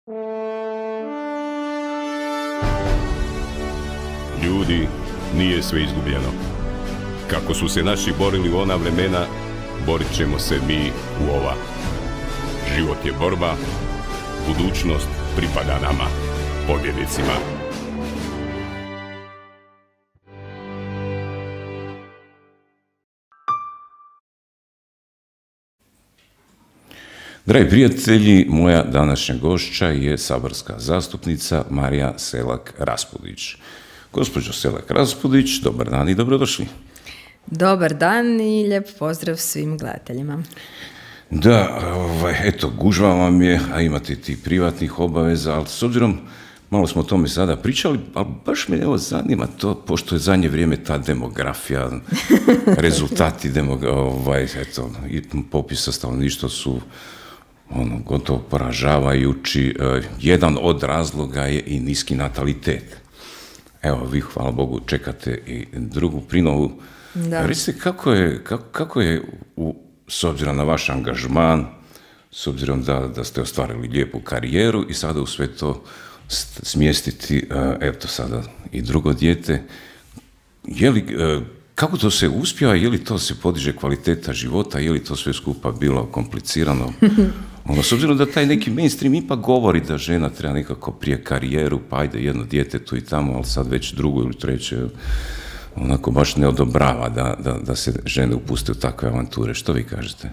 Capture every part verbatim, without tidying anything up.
Ljudi, nije sve izgubljeno. Kako su se naši borili u ona vremena, borit ćemo se mi u ova. Život je borba, budućnost pripada nama, pobjednicima. Dragi prijatelji, moja današnja gošća je saborska zastupnica Marija Selak-Raspudić. Gospođo Selak-Raspudić, dobar dan i dobrodošli. Dobar dan i lijep pozdrav svim gledateljima. Da, ovaj, eto, gužva vam je, a imate ti privatnih obaveza, ali s obzirom, malo smo o tome sada pričali, ali baš me evo zanima to, pošto je zadnje vrijeme ta demografija, rezultati demogra, ovaj, eto, popisa stanovništva su ono, gotovo poražavajući. E, jedan od razloga je i niski natalitet. Evo, vi, hvala Bogu, čekate i drugu prinovu. Da. Recite, kako je, kako, kako je u, s obzirom na vaš angažman, s obzirom da, da ste ostvarili lijepu karijeru i sada u sve to smjestiti, eto sada i drugo dijete, je li, kako to se uspjeva, je li to se podiže kvaliteta života, je li to sve skupa bilo komplicirano? Ono, s obzirom da taj neki mainstream ipak govori da žena treba nekako prije karijeru, pa ajde jedno dijete tu i tamo, ali sad već drugo ili treće, onako baš ne odobrava da, da, da se žene upuste u takve avanture. Što vi kažete?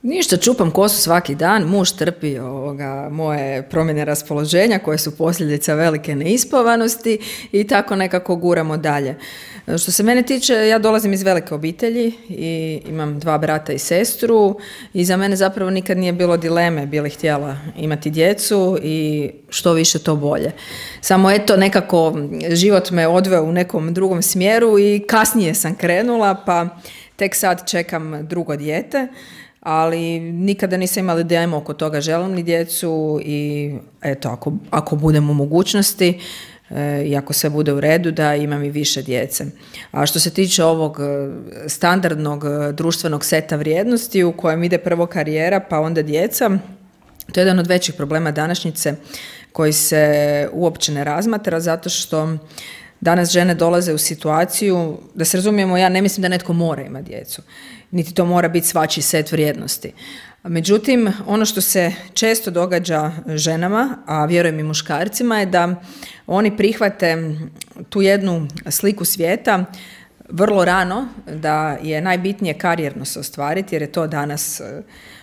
Ništa, čupam kosu svaki dan, muž trpi ovoga, moje promjene raspoloženja koje su posljedica velike neispavanosti i tako nekako guramo dalje. Što se mene tiče, ja dolazim iz velike obitelji i imam dva brata i sestru i za mene zapravo nikad nije bilo dileme, bili htjela imati djecu i što više to bolje. Samo eto nekako život me odveo u nekom drugom smjeru i kasnije sam krenula, pa tek sad čekam drugo dijete. Ali nikada nisam imala dilemu oko toga, želim li djecu i eto, ako, ako budem u mogućnosti e, i ako sve bude u redu, da imam i više djece. A što se tiče ovog standardnog društvenog seta vrijednosti u kojem ide prvo karijera pa onda djeca, to je jedan od većih problema današnjice koji se uopće ne razmatra zato što danas žene dolaze u situaciju, da se razumijemo, ja ne mislim da netko mora imati djecu, niti to mora biti svačiji set vrijednosti. Međutim, ono što se često događa ženama, a vjerujem i muškarcima, je da oni prihvate tu jednu sliku svijeta vrlo rano, da je najbitnije karijerno se ostvariti, jer je to danas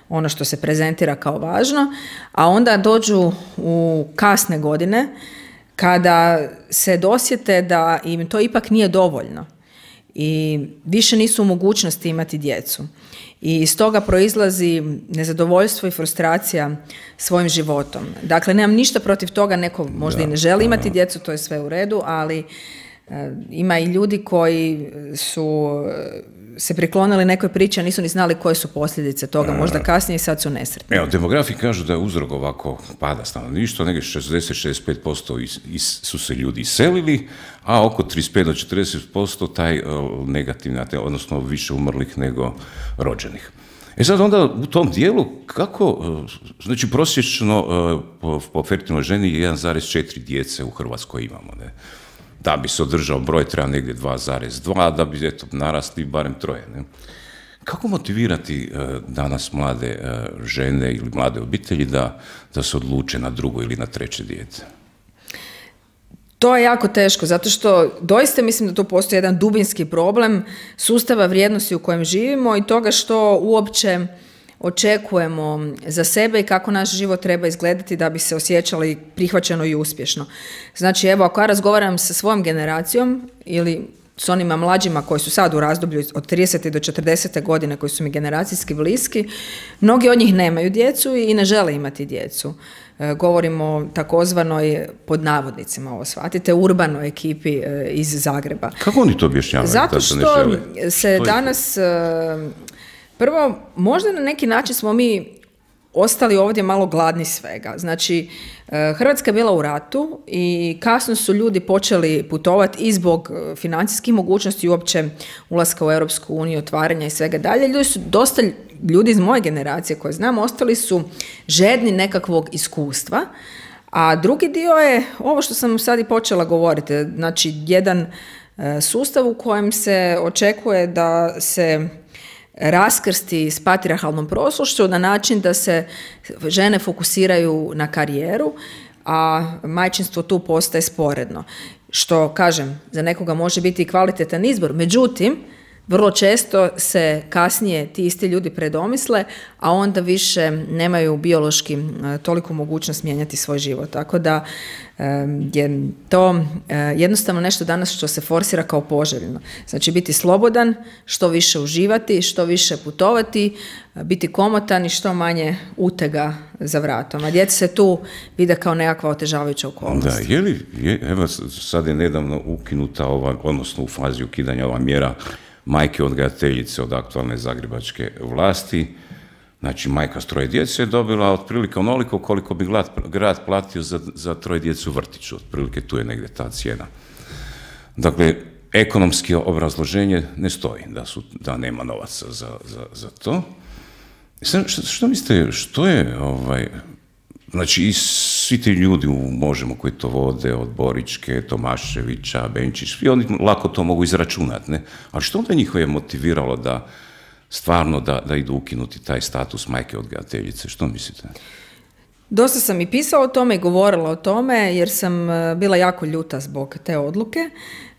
ono što se prezentira kao važno, a onda dođu u kasne godine, kada se dosjete da im to ipak nije dovoljno i više nisu u mogućnosti imati djecu. I iz toga proizlazi nezadovoljstvo i frustracija svojim životom. Dakle, nemam ništa protiv toga, neko možda da, i ne želi imati da. djecu, to je sve u redu, ali e, ima i ljudi koji su se priklonili nekoj priči, a nisu ni znali koje su posljedice toga, možda kasnije i sad su nesretni. Evo, demografi kažu da je uzrok ovako pada stanovništva, negdje šezdeset do šezdeset pet posto is, is, su se ljudi iselili, a oko trideset pet do četrdeset posto taj uh, negativni, odnosno više umrlih nego rođenih. E sad onda u tom dijelu, kako, uh, znači prosječno uh, po, po fertilnoj ženi jedan zarez četiri djece u Hrvatskoj imamo, ne? Da bi se održao broj treba negdje dva zarez dva, da bi eto, narasli barem troje. Ne? Kako motivirati uh, danas mlade uh, žene ili mlade obitelji da, da se odluče na drugo ili na treće dijete? To je jako teško, zato što doista mislim da tu postoji jedan dubinski problem sustava vrijednosti u kojem živimo i toga što uopće očekujemo za sebe i kako naš život treba izgledati da bi se osjećali prihvaćeno i uspješno. Znači, evo, ako ja razgovaram sa svojom generacijom ili s onima mlađima koji su sad u razdoblju od tridesete do četrdesete godine, koji su mi generacijski bliski, mnogi od njih nemaju djecu i ne žele imati djecu. E, govorimo o takozvanoj, pod navodnicima ovo shvatite, urbanoj ekipi e, iz Zagreba. Kako oni to objašnjavaju? Zato što ne se što danas... E, prvo, možda na neki način smo mi ostali ovdje malo gladni svega. Znači, Hrvatska je bila u ratu i kasno su ljudi počeli putovati i zbog financijskih mogućnosti i uopće ulaska u Europsku uniju, otvaranja i svega dalje. Ljudi su dosta ljudi iz moje generacije koje znam, ostali su žedni nekakvog iskustva, a drugi dio je ovo što sam sad i počela govoriti, znači jedan sustav u kojem se očekuje da se raskrsti s patrijarhalnom prošlošću na način da se žene fokusiraju na karijeru, a majčinstvo tu postaje sporedno. Što, kažem, za nekoga može biti i kvalitetan izbor. Međutim, vrlo često se kasnije ti isti ljudi predomisle, a onda više nemaju biološki toliko mogućnost mijenjati svoj život. Tako da je to jednostavno nešto danas što se forsira kao poželjno. Znači biti slobodan, što više uživati, što više putovati, biti komotan i što manje utega za vratom. A djeca se tu vide kao nekakva otežavajuća okolnost. Da, je li, je, evo sad je nedavno ukinuta ova, odnosno u fazi ukidanja ova mjera majke odgajateljice od aktualne zagrebačke vlasti. Znači, majka s troje djece je dobila otprilike onoliko koliko bi grad, grad platio za, za troje djece u vrtiću. Otprilike tu je negdje ta cijena. Dakle, ekonomski obrazloženje ne stoji, da, su, da nema novaca za, za, za to. Sad, što, što mislite, što je, ovaj, znači, i svi ti ljudi u Možemo koji to vode, od Boričke, Tomaševića, Benčić, i oni lako to mogu izračunati, ne? Ali što onda njih je motiviralo da stvarno da, da idu ukinuti taj status majke odgajateljice? Što mislite? Dosta sam i pisala o tome i govorila o tome jer sam bila jako ljuta zbog te odluke,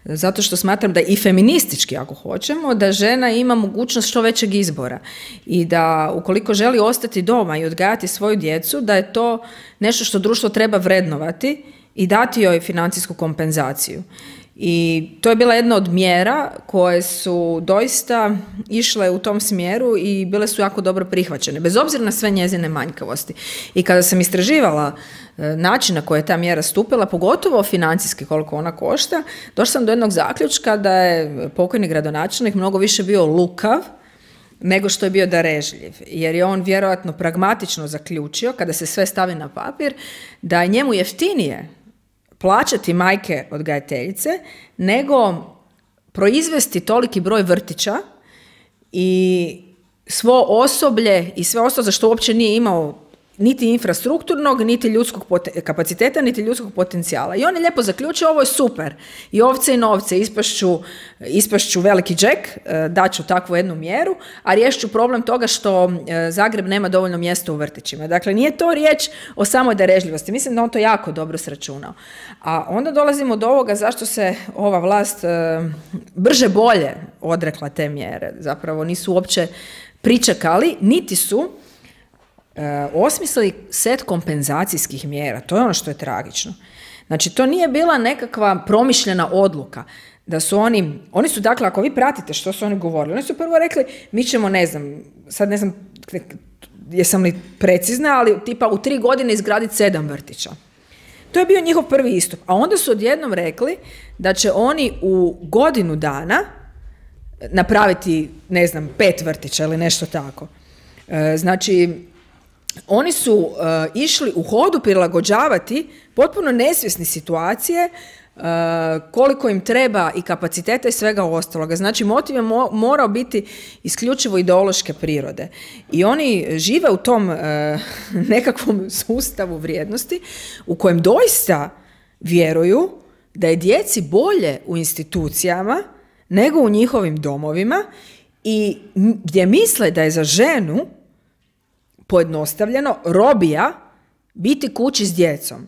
zato što smatram da i feministički, ako hoćemo, da žena ima mogućnost što većeg izbora i da ukoliko želi ostati doma i odgajati svoju djecu, da je to nešto što društvo treba vrednovati i dati joj financijsku kompenzaciju. I to je bila jedna od mjera koje su doista išle u tom smjeru i bile su jako dobro prihvaćene, bez obzira na sve njezine manjkavosti. I kada sam istraživala način na koji je ta mjera stupila, pogotovo financijski koliko ona košta, došla sam do jednog zaključka da je pokojni gradonačelnik mnogo više bio lukav nego što je bio darežljiv, jer je on vjerojatno pragmatično zaključio, kada se sve stavi na papir, da je njemu jeftinije plaćati majke odgajateljice, nego proizvesti toliki broj vrtića i svo osoblje i sve ostalo za što uopće nije imao niti infrastrukturnog, niti ljudskog pot- kapaciteta, niti ljudskog potencijala. I on je lijepo zaključio, ovo je super. I ovce i novce, ispašću, ispašću veliki džek, daću takvu jednu mjeru, a riješću problem toga što Zagreb nema dovoljno mjesta u vrtićima. Dakle, nije to riječ o samoj darežljivosti. Mislim da on to jako dobro sračunao. A onda dolazimo do ovoga zašto se ova vlast brže bolje odrekla te mjere. Zapravo nisu uopće pričekali, niti su E, osmislili set kompenzacijskih mjera. To je ono što je tragično. Znači, to nije bila nekakva promišljena odluka. Da su oni, oni su, dakle, ako vi pratite što su oni govorili, oni su prvo rekli, mi ćemo, ne znam, sad ne znam jesam li precizna, ali tipa u tri godine izgraditi sedam vrtića. To je bio njihov prvi istup. A onda su odjednom rekli da će oni u godinu dana napraviti, ne znam, pet vrtića ili nešto tako. E, znači, oni su uh, išli u hodu prilagođavati potpuno nesvjesni situacije uh, koliko im treba i kapaciteta i svega ostaloga. Znači, motiv je mo- morao biti isključivo ideološke prirode. I oni žive u tom uh, nekakvom sustavu vrijednosti u kojem doista vjeruju da je djeci bolje u institucijama nego u njihovim domovima i gdje misle da je za ženu pojednostavljeno, robija biti kući s djecom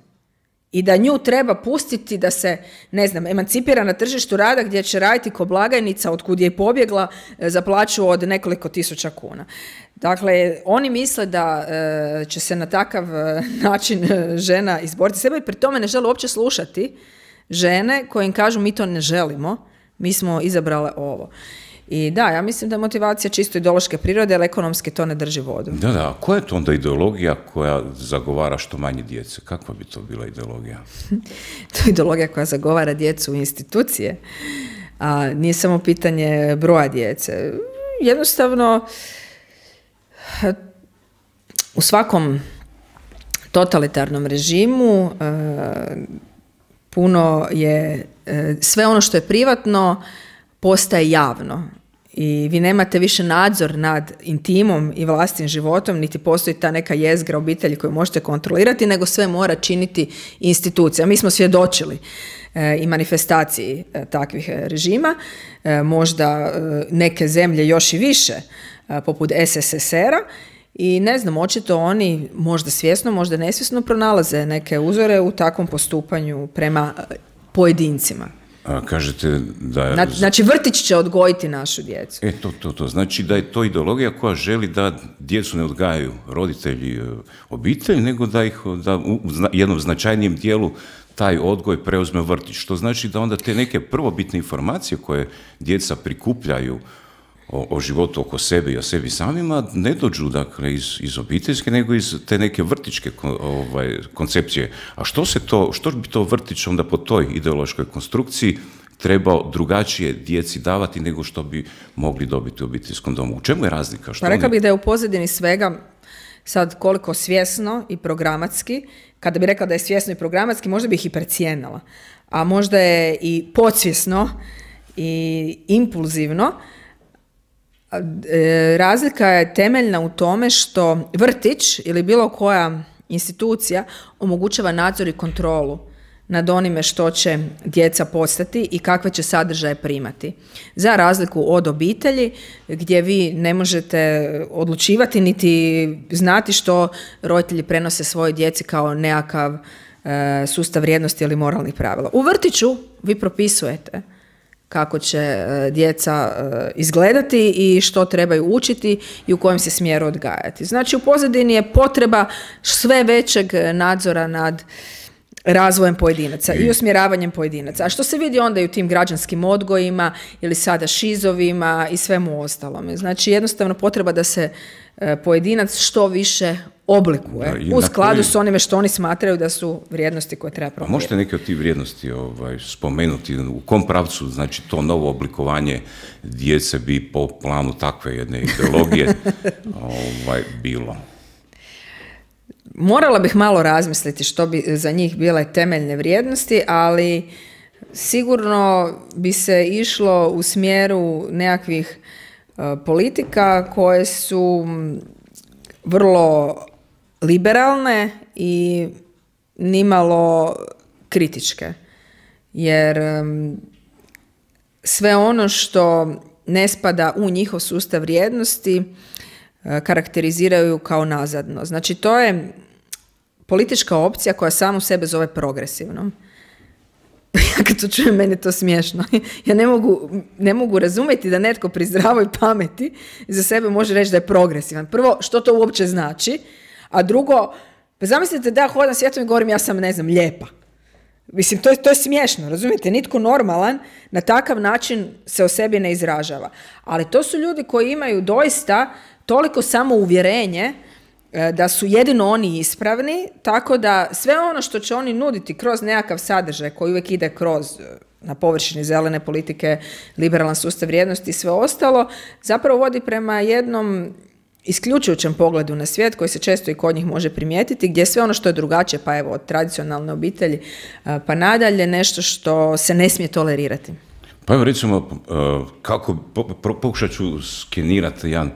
i da nju treba pustiti da se, ne znam, emancipira na tržištu rada gdje će raditi ko blagajnica otkud je pobjegla za plaću od nekoliko tisuća kuna. Dakle, oni misle da e, će se na takav e, način e, žena izboriti sebe i pri tome ne žele uopće slušati žene koje im kažu mi to ne želimo, mi smo izabrale ovo. I da, ja mislim da je motivacija čisto ideološke prirode, ali ekonomski to ne drži vodu. Da, da, a koja je to onda ideologija koja zagovara što manje djece? Kakva bi to bila ideologija? To je ideologija koja zagovara djecu u institucije, a nije samo pitanje broja djece. Jednostavno, u svakom totalitarnom režimu puno je, sve ono što je privatno postaje javno i vi nemate više nadzor nad intimom i vlastitim životom, niti postoji ta neka jezgra obitelji koju možete kontrolirati, nego sve mora činiti institucija. Mi smo svjedočili e, i manifestaciji e, takvih režima, e, možda e, neke zemlje još i više, e, poput S S S R-a, i ne znam, očito oni možda svjesno, možda nesvjesno pronalaze neke uzore u takvom postupanju prema pojedincima. A, kažete da... Znači, znači vrtić će odgojiti našu djecu. E, to, to, to. Znači da je to ideologija koja želi da djecu ne odgajaju roditelji, obitelj, nego da ih da u jednom značajnijem dijelu taj odgoj preuzme vrtić. Što znači da onda te neke prvobitne informacije koje djeca prikupljaju o, o životu oko sebe i o sebi samima ne dođu dakle iz, iz obiteljske, nego iz te neke vrtičke ovaj, koncepcije. A što se to, što bi to vrtić onda po toj ideološkoj konstrukciji trebao drugačije djeci davati nego što bi mogli dobiti u obiteljskom domu? U čemu je razlika? Što pa rekla oni... bih da je u pozadini svega sad koliko svjesno i programatski, kada bi rekla da je svjesno i programatski, možda bih i precijenila, a možda je i podsvjesno i impulzivno. Razlika je temeljna u tome što vrtić ili bilo koja institucija omogućava nadzor i kontrolu nad onime što će djeca postati i kakve će sadržaje primati. Za razliku od obitelji gdje vi ne možete odlučivati niti znati što roditelji prenose svojoj djeci kao nekakav e, sustav vrijednosti ili moralnih pravila. U vrtiću vi propisujete kako će djeca izgledati i što trebaju učiti i u kojem se smjeru odgajati. Znači u pozadini je potreba sve većeg nadzora nad razvojem pojedinaca i usmjeravanjem pojedinaca. A što se vidi onda i u tim građanskim odgojima ili sada šizovima i svemu ostalome. Znači jednostavno potreba da se pojedinac što više oblikuje da, u skladu koji... s onime što oni smatraju da su vrijednosti koje treba promovirati. Možete neke od tih vrijednosti ovaj, spomenuti? U kom pravcu znači to novo oblikovanje djece bi po planu takve jedne ideologije ovaj, bilo? Morala bih malo razmisliti što bi za njih bile temeljne vrijednosti, ali sigurno bi se išlo u smjeru nekakvih uh, politika koje su vrlo liberalne i nimalo kritičke. Jer um, sve ono što ne spada u njihov sustav vrijednosti uh, karakteriziraju kao nazadno. Znači to je politička opcija koja samu sebe zove progresivnom. Ja kad to čujem, meni je to smiješno. Ja ne mogu, ne mogu razumjeti da netko pri zdravoj pameti za sebe može reći da je progresivan. Prvo, što to uopće znači? A drugo, pa zamislite da ja hodam svijetom i govorim ja sam, ne znam, lijepa. Mislim, to je, to je smiješno, razumijete? Nitko normalan na takav način se o sebi ne izražava. Ali to su ljudi koji imaju doista toliko samouvjerenje da su jedino oni ispravni, tako da sve ono što će oni nuditi kroz nekakav sadržaj koji uvijek ide kroz na površini zelene politike, liberalan sustav vrijednosti i sve ostalo, zapravo vodi prema jednom isključujućem pogledu na svijet koji se često i kod njih može primijetiti, gdje sve ono što je drugačije, pa evo od tradicionalne obitelji pa nadalje, nešto što se ne smije tolerirati. Pa evo recimo, kako pokušat ću skenirati jedan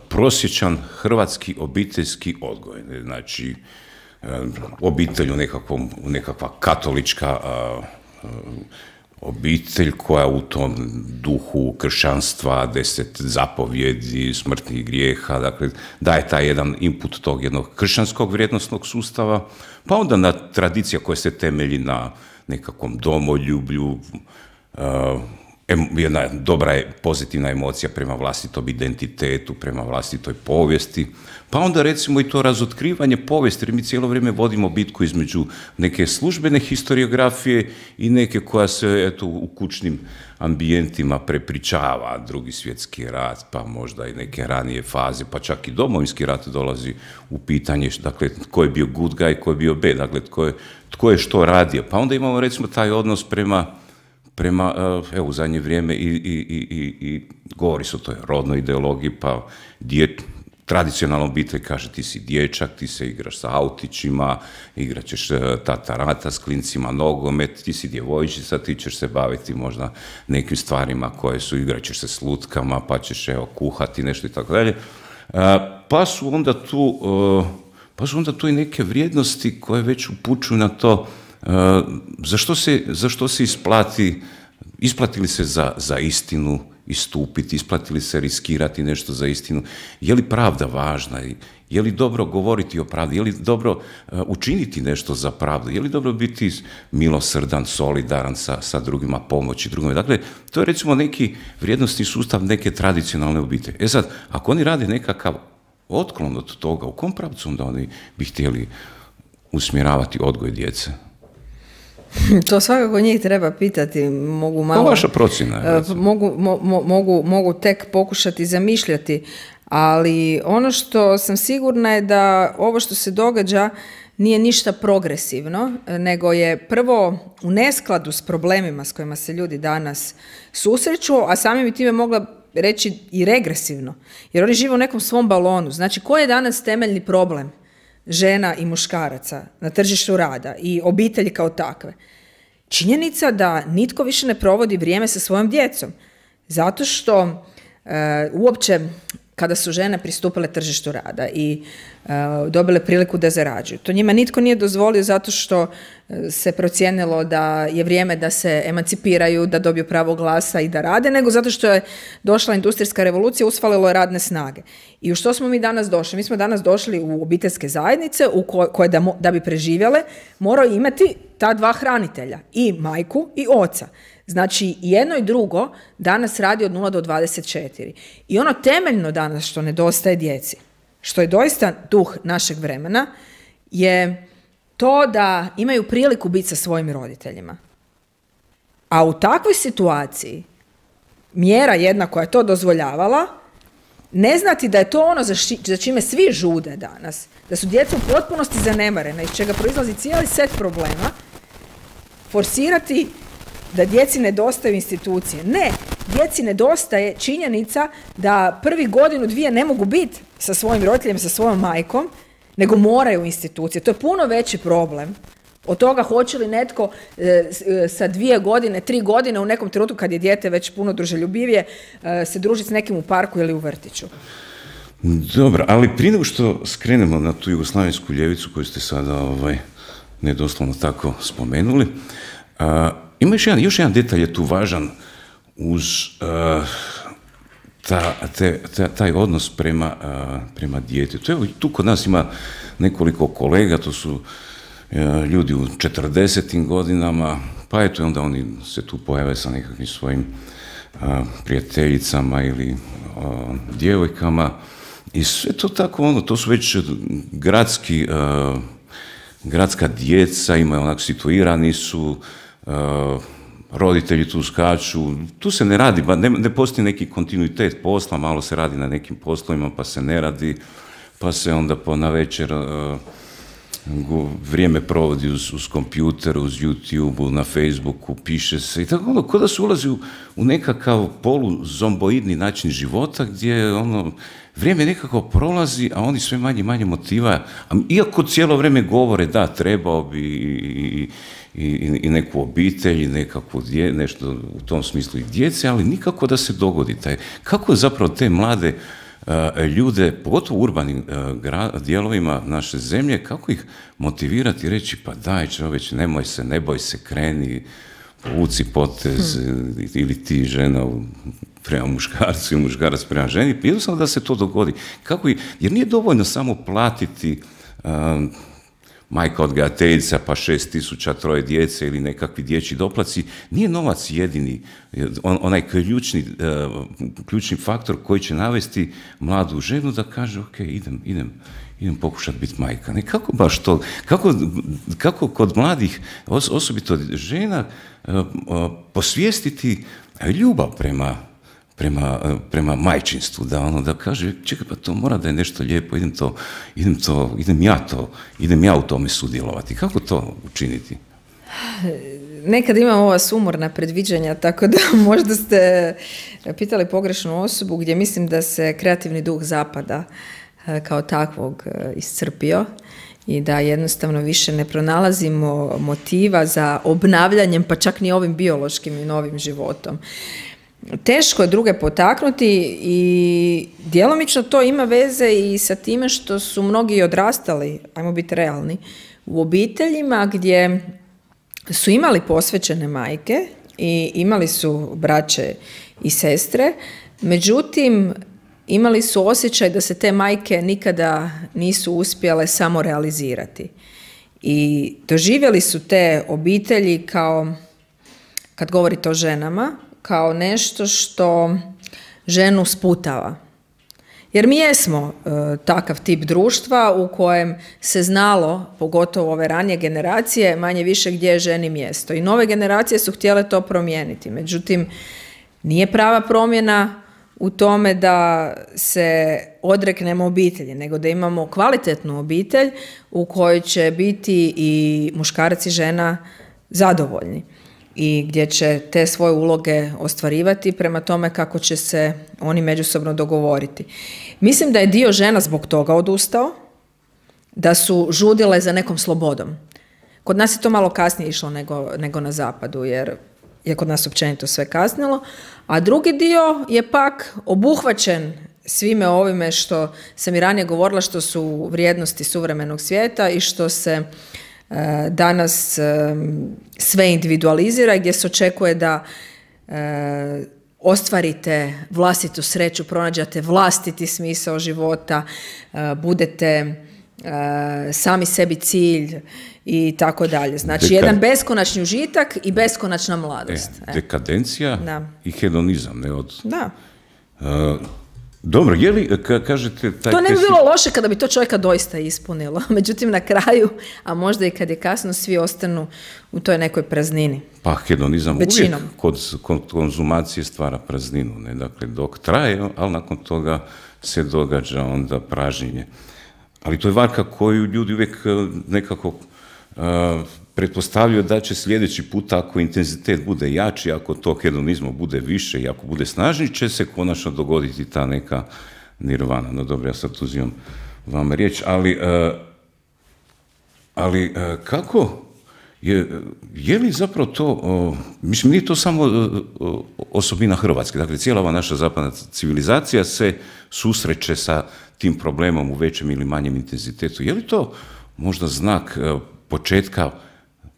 prosječan hrvatski obiteljski odgoj. Znači, obitelj u, nekakvom, u nekakva katolička obitelj koja u tom duhu kršćanstva, deset zapovjedi, smrtnih grijeha, dakle, daje taj jedan input tog jednog kršćanskog vrijednosnog sustava, pa onda na tradicija koja se temelji na nekakvom domoljublju, jedna dobra je pozitivna emocija prema vlastitom identitetu, prema vlastitoj povijesti, pa onda recimo i to razotkrivanje povijesti, jer mi cijelo vrijeme vodimo bitku između neke službene historiografije i neke koja se eto, u kućnim ambijentima prepričava, Drugi svjetski rat, pa možda i neke ranije faze, pa čak i Domovinski rat dolazi u pitanje, dakle, tko je bio good guy, tko je bio bad, dakle, tko je, tko je što radio. Pa onda imamo recimo taj odnos prema prema, evo, u zadnje vrijeme i, i, i, i govori se o toj rodnoj ideologiji, pa djet, tradicionalna obitelj kaže ti si dječak, ti se igraš sa autićima, igrat ćeš tatarata s klincima, nogomet, ti si djevojčica, ti ćeš se baviti možda nekim stvarima koje su, igrat ćeš se s lutkama, pa ćeš evo kuhati nešto i tako dalje. Pa su onda tu, pa su onda tu i neke vrijednosti koje već upućuju na to zašto se, zašto se isplati, isplati li se za, za istinu istupiti, isplati li se riskirati nešto za istinu, je li pravda važna, je li dobro govoriti o pravdi, je li dobro uh, učiniti nešto za pravdu, je li dobro biti milosrdan, solidaran sa, sa drugima, pomoći drugima. Dakle, to je recimo neki vrijednosni sustav neke tradicionalne obitelji. E sad, ako oni rade nekakav otklon od toga, u kom pravcu onda oni bi htjeli usmjeravati odgoj djece? To svakako njih treba pitati, mogu malo... To vaša procjena. Mogu, mo, mogu, mogu tek pokušati zamišljati, ali ono što sam sigurna je da ovo što se događa nije ništa progresivno, nego je prvo u neskladu s problemima s kojima se ljudi danas susreću, a samim time mogla reći i regresivno, jer oni žive u nekom svom balonu. Znači, koji je danas temeljni problem žena i muškaraca na tržištu rada i obitelji kao takve? Činjenica da nitko više ne provodi vrijeme sa svojom djecom, zato što e, uopće kada su žene pristupile tržištu rada i e, dobile priliku da zarađuju, to njima nitko nije dozvolio zato što se procijenilo da je vrijeme da se emancipiraju, da dobiju pravo glasa i da rade, nego zato što je došla industrijska revolucija, usfalilo je radne snage. I u što smo mi danas došli? Mi smo danas došli u obiteljske zajednice u koje, koje da, da bi preživjele moraju imati ta dva hranitelja, i majku i oca. Znači, jedno i drugo danas radi od nula do dvadeset četiri. I ono temeljno danas što nedostaje djeci, što je doista duh našeg vremena, je to da imaju priliku biti sa svojim roditeljima. A u takvoj situaciji mjera jedna koja je to dozvoljavala, ne znati da je to ono za, ši, za čime svi žude danas, da su djeca u potpunosti zanemarena, iz čega proizlazi cijeli set problema, forsirati da djeci nedostaju institucije. Ne, djeci nedostaje činjenica da prvi godinu, dvije ne mogu biti sa svojim roditeljem, sa svojom majkom, nego moraju institucije. To je puno veći problem od toga hoće li netko e, sa dvije godine, tri godine u nekom trenutku kad je dijete već puno druželjubivije e, se družiti s nekim u parku ili u vrtiću. Dobro, ali prije nego što skrenemo na tu jugoslavensku ljevicu koju ste sada ovaj, nedoslovno tako spomenuli, a, ima još jedan, još jedan detalj je tu važan uz a, ta, te, ta, taj odnos prema, a, prema djetetu. Evo, tu kod nas ima nekoliko kolega, to su a, ljudi u četrdesetim godinama, pa eto onda oni se tu pojave sa nekakvim svojim a, prijateljicama ili a, djevojkama i sve to tako ono, to su već gradski, a, gradska djeca, imaju onak situirani su, a, roditelji tu skaču, tu se ne radi, ne, ne postoji neki kontinuitet posla, malo se radi na nekim poslovima, pa se ne radi, pa se onda po navečer uh, vrijeme provodi uz, uz kompjuter, uz YouTube, na Facebooku, piše se i tako ono, kao da se ulazi u, u nekakav poluzomboidni način života, gdje ono, vrijeme nekako prolazi, a oni sve manje manje motiva, a iako cijelo vrijeme govore da, trebao bi i, i, i, i neku obitelj, i nekako dje, nešto u tom smislu i djece, ali nikako da se dogodi taj. Kako zapravo te mlade uh, ljude, pogotovo u urbanim uh, gra, dijelovima naše zemlje, kako ih motivirati i reći, pa daj čovječ, nemoj se, ne boj se, kreni, povuci potez, hmm. ili ti žena prema muškarcu i muškarac prema ženi, jednostavno da se to dogodi. Kako i, jer nije dovoljno samo platiti um, majka odgajateljica pa šest tisuća troje djece ili nekakvi dječji doplaci, nije novac jedini, on, onaj ključni, uh, ključni faktor koji će navesti mladu ženu da kaže ok, idem, idem, idem pokušati biti majka. Ne, kako baš to, kako, kako kod mladih, os, osobito žena, uh, uh, posvijestiti ljubav prema Prema, prema majčinstvu, da ono da kaže, čekaj, pa to mora da je nešto lijepo, idem to, idem to, idem ja to, idem ja u tome sudjelovati. Kako to učiniti? Nekad imam ova sumorna predviđanja, tako da možda ste pitali pogrešnu osobu, gdje mislim da se kreativni duh zapada kao takvog iscrpio i da jednostavno više ne pronalazimo motiva za obnavljanjem, pa čak ni ovim biološkim i novim životom. Teško je druge potaknuti i djelomično to ima veze i sa time što su mnogi odrastali, ajmo biti realni, u obiteljima gdje su imali posvećene majke i imali su braće i sestre, međutim imali su osjećaj da se te majke nikada nisu uspjele samo realizirati. I doživjeli su te obitelji kao, kad govorite o ženama, kao nešto što ženu sputava. Jer mi jesmo e, takav tip društva u kojem se znalo, pogotovo ove ranije generacije, manje više gdje je ženi mjesto. I nove generacije su htjele to promijeniti. Međutim, nije prava promjena u tome da se odreknemo obitelji, nego da imamo kvalitetnu obitelj u kojoj će biti i muškarac i žena zadovoljni i gdje će te svoje uloge ostvarivati prema tome kako će se oni međusobno dogovoriti. Mislim da je dio žena zbog toga odustao, da su žudile za nekom slobodom. Kod nas je to malo kasnije išlo nego, nego na zapadu, jer je kod nas općenito sve kasnilo, a drugi dio je pak obuhvaćen svime ovime što sam i ranije govorila, što su vrijednosti suvremenog svijeta i što se e, danas e, sve individualizira i gdje se očekuje da e, ostvarite vlastitu sreću, pronađate vlastiti smisao života, e, budete e, sami sebi cilj i tako dalje. Znači, Deka... jedan beskonačni užitak i beskonačna mladost. E, dekadencija da. I hedonizam. Ne od... Da. Uh, dobro, je li, ka, kažete... Taj to ne bi bilo loše kada bi to čovjeka doista ispunilo. Međutim, na kraju, a možda i kad je kasno, svi ostanu u toj nekoj praznini. Pa hedonizam Većinom. uvijek kod, kod konzumacije stvara prazninu. Ne? Dakle, dok traje, ali nakon toga se događa onda pražnjenje. Ali to je varka koju ljudi uvijek nekako uh, pretpostavljaju da će sljedeći put, ako intenzitet bude jači, ako to hedonizma bude više i ako bude snažniji, će se konačno dogoditi ta neka nirvana. No dobro, ja sad uzimam vama riječ, ali, uh, ali uh, kako je, je li zapravo to, uh, mislim, nije to samo uh, osobina Hrvatske, dakle, cijela ova naša zapadna civilizacija se susreće sa tim problemom u većem ili manjem intenzitetu. Je li to možda znak uh, početka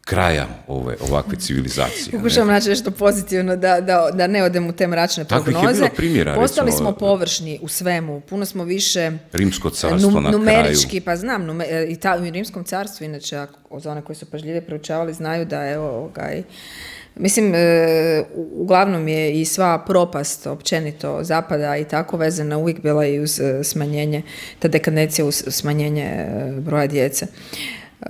kraja ove, ovakve civilizacije? Pokušavam naći nešto pozitivno, da, da, da ne odem u te mračne prognoze. Takvih je bilo primjera. Postali recimo, smo površni u svemu, puno smo više Rimsko carstvo num, na numerički, kraju. Pa znam, nume, i ta, u Rimskom carstvu, inače, za one koji su pažljive proučavali, znaju da, evo, gaj, mislim, e, uglavnom je i sva propast općenito zapada i tako vezana uvijek bila i uz smanjenje, ta dekadencija uz smanjenje broja djece. E,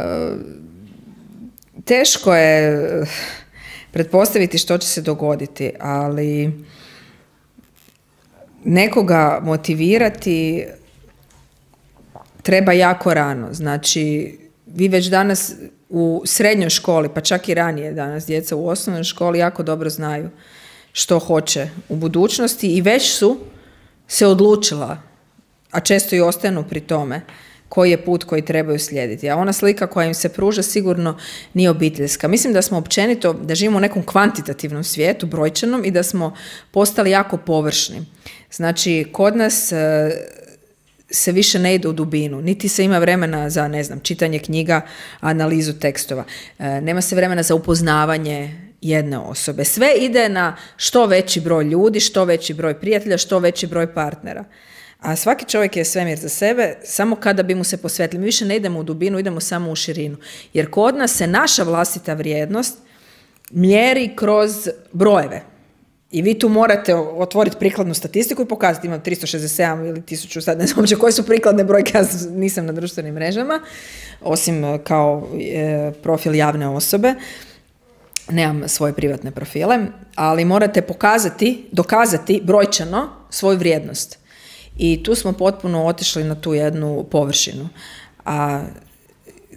Teško je pretpostaviti što će se dogoditi, ali nekoga motivirati treba jako rano. Znači, vi već danas u srednjoj školi, pa čak i ranije danas, djeca u osnovnoj školi jako dobro znaju što hoće u budućnosti i već su se odlučila, a često i ostanu pri tome, koji je put koji trebaju slijediti. A ona slika koja im se pruža sigurno nije obiteljska. Mislim da smo općenito, da živimo u nekom kvantitativnom svijetu, brojčanom, i da smo postali jako površni. Znači, kod nas e, se više ne ide u dubinu, niti se ima vremena za, ne znam, čitanje knjiga, analizu tekstova. E, nema se vremena za upoznavanje jedne osobe. Sve ide na što veći broj ljudi, što veći broj prijatelja, što veći broj partnera. A svaki čovjek je svemir za sebe, samo kada bi mu se posvetili. Mi više ne idemo u dubinu, idemo samo u širinu. Jer kod nas se naša vlastita vrijednost mjeri kroz brojeve. I vi tu morate otvoriti prikladnu statistiku i pokazati, imam tristo šezdeset sedam ili tisuću, sad ne znam uopće koje su prikladne brojke, ja nisam na društvenim mrežama, osim kao e, profil javne osobe. Nemam svoje privatne profile, ali morate pokazati, dokazati brojčano svoju vrijednost. I tu smo potpuno otišli na tu jednu površinu. A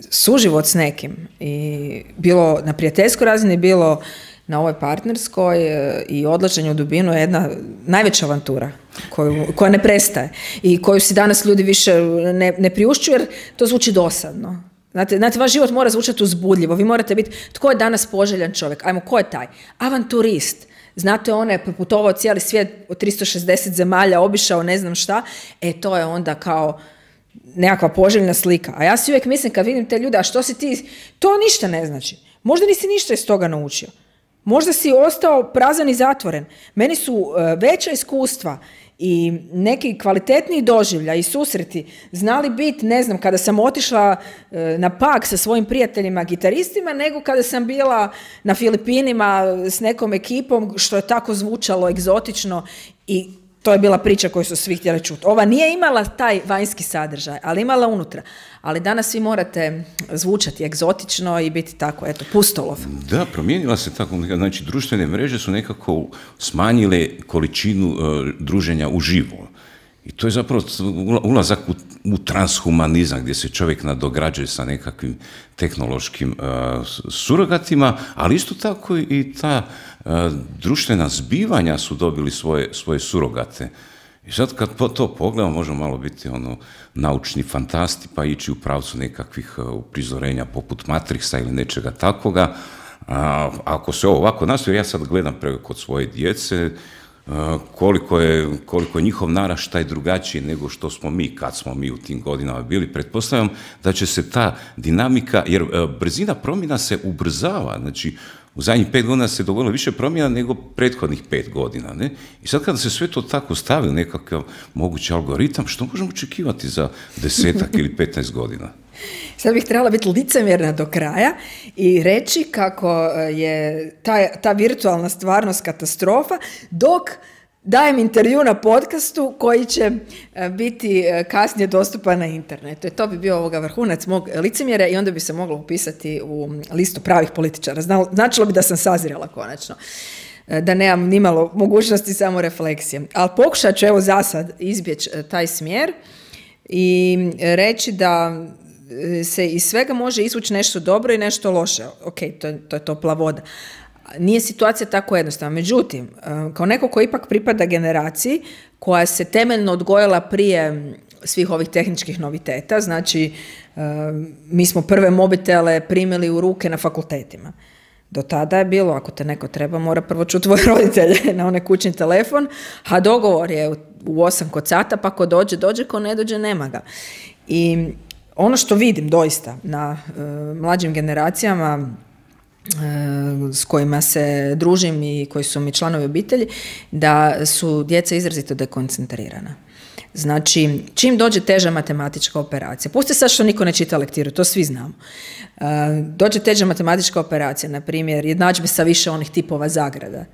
suživot s nekim, i bilo na prijateljskoj razini, bilo na ovoj partnerskoj i odlaženju u dubinu je jedna najveća avantura koju, koja ne prestaje i koju si danas ljudi više ne, ne priušćuju jer to zvuči dosadno. Znate, znate, vaš život mora zvučati uzbudljivo. Vi morate biti, tko je danas poželjan čovjek? Ajmo, ko je taj? Avanturist. Znate, on je putovao cijeli svijet od tristo šezdeset zemalja, obišao ne znam šta. E, to je onda kao nekakva poželjna slika. A ja si uvijek mislim kad vidim te ljude, a što si ti, to ništa ne znači. Možda nisi ništa iz toga naučio. Možda si ostao prazan i zatvoren. Meni su uh, veća iskustva i neki kvalitetniji doživlja i susreti znali biti, ne znam, kada sam otišla uh, na Pag sa svojim prijateljima gitaristima, nego kada sam bila na Filipinima s nekom ekipom, što je tako zvučalo egzotično i to je bila priča koju su svi htjeli čuti. Ova nije imala taj vanjski sadržaj, ali imala unutra. Ali danas vi morate zvučati egzotično i biti tako, eto, pustolov. Da, promijenila se tako, znači društvene mreže su nekako smanjile količinu uh, druženja uživo. I to je zapravo ulazak u, u transhumanizam, gdje se čovjek nadograđuje sa nekakvim tehnološkim uh, surogatima, ali isto tako i ta uh, društvena zbivanja su dobili svoje, svoje surogate. I sad kad po to pogledamo, možemo malo biti ono naučni fantasti, pa ići u pravcu nekakvih uh, uprizorenja poput Matrixa ili nečega takvoga. A, ako se ovo ovako nastoji, ja sad gledam preko kod svoje djece, koliko je, koliko je njihov naraštaj drugačiji nego što smo mi, kad smo mi u tim godinama bili. Pretpostavljam da će se ta dinamika, jer brzina promjena se ubrzava, znači u zadnjih pet godina se dogodilo više promjena nego prethodnih pet godina. Ne? I sad kada se sve to tako stavi u nekakav mogući algoritam, što možemo očekivati za desetak ili petnaest godina? Sad bih trebala biti licemjerna do kraja i reći kako je ta, ta virtualna stvarnost katastrofa, dok dajem intervju na podcastu koji će biti kasnije dostupan na internetu. I to bi bio ovoga vrhunac mog licemjera i onda bi se moglo upisati u listu pravih političara. Značilo bi da sam sazrela konačno, da nemam nimalo mogućnosti samo refleksije. Ali pokušat ću evo zasad izbjeći taj smjer i reći da se iz svega može izvući nešto dobro i nešto loše. Ok, to je, to je topla voda. Nije situacija tako jednostavna. Međutim, kao neko ko ipak pripada generaciji koja se temeljno odgojila prije svih ovih tehničkih noviteta, znači mi smo prve mobitele primili u ruke na fakultetima. Do tada je bilo, ako te neko treba, mora prvo čuti tvoje roditelje na onaj kućni telefon, a dogovor je u osam kod sata, pa ko dođe, dođe, ko ne dođe, nema ga. I ono što vidim doista na uh, mlađim generacijama uh, s kojima se družim i koji su mi članovi obitelji, da su djeca izrazito dekoncentrirana. Znači, čim dođe teža matematička operacija, pusti sad što niko ne čita lektiru, to svi znamo. Uh, dođe teža matematička operacija, na primjer, jednadžbe sa više onih tipova zagrada.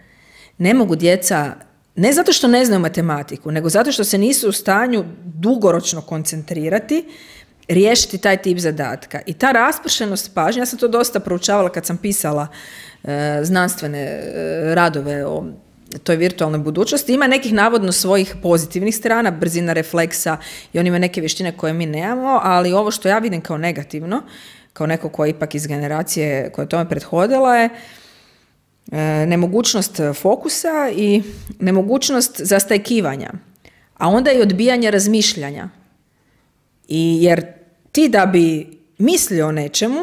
Ne mogu djeca, ne zato što ne znaju matematiku, nego zato što se nisu u stanju dugoročno koncentrirati, riješiti taj tip zadatka. I ta raspršenost pažnje, ja sam to dosta proučavala kad sam pisala e, znanstvene e, radove o toj virtualnoj budućnosti, ima nekih navodno svojih pozitivnih strana, brzina refleksa i on ima neke vještine koje mi nemamo, ali ovo što ja vidim kao negativno, kao neko ko je ipak iz generacije koja je tome prethodila, je e, nemogućnost fokusa i nemogućnost zastajkivanja, a onda i odbijanje razmišljanja. I jer ti da bi mislio o nečemu,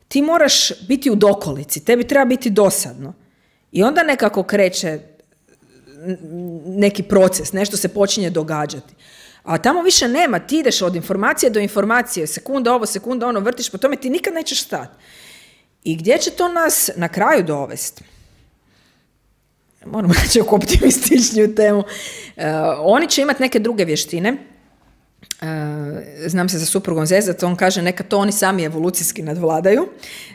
ti moraš biti u dokolici, tebi treba biti dosadno. I onda nekako kreće neki proces, nešto se počinje događati. A tamo više nema, ti ideš od informacije do informacije, sekunda ovo, sekunda ono, vrtiš po tome, ti nikad nećeš stati. I gdje će to nas na kraju dovesti? Moramo reći oko optimističniju temu. Uh, oni će imati neke druge vještine. Uh, znam se za suprugom zezati, on kaže neka to oni sami evolucijski nadvladaju.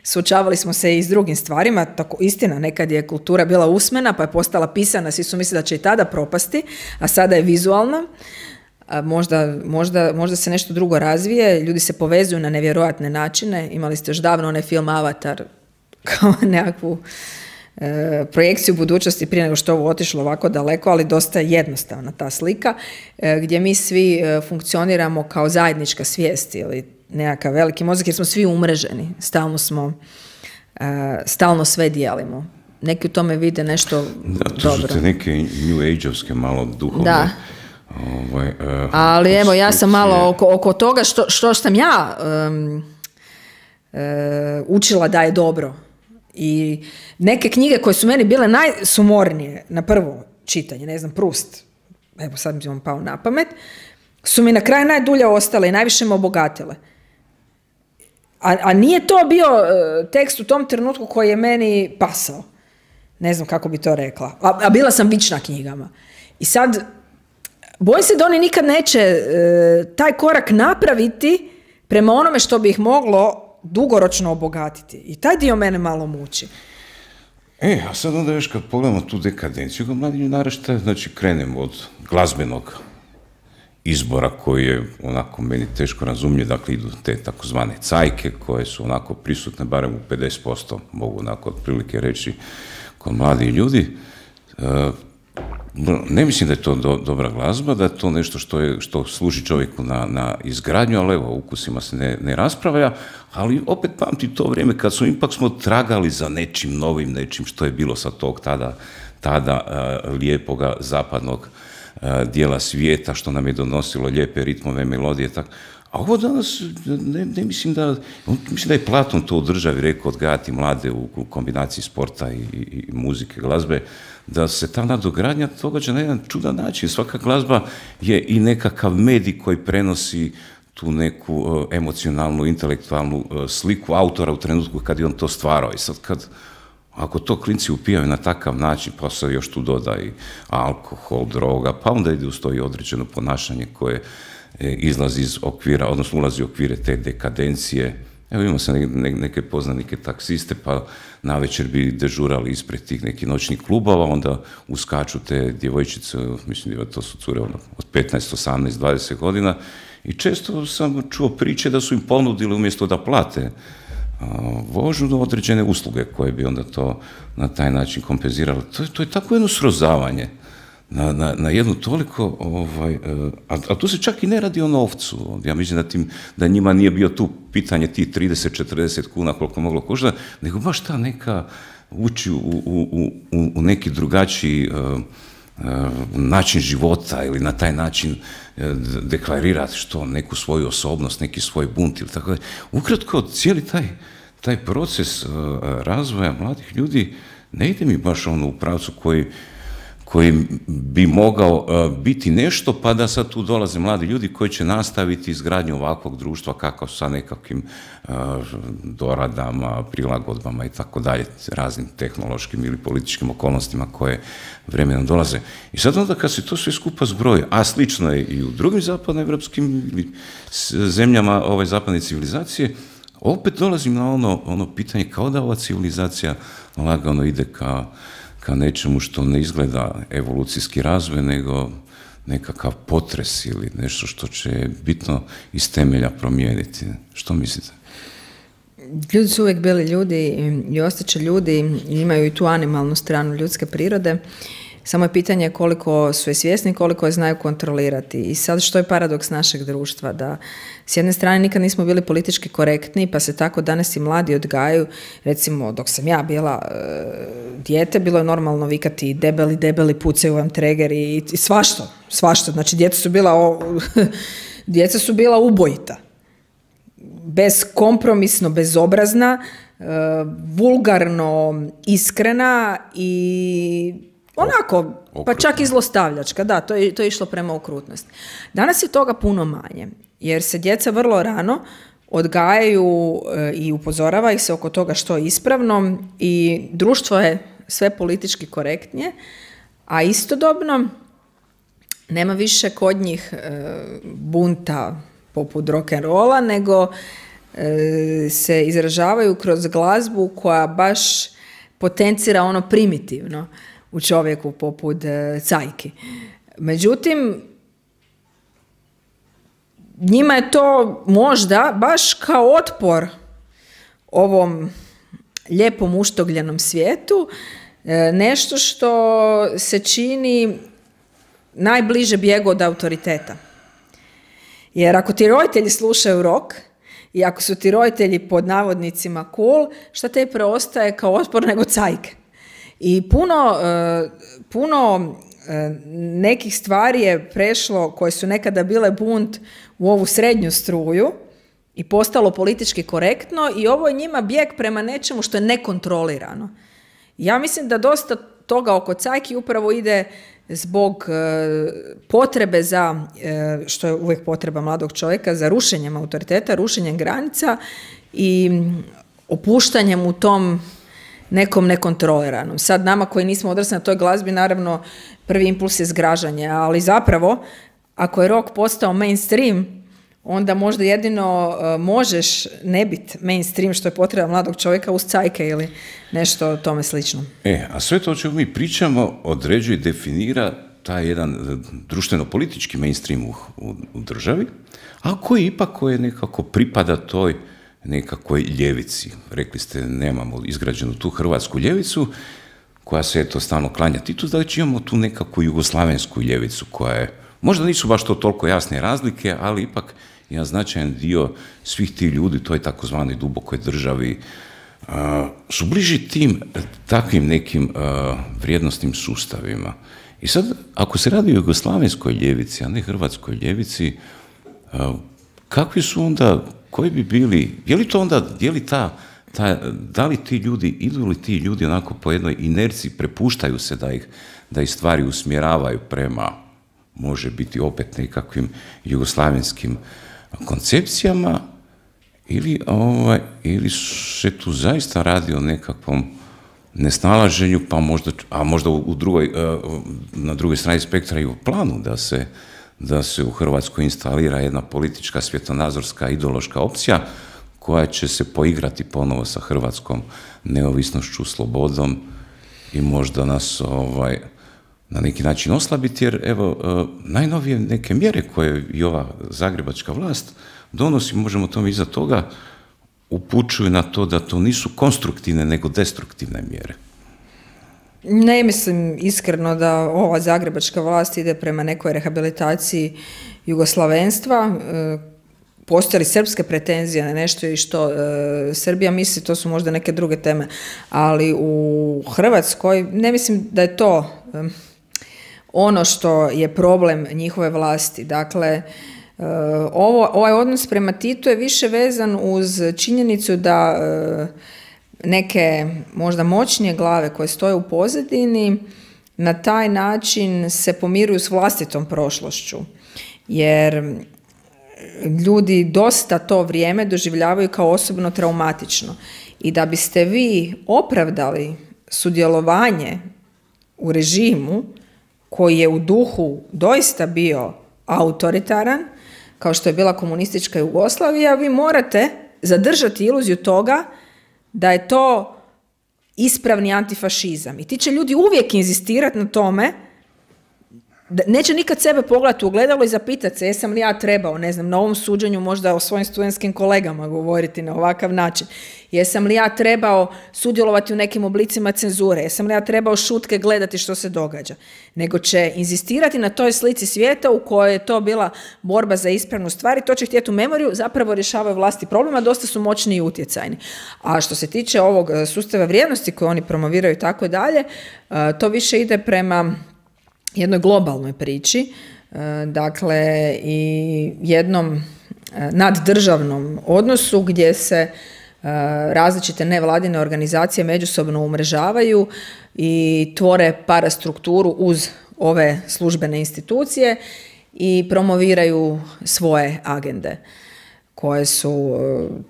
Suočavali smo se i s drugim stvarima, tako istina, nekad je kultura bila usmena pa je postala pisana, svi su mislili da će i tada propasti, a sada je vizualna. Uh, možda, možda, možda se nešto drugo razvije, ljudi se povezuju na nevjerojatne načine. Imali ste još davno onaj film Avatar kao nekakvu E, projekciju budućnosti prije nego što ovo otišlo ovako daleko, ali dosta jednostavna ta slika, e, gdje mi svi e, funkcioniramo kao zajednička svijest ili nekakav veliki mozak, jer smo svi umreženi, stalno smo, e, stalno sve dijelimo. neki u tome vide nešto da, to dobro. su te neke New Age-ovske malo duhovne. Da. Ovaj, uh, Ali evo, ja sam malo oko, oko toga što, što sam ja um, uh, učila da je dobro. I neke knjige koje su meni bile najsumornije na prvo čitanje, ne znam, Proust, evo sad mi vam pao na pamet, su mi na kraju najdulje ostale i najviše me obogatile. A, a nije to bio uh, tekst u tom trenutku koji je meni pasao. Ne znam kako bi to rekla. A, a bila sam vična knjigama. I sad, bojim se da oni nikad neće uh, taj korak napraviti prema onome što bi ih moglo dugoročno obogatiti. I taj dio mene malo muči. E, a sad onda još kad pogledamo tu dekadenciju, ga mladi naraštaje, znači krenemo od glazbenog izbora koji je onako meni teško razumljiv, dakle idu te takozvane cajke koje su onako prisutne barem u pedeset posto, mogu onako otprilike reći, kod mladih ljudi. E, ne mislim da je to do, dobra glazba, da je to nešto što, je, što služi čovjeku na, na izgradnju, ali evo, ukusima se ne, ne raspravlja, ali opet pamti to vrijeme kad smo ipak smo tragali za nečim novim, nečim što je bilo sa tog tada, tada uh, lijepoga zapadnog uh, dijela svijeta, što nam je donosilo lijepe ritmove, melodije, tako. A ovo danas, ne, ne mislim da, mislim da je Platon to u Državi rekao, odgajati mlade u, u kombinaciji sporta i, i, i muzike, glazbe, da se ta nadogradnja događa na jedan čudan način. Svaka glazba je i nekakav medij koji prenosi tu neku uh, emocionalnu, intelektualnu uh, sliku autora u trenutku kad je on to stvarao. I sad kad, ako to klinci upijaju na takav način, pa se još tu doda i alkohol, droga, pa onda ide uz to i određeno ponašanje koje izlazi iz okvira, odnosno ulazi u okvire te dekadencije. Evo imamo se ne, neke poznanike taksiste, pa navečer bi dežurali ispred tih nekih noćnih klubova, onda uskaču te djevojčice, mislim da to su cure ono, od petnaest, osamnaest, dvadeset godina, i često sam čuo priče da su im ponudili umjesto da plate a, vožnju određene usluge koje bi onda to na taj način kompenzirali. To, to je tako jedno srozavanje. Na, na, na jednu toliko, ovaj, a, a tu se čak i ne radi o novcu. Ja mislim da, tim, da njima nije bio tu pitanje tih trideset četrdeset kuna koliko moglo koštati, nego baš ta neka ući u, u, u, u neki drugačiji uh, uh, način života ili na taj način uh, deklarirati što, neku svoju osobnost, neki svoj bunt ili tako da. Ukratko, cijeli taj, taj proces uh, razvoja mladih ljudi ne ide mi baš ono u pravcu koji koji bi mogao uh, biti nešto, pa da sad tu dolaze mladi ljudi koji će nastaviti izgradnju ovakvog društva kakav sa nekakvim uh, doradama, prilagodbama i tako dalje, raznim tehnološkim ili političkim okolnostima koje vremenom dolaze. I sad onda kad se to sve skupa zbroji, a slično je i u drugim zapadnoevropskim zemljama ove zapadne civilizacije, opet dolazim na ono, ono pitanje kao da ova civilizacija lagano ide ka ka nečemu što ne izgleda evolucijski razvoj, nego nekakav potres ili nešto što će bitno iz temelja promijeniti. Što mislite? Ljudi su uvijek bili ljudi i ostaće ljudi i imaju i tu animalnu stranu ljudske prirode. Samo je pitanje koliko su je svjesni, koliko je znaju kontrolirati. I sad što je paradoks našeg društva? Da s jedne strane nikad nismo bili politički korektni, pa se tako danas i mladi odgajaju. Recimo, dok sam ja bila e, dijete, bilo je normalno vikati debeli, debeli, pucaju vam tregeri i, i svašta, svašta. Znači, djeca su bila, o, djeca su bila ubojita. Bezkompromisno, bezobrazna, e, vulgarno, iskrena i onako, pa čak i zlostavljačka, da, to je, to je išlo prema okrutnosti. Danas je toga puno manje, jer se djeca vrlo rano odgajaju e, i upozorava ih se oko toga što je ispravno i društvo je sve politički korektnije, a istodobno nema više kod njih e, bunta poput rock'n'rolla, nego e, se izražavaju kroz glazbu koja baš potencira ono primitivno u čovjeku poput e, cajki. Međutim, njima je to možda baš kao otpor ovom lijepom uštogljenom svijetu, e, nešto što se čini najbliže bijegu od autoriteta. Jer ako ti roditelji slušaju rock i ako su ti roditelji pod navodnicima cool, šta te preostaje kao otpor nego cajke? I puno, puno nekih stvari je prešlo koje su nekada bile bunt u ovu srednju struju i postalo politički korektno i ovo je njima bijeg prema nečemu što je nekontrolirano. Ja mislim da dosta toga oko cajki upravo ide zbog potrebe za, što je uvijek potreba mladog čovjeka, za rušenjem autoriteta, rušenjem granica i opuštanjem u tom nekom nekontroliranom. Sad nama koji nismo odrasli na toj glazbi, naravno prvi impuls je zgražanje, ali zapravo ako je rock postao mainstream, onda možda jedino uh, možeš ne biti mainstream što je potreba mladog čovjeka uz cajke ili nešto tome slično. E, a sve to o čemu mi pričamo određuje i definira taj jedan društveno-politički mainstream u, u, u državi, a koji ipak koji nekako pripada toj nekakvoj ljevici. Rekli ste, nemamo izgrađenu tu hrvatsku ljevicu, koja se eto stalno klanja Titu, da već imamo tu nekakvu jugoslavensku ljevicu, koja je, možda nisu baš to toliko jasne razlike, ali ipak jedan značajan dio svih tih ljudi, toj takozvanoj dubokoj državi, uh, su bliži tim takvim nekim uh, vrijednostnim sustavima. I sad, ako se radi o jugoslavenskoj ljevici, a ne hrvatskoj ljevici, uh, kakvi su onda, koji bi bili, je li to onda, je li ta, ta, da li ti ljudi, idu li ti ljudi onako po jednoj inerciji, prepuštaju se da ih, da ih stvari usmjeravaju prema, može biti opet nekakvim jugoslavenskim koncepcijama, ili, ovaj, ili se tu zaista radi o nekakvom nesnalaženju, pa možda, a možda u drugoj, na drugoj strani spektra i u planu da se, da se u Hrvatskoj instalira jedna politička, svjetonazorska, ideološka opcija koja će se poigrati ponovo sa hrvatskom neovisnošću, slobodom i možda nas ovaj, na neki način oslabiti, jer evo, najnovije neke mjere koje i ova zagrebačka vlast donosi, možemo tome iza toga, upućuju na to da to nisu konstruktivne, nego destruktivne mjere. Ne mislim iskreno da ova zagrebačka vlast ide prema nekoj rehabilitaciji jugoslavenstva. Postoje li srpske pretenzije na nešto i što e, Srbija misli, to su možda neke druge teme, ali u Hrvatskoj ne mislim da je to e, ono što je problem njihove vlasti. Dakle, e, ovo, ovaj odnos prema Titu je više vezan uz činjenicu da e, neke možda moćnije glave koje stoje u pozadini na taj način se pomiruju s vlastitom prošlošću, jer ljudi dosta to vrijeme doživljavaju kao osobno traumatično. I da biste vi opravdali sudjelovanje u režimu koji je u duhu doista bio autoritaran, kao što je bila komunistička Jugoslavija, vi morate zadržati iluziju toga da je to ispravni antifašizam. I ti će ljudi uvijek inzistirati na tome, da neće nikad sebe pogledati u ogledalo i zapitati se jesam li ja trebao, ne znam, na ovom suđenju možda o svojim studentskim kolegama govoriti na ovakav način. Jesam li ja trebao sudjelovati u nekim oblicima cenzure, jesam li ja trebao šutke gledati što se događa. Nego će inzistirati na toj slici svijeta u kojoj je to bila borba za ispravnu stvar i to će htjeti u memoriju, zapravo rješavaju vlasti problema, dosta su moćni i utjecajni. A što se tiče ovog sustava vrijednosti koje oni promoviraju i tako dalje, to više ide prema jednoj globalnoj priči, dakle i jednom naddržavnom odnosu gdje se različite nevladine organizacije međusobno umrežavaju i tvore parastrukturu uz ove službene institucije i promoviraju svoje agende koje su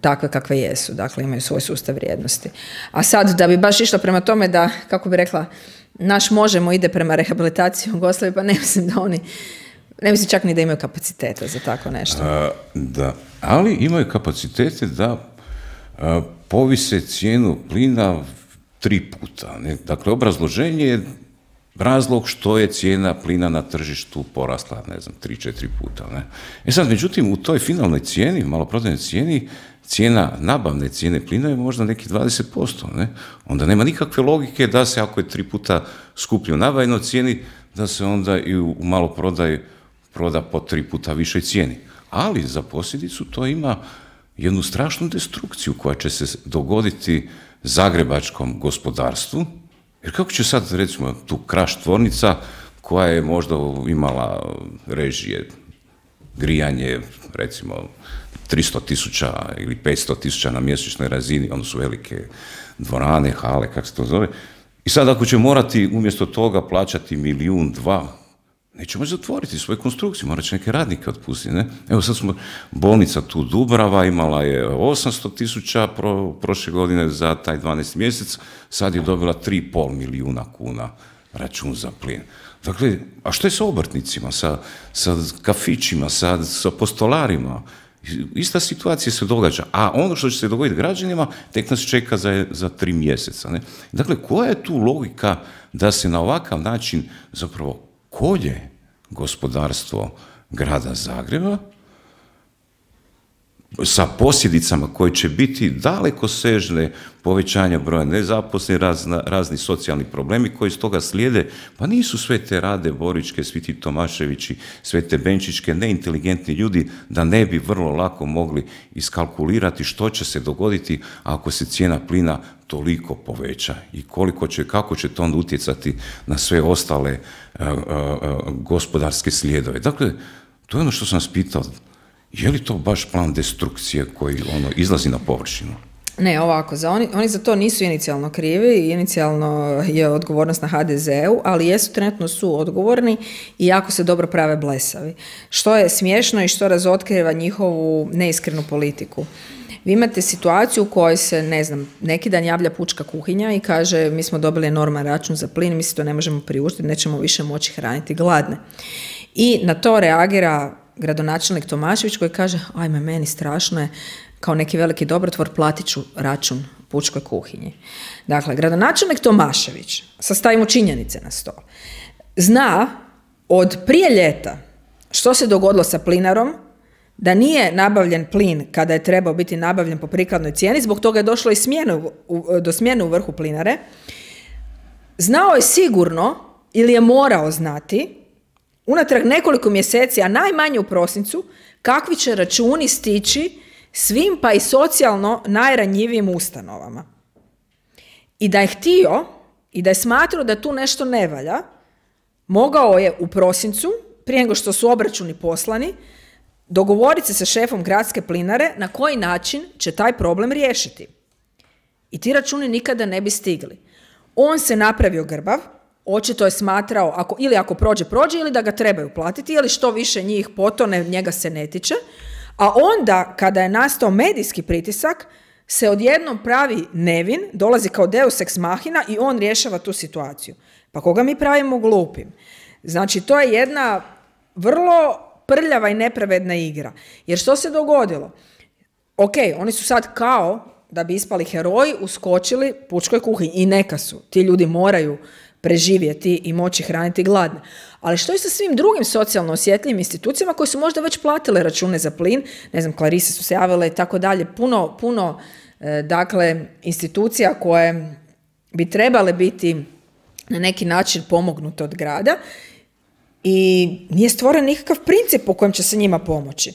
takve kakve jesu, dakle imaju svoj sustav vrijednosti. A sad da bi baš išla prema tome da, kako bi rekla, naš Možemo ide prema rehabilitaciji Jugoslavije, pa ne mislim da oni, ne mislim čak ni da imaju kapaciteta za tako nešto. A, da, ali imaju kapacitete da a, povise cijenu plina tri puta. Ne? Dakle, obrazloženje je razlog što je cijena plina na tržištu porasla, ne znam, tri, četiri puta. Ne? E sad, međutim, u toj finalnoj cijeni, maloprodajnoj cijeni, cijena nabavne cijene plina je možda nekih dvadeset posto. Ne? Onda nema nikakve logike da se, ako je tri puta skuplji u nabavnoj cijeni, da se onda i u maloprodaju proda po tri puta višoj cijeni. Ali za posljedicu to ima jednu strašnu destrukciju koja će se dogoditi zagrebačkom gospodarstvu Jer kako će sad, recimo, tu Kraš tvornica, koja je možda imala režije, grijanje, recimo, tristo tisuća ili petsto tisuća na mjesečnoj razini, ono su velike dvorane, hale, kako se to zove. I sad ako će morati umjesto toga plaćati milijun, dva, neće moći zatvoriti svoju konstrukciju, morat će neke radnike otpustiti. Ne? Evo sad smo, bolnica tu Dubrava imala je osamsto tisuća pro, prošle godine za taj dvanaesti mjesec, sad je dobila tri i pol milijuna kuna račun za plin. Dakle, a što je sa obrtnicima, sa, sa kafićima, sa, sa postolarima? Ista situacija se događa, a ono što će se dogoditi građanima tek nas čeka za, za tri mjeseca. Ne? Dakle, koja je tu logika da se na ovakav način zapravo kolje gospodarstvo grada Zagreba sa posljedicama koje će biti dalekosežne, povećanja broja nezaposlenih, razna, razni socijalni problemi koji iz toga slijede, pa nisu sve te Rade Borićke, svi ti Tomaševići, sve te Benčićke, neinteligentni ljudi da ne bi vrlo lako mogli iskalkulirati što će se dogoditi ako se cijena plina toliko poveća i koliko će, kako će to onda utjecati na sve ostale a, a, a, gospodarske slijedove. Dakle, to je ono što sam vas pitao. Je li to baš plan destrukcije koji ono izlazi na površinu? Ne, ovako, za oni, oni za to nisu inicijalno krivi, inicijalno je odgovornost na ha de zeu, ali jesu trenutno su odgovorni i jako se dobro prave blesavi. Što je smiješno i što razotkriva njihovu neiskrenu politiku. Vi imate situaciju u kojoj se, ne znam, neki dan javlja pučka kuhinja i kaže mi smo dobili enorman račun za plin, mi se to ne možemo priuštiti, nećemo više moći hraniti gladne. I na to reagira gradonačelnik Tomašević koji kaže ajme, meni strašno je, kao neki veliki dobrotvor platit ću račun pučkoj kuhinji. Dakle, gradonačelnik Tomašević, sastavimo činjenice na stol, zna od prije ljeta što se dogodilo sa plinarom, da nije nabavljen plin kada je trebao biti nabavljen po prikladnoj cijeni, zbog toga je došlo i smjenu, do smjene u vrhu plinare. Znao je sigurno, ili je morao znati, unatrag nekoliko mjeseci, a najmanje u prosincu, kakvi će računi stići svim pa i socijalno najranjivijim ustanovama. I da je htio i da je smatrao da tu nešto ne valja, mogao je u prosincu, prije nego što su obračuni poslani, dogovoriti se sa šefom gradske plinare na koji način će taj problem riješiti. I ti računi nikada ne bi stigli. On se napravio grbav, očito je smatrao, ako, ili ako prođe, prođe, ili da ga trebaju platiti, ili što više njih potone, njega se ne tiče. A onda, kada je nastao medijski pritisak, se odjednom pravi nevin, dolazi kao deus ex machina i on rješava tu situaciju. Pa koga mi pravimo glupim? Znači, to je jedna vrlo prljava i nepravedna igra. Jer što se dogodilo? Ok, oni su sad kao, da bi ispali heroji, uskočili pučkoj kuhinji. I neka su. Ti ljudi moraju preživjeti i moći hraniti gladne. Ali što je sa svim drugim socijalno osjetljivim institucijama koje su možda već platile račune za plin, ne znam, Klarise su se javile i tako dalje, puno, puno, e, dakle, institucija koje bi trebale biti na neki način pomognute od grada i nije stvoren nikakav princip po kojem će se njima pomoći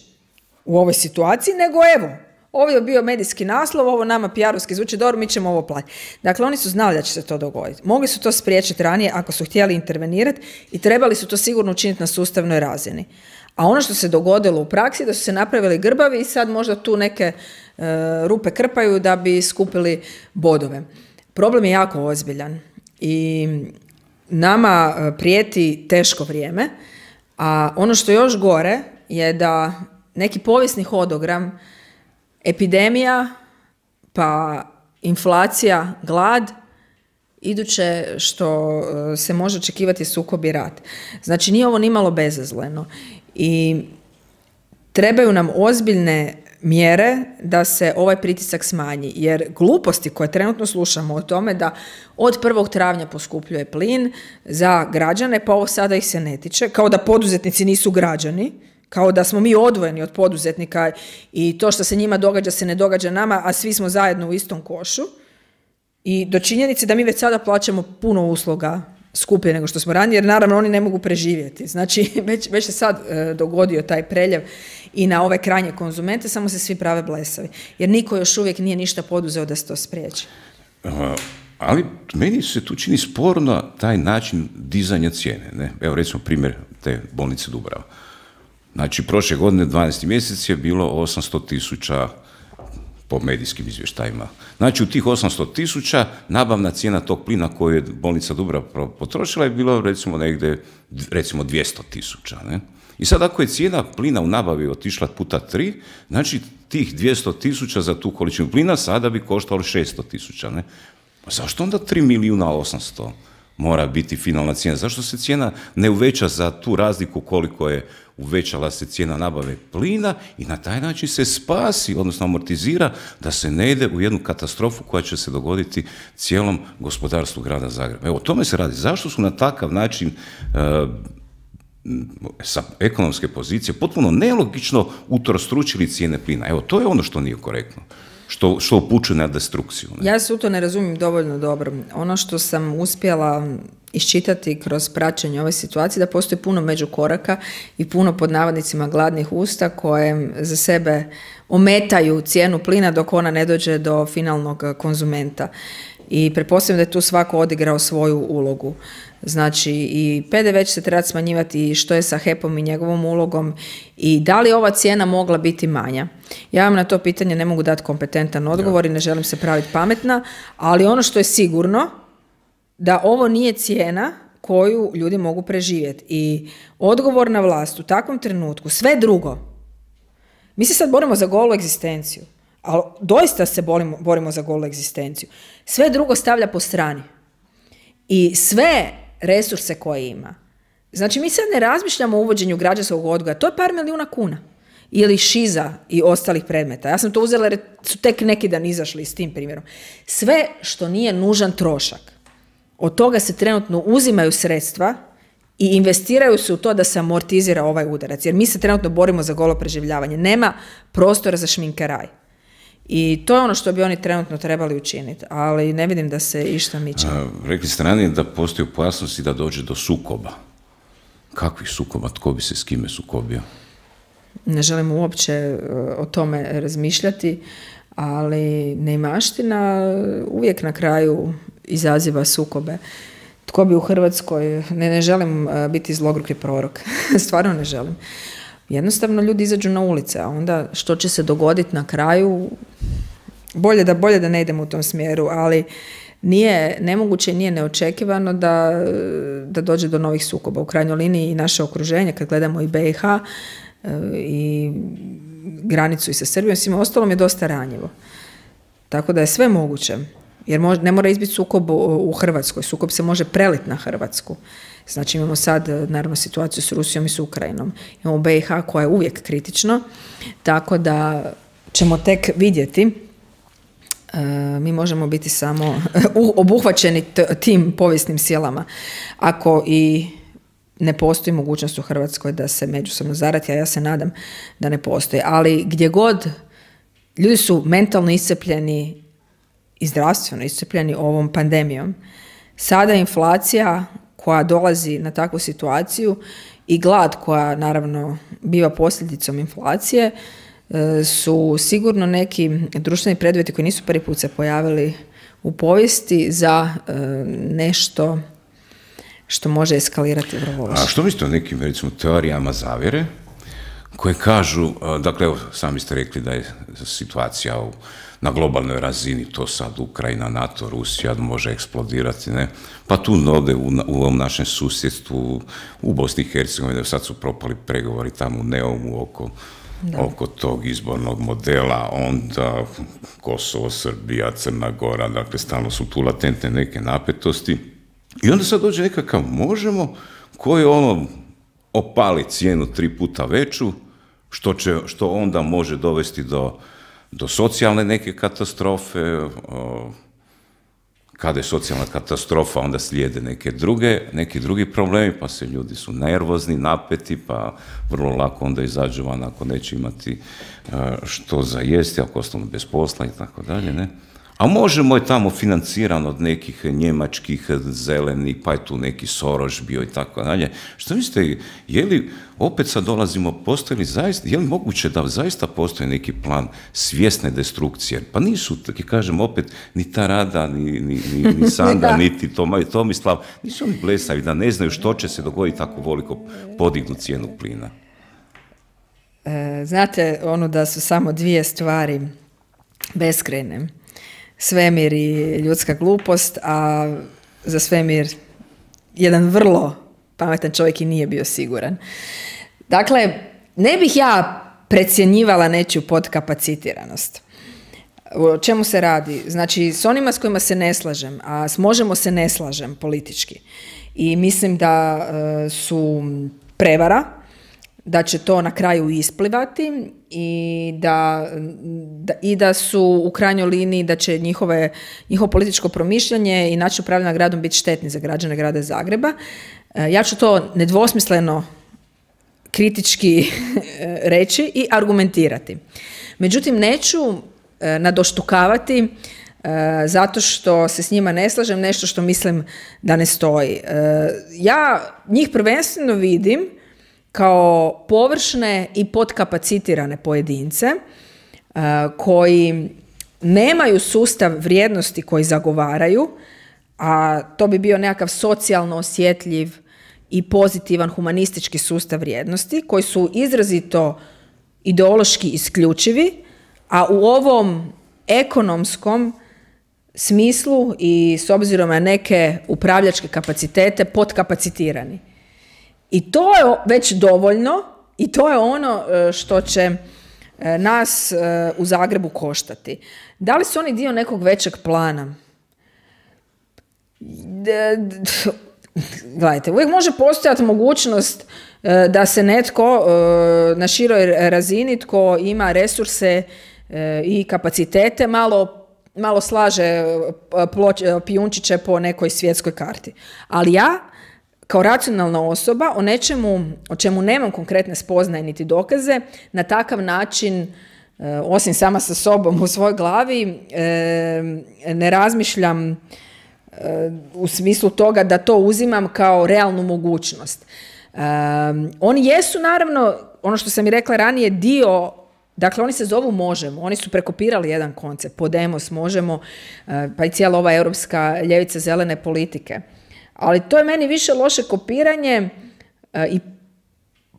u ovoj situaciji, nego evo, ovo je bio medijski naslov, ovo nama P R-ovski zvuči dobro, mi ćemo ovo platiti. Dakle, oni su znali da će se to dogoditi. Mogli su to spriječiti ranije ako su htjeli intervenirati i trebali su to sigurno učiniti na sustavnoj razini. A ono što se dogodilo u praksi, da su se napravili grbavi i sad možda tu neke e, rupe krpaju da bi skupili bodove. Problem je jako ozbiljan i nama prijeti teško vrijeme, a ono što je još gore je da neki povijesni hodogram, epidemija, pa inflacija, glad, iduće što se može očekivati sukob i rat. Znači, nije ovo nimalo bezazleno i trebaju nam ozbiljne mjere da se ovaj pritisak smanji, jer gluposti koje trenutno slušamo o tome da od prvog travnja poskupljuje plin za građane, pa ovo sada ih se ne tiče, kao da poduzetnici nisu građani, kao da smo mi odvojeni od poduzetnika i to što se njima događa se ne događa nama, a svi smo zajedno u istom košu. I do činjenice da mi već sada plaćamo puno usluga skuplje nego što smo ranije, jer naravno oni ne mogu preživjeti. Znači, već, već se sad e, dogodio taj preljev i na ove krajnje konzumente, samo se svi prave blesavi. Jer niko još uvijek nije ništa poduzeo da se to spriječi. Ali meni se tu čini sporno taj način dizanja cijene. Ne? Evo recimo primjer te bolnice Dubrava. Znači, prošle godine, dvanaesti mjesec je bilo osamsto tisuća po medijskim izvještajima. Znači, u tih osamsto tisuća nabavna cijena tog plina koju je bolnica Dubrava potrošila je bilo recimo negdje, recimo dvjesto tisuća. Ne? I sad ako je cijena plina u nabavi otišla puta tri, znači tih dvjesto tisuća za tu količinu plina sada bi koštalo šesto tisuća. Ne? Pa zašto onda tri milijuna osamsto mora biti finalna cijena? Zašto se cijena ne uveća za tu razliku koliko je uvećala se cijena nabave plina i na taj način se spasi, odnosno amortizira da se ne ide u jednu katastrofu koja će se dogoditi cijelom gospodarstvu grada Zagreba. Evo, o tome se radi. Zašto su na takav način uh, sa ekonomske pozicije potpuno nelogično utrostručili cijene plina? Evo, to je ono što nije korektno. Što, što upućuje na destrukciju. Ne? Ja se u to ne razumijem dovoljno dobro. Ono što sam uspjela iščitati kroz praćenje ove situacije, da postoji puno međukoraka i puno pod navodnicima gladnih usta koje za sebe ometaju cijenu plina dok ona ne dođe do finalnog konzumenta. I pretpostavljam da je tu svako odigrao svoju ulogu. Znači i P D V će se trebati smanjivati, i što je sa H E P-om i njegovom ulogom i da li ova cijena mogla biti manja. Ja vam na to pitanje ne mogu dati kompetentan odgovor i ne želim se praviti pametna, ali ono što je sigurno da ovo nije cijena koju ljudi mogu preživjeti. I odgovorna vlast u takvom trenutku, sve drugo, mi se sad borimo za golu egzistenciju, ali doista se borimo, borimo za golu egzistenciju. Sve drugo stavlja po strani. I sve resurse koje ima. Znači, mi sad ne razmišljamo o uvođenju građanskog odgoja. To je par milijuna kuna. Ili šiza i ostalih predmeta. Ja sam to uzela jer su tek neki dan izašli s tim primjerom. Sve što nije nužan trošak, od toga se trenutno uzimaju sredstva i investiraju se u to da se amortizira ovaj udarac. Jer mi se trenutno borimo za golo preživljavanje. Nema prostora za šminkeraj. I to je ono što bi oni trenutno trebali učiniti, ali ne vidim da se išta miče. A, rekli ste ranije da postoji opasnost i da dođe do sukoba. Kakvih sukoba? Tko bi se s kime sukobio? Ne želim uopće o tome razmišljati, ali neimaština uvijek na kraju izaziva sukobe. Tko bi u Hrvatskoj, ne, ne želim biti zlogruki prorok, stvarno ne želim. Jednostavno ljudi izađu na ulice, a onda što će se dogoditi na kraju, bolje da, bolje da ne idemo u tom smjeru, ali nije nemoguće i nije neočekivano da, da dođe do novih sukoba. U krajnjoj liniji i naše okruženje, kad gledamo i B i H i granicu i sa Srbijom, svima ostalom je dosta ranjivo. Tako da je sve moguće, jer mož, ne mora izbiti sukob u Hrvatskoj, sukob se može preliti na Hrvatsku. Znači imamo sad, naravno, situaciju s Rusijom i s Ukrajinom. Imamo B i H koja je uvijek kritično, tako da ćemo tek vidjeti. E, mi možemo biti samo obuhvaćeni t- tim povijesnim silama. Ako i ne postoji mogućnost u Hrvatskoj da se međusobno zarati, a ja se nadam da ne postoji. Ali gdje god ljudi su mentalno iscrpljeni i zdravstveno iscrpljeni ovom pandemijom, sada inflacija koja dolazi na takvu situaciju i glad koja naravno biva posljedicom inflacije su sigurno neki društveni preduvjeti koji nisu prvi put se pojavili u povijesti za nešto što može eskalirati vrlo loše. A što mislite o nekim, recimo, teorijama zavjere koje kažu, dakle, evo, sami ste rekli da je situacija u na globalnoj razini, to sad Ukrajina, NATO, Rusija može eksplodirati, ne? Pa tu ovdje u, u ovom našem susjedstvu, u Bosni i Hercegovini, sad su propali pregovori tamo u Neumu oko, oko tog izbornog modela, onda Kosovo, Srbija, Crna Gora, dakle stalno su tu latentne neke napetosti. I onda sad dođe nekakav možemo koji ono opali cijenu tri puta veću, što, će, što onda može dovesti do do socijalne neke katastrofe, o, kada je socijalna katastrofa, onda slijede neke druge, neki drugi problemi, pa se ljudi su nervozni, napeti, pa vrlo lako onda izađu van ako neće imati a, što za jesti, ako ostanu bez posla i tako dalje, ne? A možemo je tamo financiran od nekih njemačkih zelenih, pa je tu neki Soros bio i tako dalje. Što mislite, je li, opet sad dolazimo, postoji li zaista, je li moguće da zaista postoji neki plan svjesne destrukcije? Pa nisu, tako kažem, opet, ni ta Rada, ni, ni, ni, ni Sanda, niti Toma, Tomislav, nisu oni blesavi da ne znaju što će se dogoditi ako voliko podignu cijenu plina. E, znate, ono da su samo dvije stvari beskrajne. Svemir i ljudska glupost, a za svemir jedan vrlo pametan čovjek i nije bio siguran. Dakle, ne bih ja precjenjivala nečiju podkapacitiranost. O čemu se radi? Znači, s onima s kojima se ne slažem, a s Možemo se ne slažem politički. I mislim da e, su prevara, da će to na kraju isplivati i da, da, i da su u krajnjoj liniji da će njihove, njihovo političko promišljanje i način upravljanja gradom biti štetni za građane grada Zagreba. Ja ću to nedvosmisleno kritički reći i argumentirati. Međutim, neću nadoštukavati zato što se s njima ne slažem nešto što mislim da ne stoji. Ja njih prvenstveno vidim kao površne i podkapacitirane pojedince uh, koji nemaju sustav vrijednosti koji zagovaraju, a to bi bio nekakav socijalno osjetljiv i pozitivan humanistički sustav vrijednosti, koji su izrazito ideološki isključivi, a u ovom ekonomskom smislu i s obzirom na neke upravljačke kapacitete podkapacitirani. I to je već dovoljno i to je ono što će nas u Zagrebu koštati. Da li su oni dio nekog većeg plana? Gledajte, uvijek može postojati mogućnost da se netko na široj razini tko ima resurse i kapacitete malo, malo slaže pijunčiće po nekoj svjetskoj karti. Ali ja kao racionalna osoba o nečemu o čemu nemam konkretne spoznaje niti dokaze, na takav način, osim sama sa sobom u svojoj glavi, ne razmišljam u smislu toga da to uzimam kao realnu mogućnost. Oni jesu, naravno, ono što sam i rekla ranije, dio, dakle oni se zovu Možemo, oni su prekopirali jedan koncept, Podemos, Možemo, pa i cijela ova europska ljevica zelene politike. Ali to je meni više loše kopiranje e, i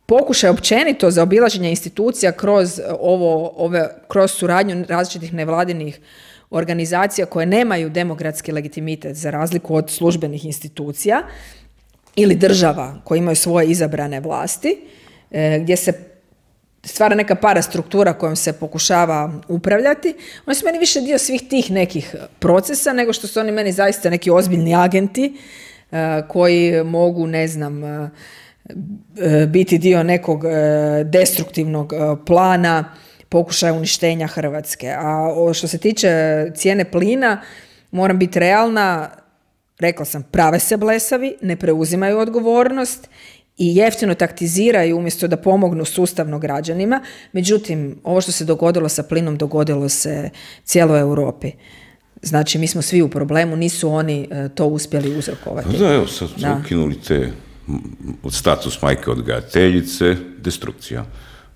pokušaj općenito za obilaženje institucija kroz, ovo, ove, kroz suradnju različitih nevladinih organizacija koje nemaju demokratski legitimitet za razliku od službenih institucija ili država koje imaju svoje izabrane vlasti, e, gdje se stvara neka parastruktura kojom se pokušava upravljati. Oni su meni više dio svih tih nekih procesa nego što su oni meni zaista neki ozbiljni agenti koji mogu, ne znam, biti dio nekog destruktivnog plana pokušaja uništenja Hrvatske. A što se tiče cijene plina, moram biti realna, rekla sam, prave se blesavi, ne preuzimaju odgovornost i jeftino taktiziraju umjesto da pomognu sustavno građanima. Međutim, ovo što se dogodilo sa plinom, dogodilo se cijeloj Europi. Znači, mi smo svi u problemu, nisu oni uh, to uspjeli uzrokovati. Da, evo, sad su ukinuli te od status majke odgajateljice, destrukcija.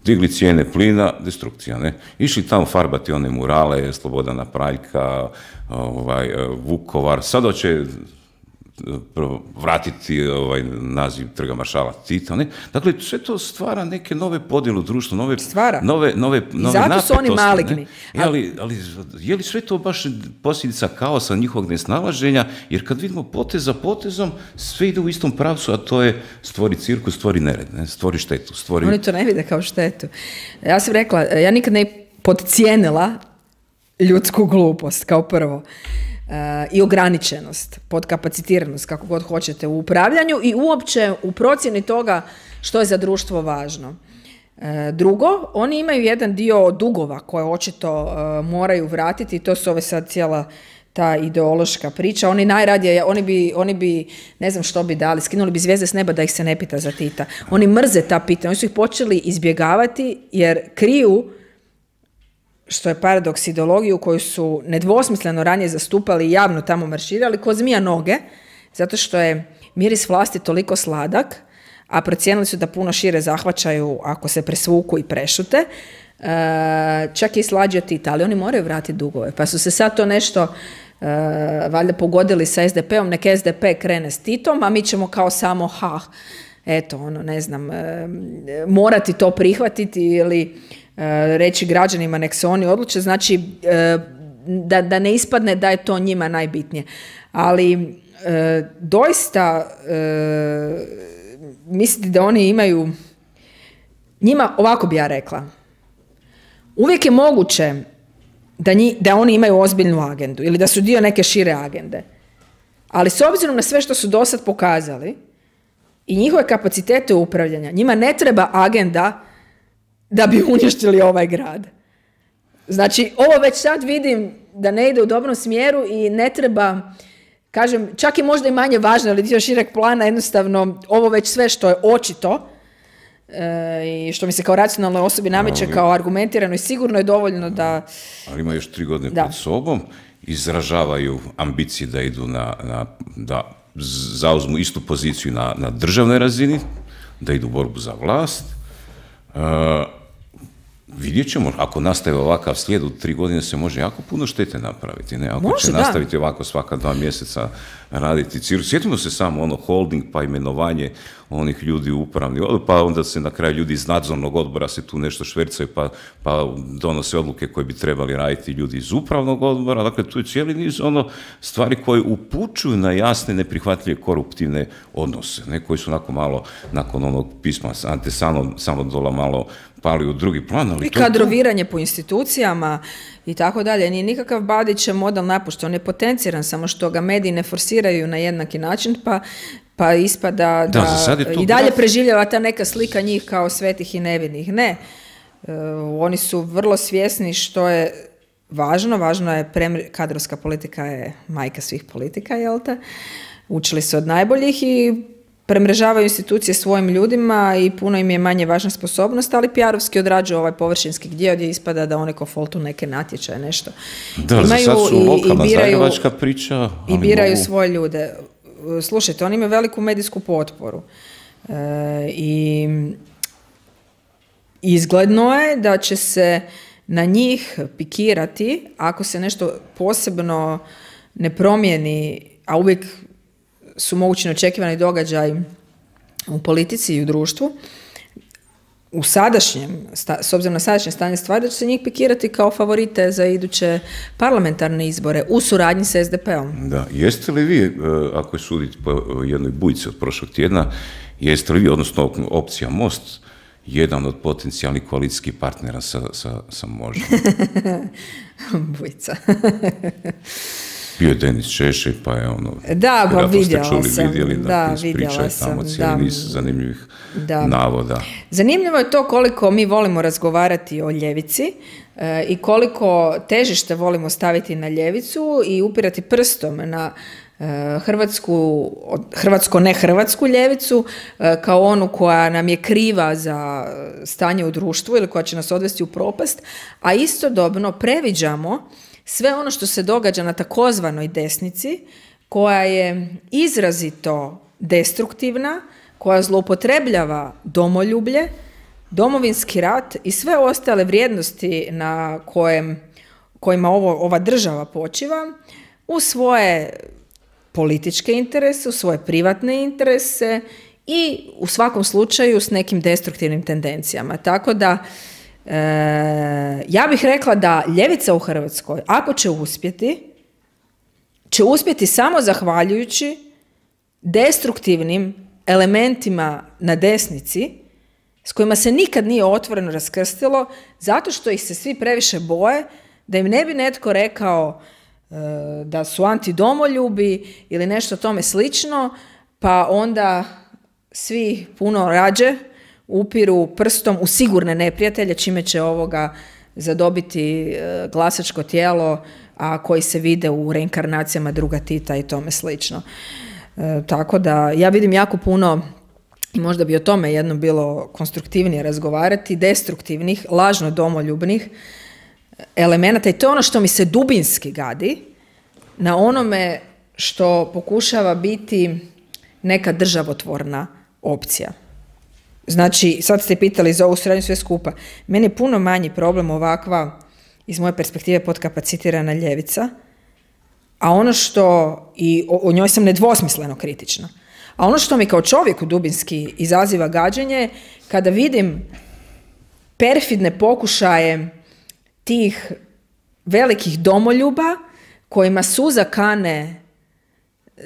Digli cijene plina, destrukcija, ne? Išli tamo farbati one murale, Slobodana Praljka, ovaj, Vukovar, sad hoće vratiti ovaj naziv Trga maršala Tita, ne? Dakle, sve to stvara neke nove podjele u društvu, nove, stvara. nove, nove, nove zato su oni maligni. E, ali, ali je li sve to baš posljedica kaosa njihovog nesnalaženja? Jer kad vidimo potez za potezom, sve ide u istom pravcu, a to je stvori cirkus, stvori nered, ne? Stvori štetu. Stvori... Oni to ne vide kao štetu. Ja sam rekla, ja nikad ne podcijenila ljudsku glupost, kao prvo. Uh, i ograničenost, podkapacitiranost, kako god hoćete, u upravljanju i uopće u procjeni toga što je za društvo važno. Uh, drugo, oni imaju jedan dio dugova koje očito uh, moraju vratiti i to su ove sad cijela ta ideološka priča. Oni najradije, oni bi, oni bi, ne znam što bi dali, skinuli bi zvijezde s neba da ih se ne pita za Tita. Oni mrze ta pitanja, oni su ih počeli izbjegavati jer kriju što je paradoks, ideologiju koju su nedvosmisleno ranije zastupali i javno tamo marširali, ko zmija noge, zato što je miris vlasti toliko sladak, a procijenili su da puno šire zahvaćaju ako se presvuku i prešute, e, čak i slađe od Tita, ali oni moraju vratiti dugove. Pa su se sad to nešto e, valjda pogodili sa es de pe om, nek es de pe krene s Titom, a mi ćemo kao samo ha, eto, ono, ne znam, e, morati to prihvatiti ili e, reći građanima nek se oni odluče, znači e, da, da ne ispadne da je to njima najbitnije. Ali e, doista e, misliti da oni imaju, njima, ovako bi ja rekla, uvijek je moguće da, nji, da oni imaju ozbiljnu agendu ili da su dio neke šire agende. Ali s obzirom na sve što su do sad pokazali i njihove kapacitete upravljanja, njima ne treba agenda da bi uništili ovaj grad. Znači, ovo već sad vidim da ne ide u dobrom smjeru i ne treba, kažem, čak i možda i manje važno, ali dio šireg plana, jednostavno, ovo već sve što je očito e, i što mi se kao racionalnoj osobi nameće ali, kao argumentirano i sigurno je dovoljno da... Ali ima još tri godine da. pred sobom, izražavaju ambicije da idu na, na da zauzmu istu poziciju na, na državnoj razini, da idu u borbu za vlast. Uh, vidjet ćemo, ako nastaje ovakav slijed, u tri godine se može jako puno štete napraviti. Ne? Ako može, će da. nastaviti ovako svaka dva mjeseca raditi cirkus. Sjetimo se samo ono holding, pa imenovanje onih ljudi u upravni odbor, pa onda se na kraju ljudi iz nadzornog odbora se tu nešto švercaju, pa, pa donose odluke koje bi trebali raditi ljudi iz upravnog odbora. Dakle, tu je cijeli niz ono stvari koje upućuju na jasne, neprihvatljive koruptivne odnose, ne? Koji su nakon malo, nakon onog pisma Ante Samodola malo pali u drugi plan. Ali i kadroviranje po institucijama i tako dalje. Nije nikakav Bandićev model napušten, on je potenciran, samo što ga mediji ne forsiraju na jednaki način, pa, pa ispada da, da i dalje graf... preživljava ta neka slika njih kao svetih i nevinih. Ne, e, oni su vrlo svjesni što je važno, važno je premri... kadrovska politika je majka svih politika, jel te? Učili su od najboljih i premrežavaju institucije svojim ljudima i puno im je manje važna sposobnost, ali P R-ovski odrađuju ovaj površinski gdje gdje ispada da one ko foltu neke natječaje, nešto. Da, imaju za sad su lokalna zagrebačka priča. I biraju mogu... svoje ljude. Slušajte, oni imaju veliku medijsku potporu. E, I izgledno je da će se na njih pikirati ako se nešto posebno ne promijeni, a uvijek su mogući neočekivani događaj u politici i u društvu, u sadašnjem, s obzirom na sadašnje stanje stvari, da će se njih pikirati kao favorite za iduće parlamentarne izbore u suradnji s es de pe om. Da, jeste li vi, ako je suditi po jednoj bujici od prošlog tjedna, jeste li vi, odnosno opcija Most, jedan od potencijalnih koalicijskih partnera sa, sa, sa Možemo? Bujica. Bio je Denis Češej, pa je ono... Da, pa vidjela čuli, sam. Vidjeli, da, vidjela sam. Tamo cijeli niz zanimljivih da. navoda. Zanimljivo je to koliko mi volimo razgovarati o ljevici e, i koliko težište volimo staviti na ljevicu i upirati prstom na e, hrvatsku, hrvatsko ne hrvatsku ljevicu e, kao onu koja nam je kriva za stanje u društvu ili koja će nas odvesti u propast, a istodobno previđamo sve ono što se događa na takozvanoj desnici, koja je izrazito destruktivna, koja zloupotrebljava domoljublje, domovinski rat i sve ostale vrijednosti na kojem, kojima ovo, ova država počiva, u svoje političke interese, u svoje privatne interese i u svakom slučaju s nekim destruktivnim tendencijama. Tako da E, ja bih rekla da ljevica u Hrvatskoj, ako će uspjeti, će uspjeti samo zahvaljujući destruktivnim elementima na desnici s kojima se nikad nije otvoreno raskrstilo, zato što ih se svi previše boje da im ne bi netko rekao e, da su antidomoljubi ili nešto tome slično, pa onda svi puno rađe upiru prstom u sigurne neprijatelje, čime će ovoga zadobiti glasačko tijelo, a koji se vide u reinkarnacijama druga Tita i tome slično. E, tako da ja vidim jako puno, i možda bi o tome jedno bilo konstruktivnije razgovarati, destruktivnih, lažno domoljubnih elemenata i to je ono što mi se dubinski gadi na onome što pokušava biti neka državotvorna opcija. Znači, sad ste pitali za ovu suradnju sve skupa. Meni je puno manji problem ovakva, iz moje perspektive, podkapacitirana ljevica, a ono što, i o, o njoj sam nedvosmisleno kritična, a ono što mi kao čovjeku dubinski izaziva gađenje, kada vidim perfidne pokušaje tih velikih domoljuba kojima suza kane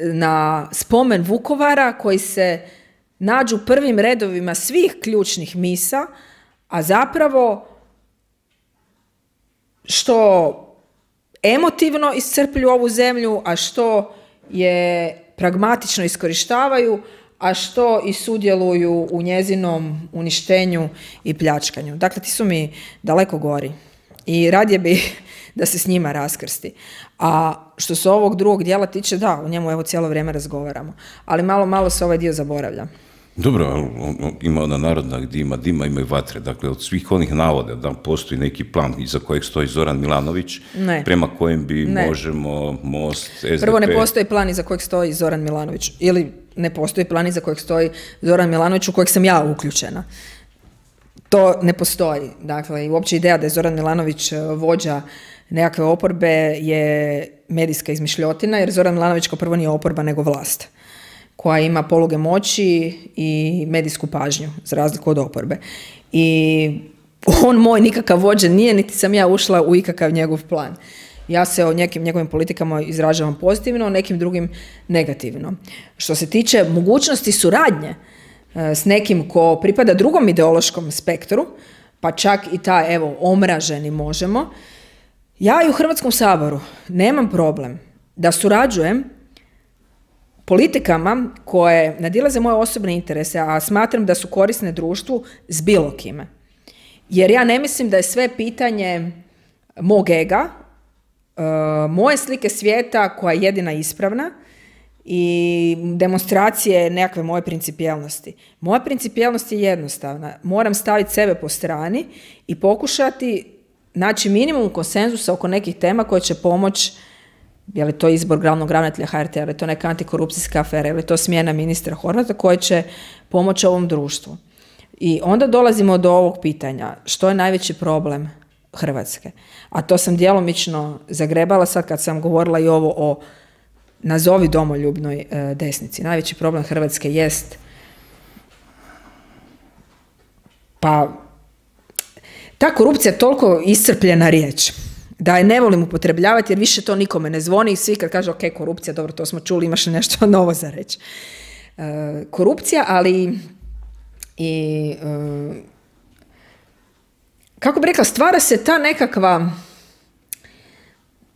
na spomen Vukovara, koji se nađu u prvim redovima svih ključnih misa, a zapravo što emotivno iscrplju ovu zemlju, a što je pragmatično iskorištavaju, a što i sudjeluju u njezinom uništenju i pljačkanju. Dakle, ti su mi daleko gori i radije bi da se s njima raskrsti. A što se ovog drugog dijela tiče, da, o njemu evo cijelo vrijeme razgovaramo, ali malo, malo se ovaj dio zaboravlja. Dobro, ali ima ona narodna gdje ima dima, ima i vatre. Dakle, od svih onih navoda da postoji neki plan iza kojeg stoji Zoran Milanović, ne. prema kojem bi ne. Možemo, Most, S D P... Prvo, ne postoji plan iza kojeg stoji Zoran Milanović. Ili ne postoji plan iza kojeg stoji Zoran Milanović u kojeg sam ja uključena. To ne postoji. Dakle, i uopće ideja da je Zoran Milanović vođa nekakve oporbe je medijska izmišljotina, jer Zoran Milanović kao prvo nije oporba nego vlast, koja ima poluge moći i medijsku pažnju, za razliku od oporbe. I on moj nikakav vođa nije, niti sam ja ušla u ikakav njegov plan. Ja se o nekim njegovim politikama izražavam pozitivno, o nekim drugim negativno. Što se tiče mogućnosti suradnje s nekim ko pripada drugom ideološkom spektru, pa čak i ta, evo, omraženi možemo, ja i u Hrvatskom saboru nemam problem da surađujem politikama koje nadilaze moje osobne interese, a smatram da su korisne društvu, s bilo kime. Jer ja ne mislim da je sve pitanje mog ega, moje slike svijeta koja je jedina ispravna i demonstracije nekakve moje principijelnosti. Moja principijelnost je jednostavna. Moram staviti sebe po strani i pokušati naći minimum konsenzusa oko nekih tema koje će pomoći. Je li to izbor glavnog ravnatelja H R T-a, je li to neka antikorupcijska afera, je li to smjena ministra Horvata koje će pomoći ovom društvu. I onda dolazimo do ovog pitanja, što je najveći problem Hrvatske? A to sam djelomično zagrebala sad kad sam govorila i ovo o nazovi domoljubnoj e, desnici. Najveći problem Hrvatske jest pa ta korupcija je toliko iscrpljena riječ da je ne volim upotrebljavati jer više to nikome ne zvoni i svi kad kažu ok, korupcija, dobro, to smo čuli, imaš nešto novo za reći. E, korupcija, ali i e, kako bi rekla, stvara se ta nekakva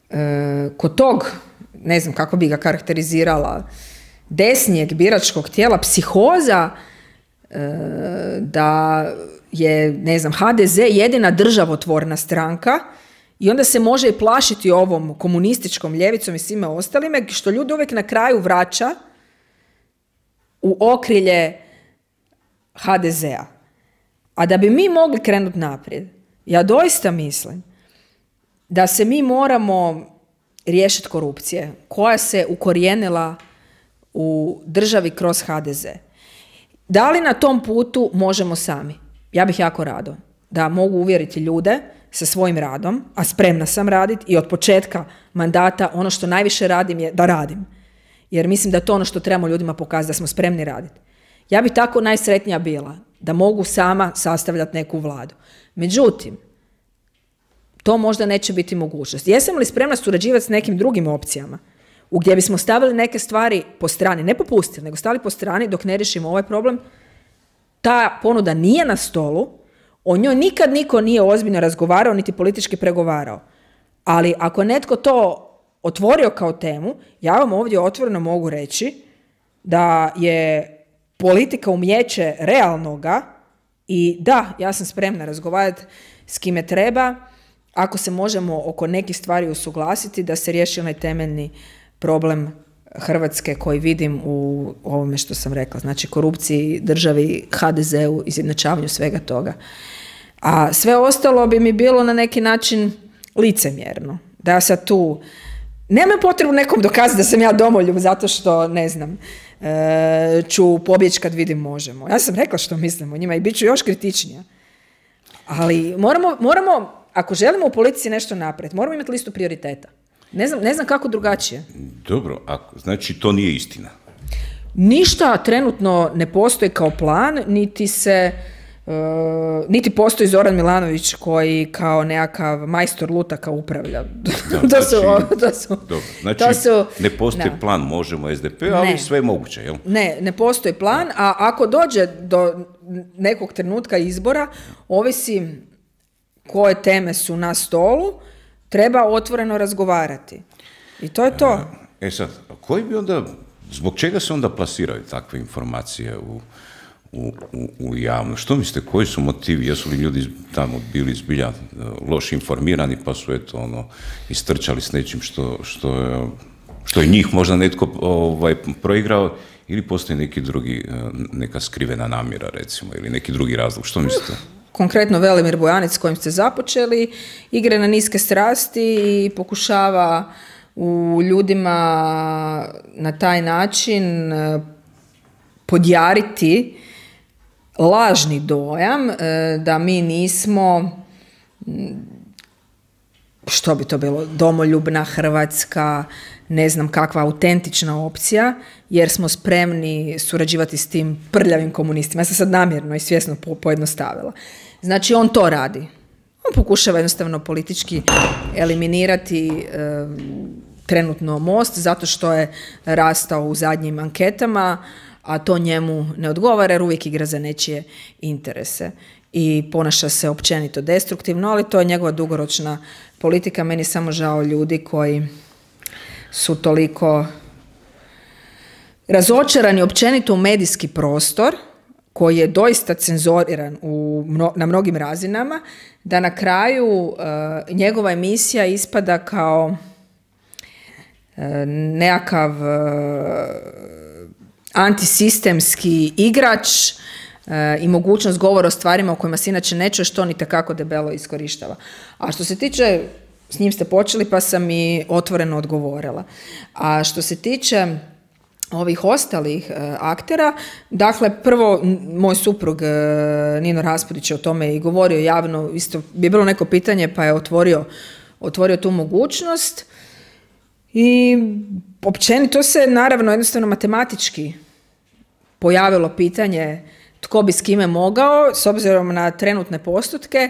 e, kod tog, ne znam kako bi ga karakterizirala, desnijeg biračkog tijela, psihoza e, da je, ne znam, H D Z jedina državotvorna stranka i onda se može i plašiti ovom komunističkom ljevicom i svime ostalime, što ljudi uvijek na kraju vraća u okrilje H D Z-a. A da bi mi mogli krenuti naprijed, ja doista mislim da se mi moramo riješiti korupcije koja se ukorijenila u državi kroz H D Z. Da li na tom putu možemo sami? Ja bih jako rado da mogu uvjeriti ljude sa svojim radom, a spremna sam raditi i od početka mandata ono što najviše radim je da radim. Jer mislim da je to ono što trebamo ljudima pokazati, da smo spremni raditi. Ja bih tako najsretnija bila da mogu sama sastavljati neku vladu. Međutim, to možda neće biti mogućnost. Jesam li spremna surađivati s nekim drugim opcijama u gdje bismo stavili neke stvari po strani, ne popustili, nego stavili po strani dok ne riješimo ovaj problem? Ta ponuda nije na stolu, o njoj nikad niko nije ozbiljno razgovarao, niti politički pregovarao. Ali ako netko to otvorio kao temu, ja vam ovdje otvoreno mogu reći da je politika umijeće realnoga i da, ja sam spremna razgovarati s kime treba, ako se možemo oko nekih stvari usuglasiti da se riješi onaj temeljni problem Hrvatske koji vidim u ovome što sam rekla, znači korupciji, državi, H D Z-u, izjednačavanju svega toga. A sve ostalo bi mi bilo na neki način licemjerno. Da ja sad tu nemam potrebu nekom dokazati da sam ja domoljub zato što, ne znam, e, ću pobjeći kad vidim Možemo. Ja sam rekla što mislim o njima i bit ću još kritičnija. Ali moramo, moramo, ako želimo u politici nešto napraviti, moramo imati listu prioriteta. Ne znam, ne znam kako drugačije. Dobro, ako, znači to nije istina. Ništa trenutno ne postoji kao plan, niti se... Uh, niti postoji Zoran Milanović koji kao nekakav majstor lutaka upravlja. Da, to, znači, su, to su... Dobro, znači to su, ne postoji da. plan Možemo es de pe, ali ne. sve je moguće, jel? Ne, ne postoji plan, a ako dođe do nekog trenutka izbora, ovisi koje teme su na stolu, treba otvoreno razgovarati. I to je to. E sad, koji bi onda, zbog čega se onda plasiraju takve informacije u U, u, u javno. Što mislite, koji su motivi? Jesu li ljudi tamo bili zbilja loše informirani pa su eto ono istrčali s nečim što, što, je, što je njih možda netko ovaj, proigrao ili postoji neki drugi, neka skrivena namjera recimo ili neki drugi razlog? Što mislite? Konkretno Velimir Bojanić s kojim ste započeli igre na niske strasti i pokušava u ljudima na taj način podjariti lažni dojam da mi nismo, što bi to bilo, domoljubna Hrvatska, ne znam kakva autentična opcija, jer smo spremni surađivati s tim prljavim komunistima. Ja sam sad namjerno i svjesno pojednostavila. Znači, on to radi. On pokušava jednostavno politički eliminirati e, trenutno Most zato što je rastao u zadnjim anketama, a to njemu ne odgovara jer uvijek igra za nečije interese i ponaša se općenito destruktivno, ali to je njegova dugoročna politika. Meni je samo žao ljudi koji su toliko razočarani općenito u medijski prostor, koji je doista cenzuriran u, na mnogim razinama, da na kraju uh, njegova emisija ispada kao uh, nekakav uh, antisistemski igrač e, i mogućnost govora o stvarima o kojima se inače ne čuje, što on itekako debelo iskorištava. A što se tiče, s njim ste počeli pa sam i otvoreno odgovorila. A što se tiče ovih ostalih e, aktera, dakle, prvo, moj suprug e, Nino Raspudić je o tome i govorio javno, isto bi bilo neko pitanje pa je otvorio, otvorio tu mogućnost. I općenito se naravno jednostavno matematički pojavilo pitanje tko bi s kime mogao s obzirom na trenutne postotke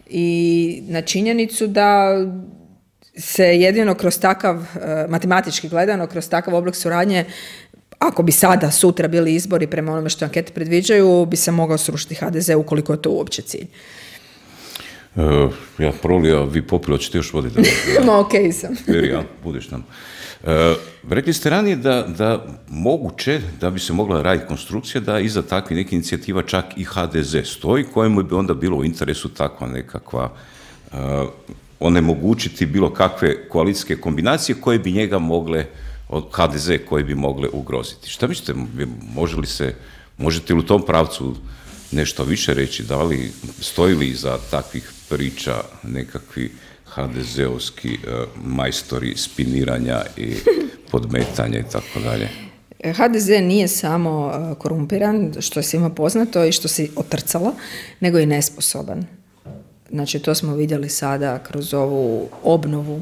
i na činjenicu da se jedino kroz takav, matematički gledano, kroz takav oblik suradnje, ako bi sada, sutra bili izbori prema onome što ankete predviđaju, bi se mogao srušiti ha de ze ukoliko je to uopće cilj. Uh, ja prolija, vi popilo, ćete još voditi. Ma okej okay sam. Ja, budeš nam. Uh, rekli ste ranije da, da moguće da bi se mogla raditi konstrukcija da iza takvih nekih inicijativa čak i ha de ze stoji, kojemu bi onda bilo u interesu takva nekakva uh, onemogućiti bilo kakve koalicijske kombinacije koje bi njega mogle, od ha de ze koje bi mogle ugroziti. Šta mislite, može li se, možete li u tom pravcu nešto više reći, da li stoji li iza takvih priča nekakvi ha de zeovski uh, majstori spiniranja i podmetanja i tako dalje? ha de ze nije samo korumpiran, što je svima poznato i što se otrcalo, nego i nesposoban. Znači, to smo vidjeli sada kroz ovu obnovu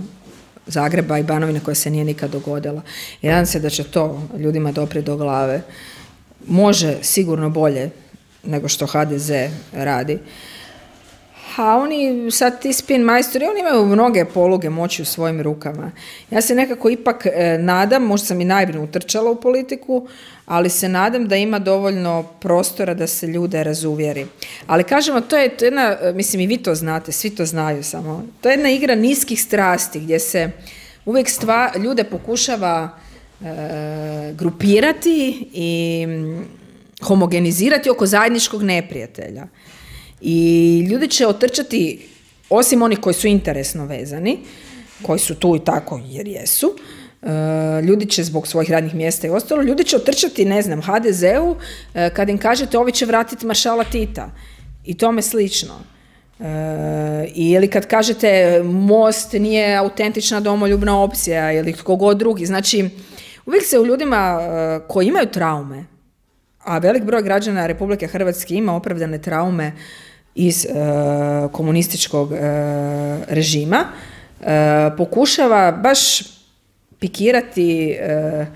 Zagreba i Banovine koja se nije nikad dogodila. I nadam se da će to ljudima doprijeti do glave. Može sigurno bolje nego što ha de ze radi. A oni, sad ti spin majstori, oni imaju mnoge poluge moći u svojim rukama. Ja se nekako ipak e, nadam, možda sam i naivno utrčala u politiku, ali se nadam da ima dovoljno prostora da se ljude razuvjeri. Ali kažemo, to je, to je jedna, mislim i vi to znate, svi to znaju samo, to je jedna igra niskih strasti gdje se uvijek stva, ljude pokušava e, grupirati i homogenizirati oko zajedničkog neprijatelja. I ljudi će otrčati, osim onih koji su interesno vezani, koji su tu i tako jer jesu, ljudi će zbog svojih radnih mjesta i ostalo, ljudi će otrčati, ne znam, ha de zeu kad im kažete ovi će vratiti maršala Tita i tome slično. E, ili kad kažete Most nije autentična domoljubna opcija ili tko god drugi. Znači, uvijek se u ljudima uh, koji imaju traume, a velik broj građana Republike Hrvatske ima opravdane traume iz uh, komunističkog uh, režima, uh, pokušava baš pikirati uh,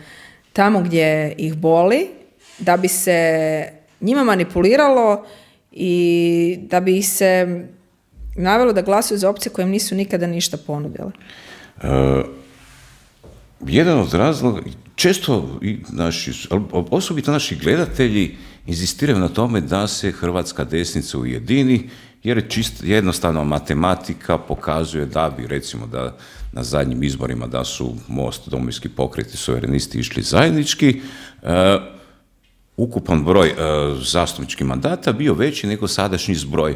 tamo gdje ih boli, da bi se njima manipuliralo i da bi ih se navelo da glasuju za opcije koje im nisu nikada ništa ponudile. Uh, jedan od razloga, često i naši, osobito naši gledatelji inzistiraju na tome da se hrvatska desnica ujedini, jer je čist, jednostavno matematika pokazuje da bi, recimo, da na zadnjim izborima da su Most, Domovinski pokret i Suverenisti išli zajednički, uh, ukupan broj uh, zastupničkih mandata bio veći nego sadašnji zbroj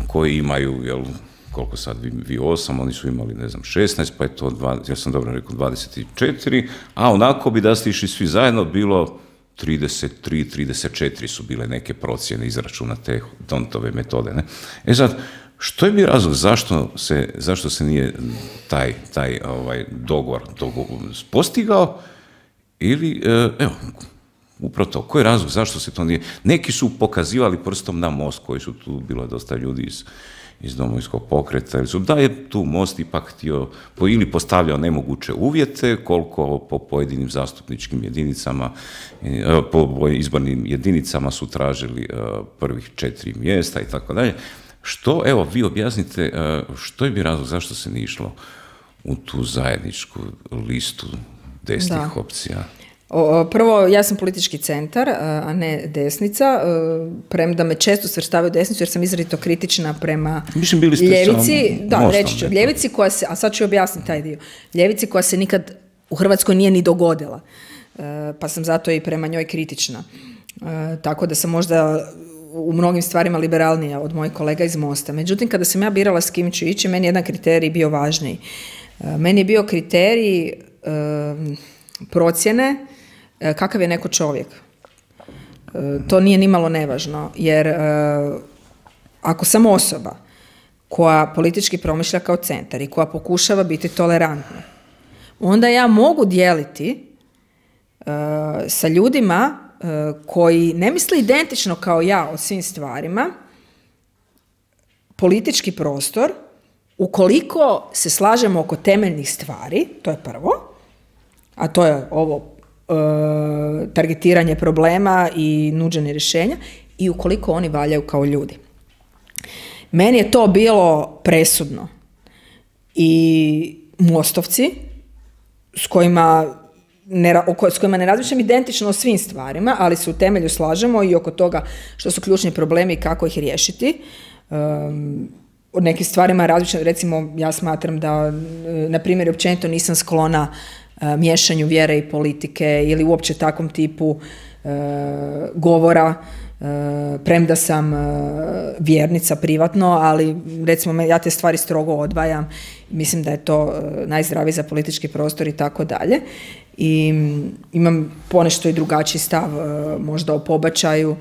koji imaju, jel, koliko sad, vi, vi osam, oni su imali, ne znam, šesnaest, pa je to, dva, ja sam dobro rekao, dvadeset četiri, a onako bi da ste išli svi zajedno bilo trideset tri, trideset četiri su bile neke procjene izračuna te D'Hondtove metode. Ne? E sad, što je bio razlog zašto se, zašto se nije taj, taj ovaj, dogovor, dogovor postigao ili, evo, upravo to, koji je razlog, zašto se to nije... Neki su pokazivali prstom na Most, koji su tu, bilo je dosta ljudi iz, iz Domovinskog pokreta, ili su da je tu Most ipak htio, po, ili postavljao nemoguće uvjete, koliko po pojedinim zastupničkim jedinicama, po izbornim jedinicama su tražili prvih četiri mjesta i tako dalje. Što, evo, vi objasnite, što je bi razlog, zašto se nije išlo u tu zajedničku listu desnih da. opcija? Prvo, ja sam politički centar, a ne desnica, premda me često svrstavaju desnicu jer sam izrazito kritična prema Mislim, bili ste ljevici, da, Mostom, reći ću, ljevici koja se, a sad ću objasniti taj dio, ljevici koja se nikad u Hrvatskoj nije ni dogodila, pa sam zato i prema njoj kritična. Tako da sam možda u mnogim stvarima liberalnija od mojih kolega iz Mosta. Međutim, kada sam ja birala s kim ću ići, meni je jedan kriterij bio važniji. Meni je bio kriterij procjene kakav je neko čovjek. To nije nimalo nevažno, jer ako sam osoba koja politički promišlja kao centar i koja pokušava biti tolerantna, onda ja mogu dijeliti sa ljudima koji ne misle identično kao ja o svim stvarima politički prostor ukoliko se slažemo oko temeljnih stvari, to je prvo, a to je ovo targetiranje problema i nuđenje rješenja, i ukoliko oni valjaju kao ljudi. Meni je to bilo presudno. I Mostovci, s kojima ne, s kojima ne razmišljam identično o svim stvarima, ali se u temelju slažemo i oko toga što su ključni problemi i kako ih riješiti. Um, o nekim stvarima različito, recimo ja smatram da, na primjer, općenito nisam sklona miješanju vjere i politike ili uopće takvom tipu e, govora, e, premda sam e, vjernica privatno, ali recimo ja te stvari strogo odvajam, mislim da je to e, najzdraviji za politički prostor i tako dalje. I imam ponešto i drugačiji stav e, možda o pobačaju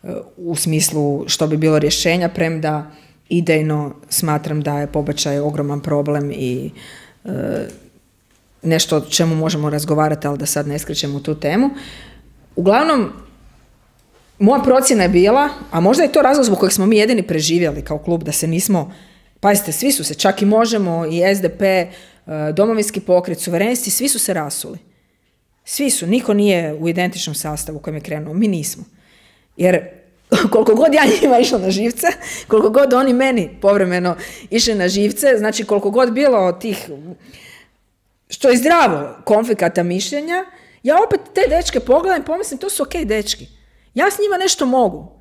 e, u smislu što bi bilo rješenja, premda idejno smatram da je pobačaj ogroman problem i e, nešto o čemu možemo razgovarati, ali da sad ne skrećemo u tu temu. Uglavnom, moja procjena je bila, a možda je to razlog zbog kojeg smo mi jedini preživjeli kao klub, da se nismo, pazite, svi su se, čak i Možemo, i es de pe, Domovinski pokret, Suverenisti, svi su se rasuli. Svi su, niko nije u identičnom sastavu u kojem je krenuo, mi nismo. Jer koliko god ja njima išla na živce, koliko god oni meni povremeno išli na živce, znači koliko god bilo tih, što je zdravo, konflikata mišljenja, ja opet te dečke pogledam i pomislim, to su okej dečki. Ja s njima nešto mogu.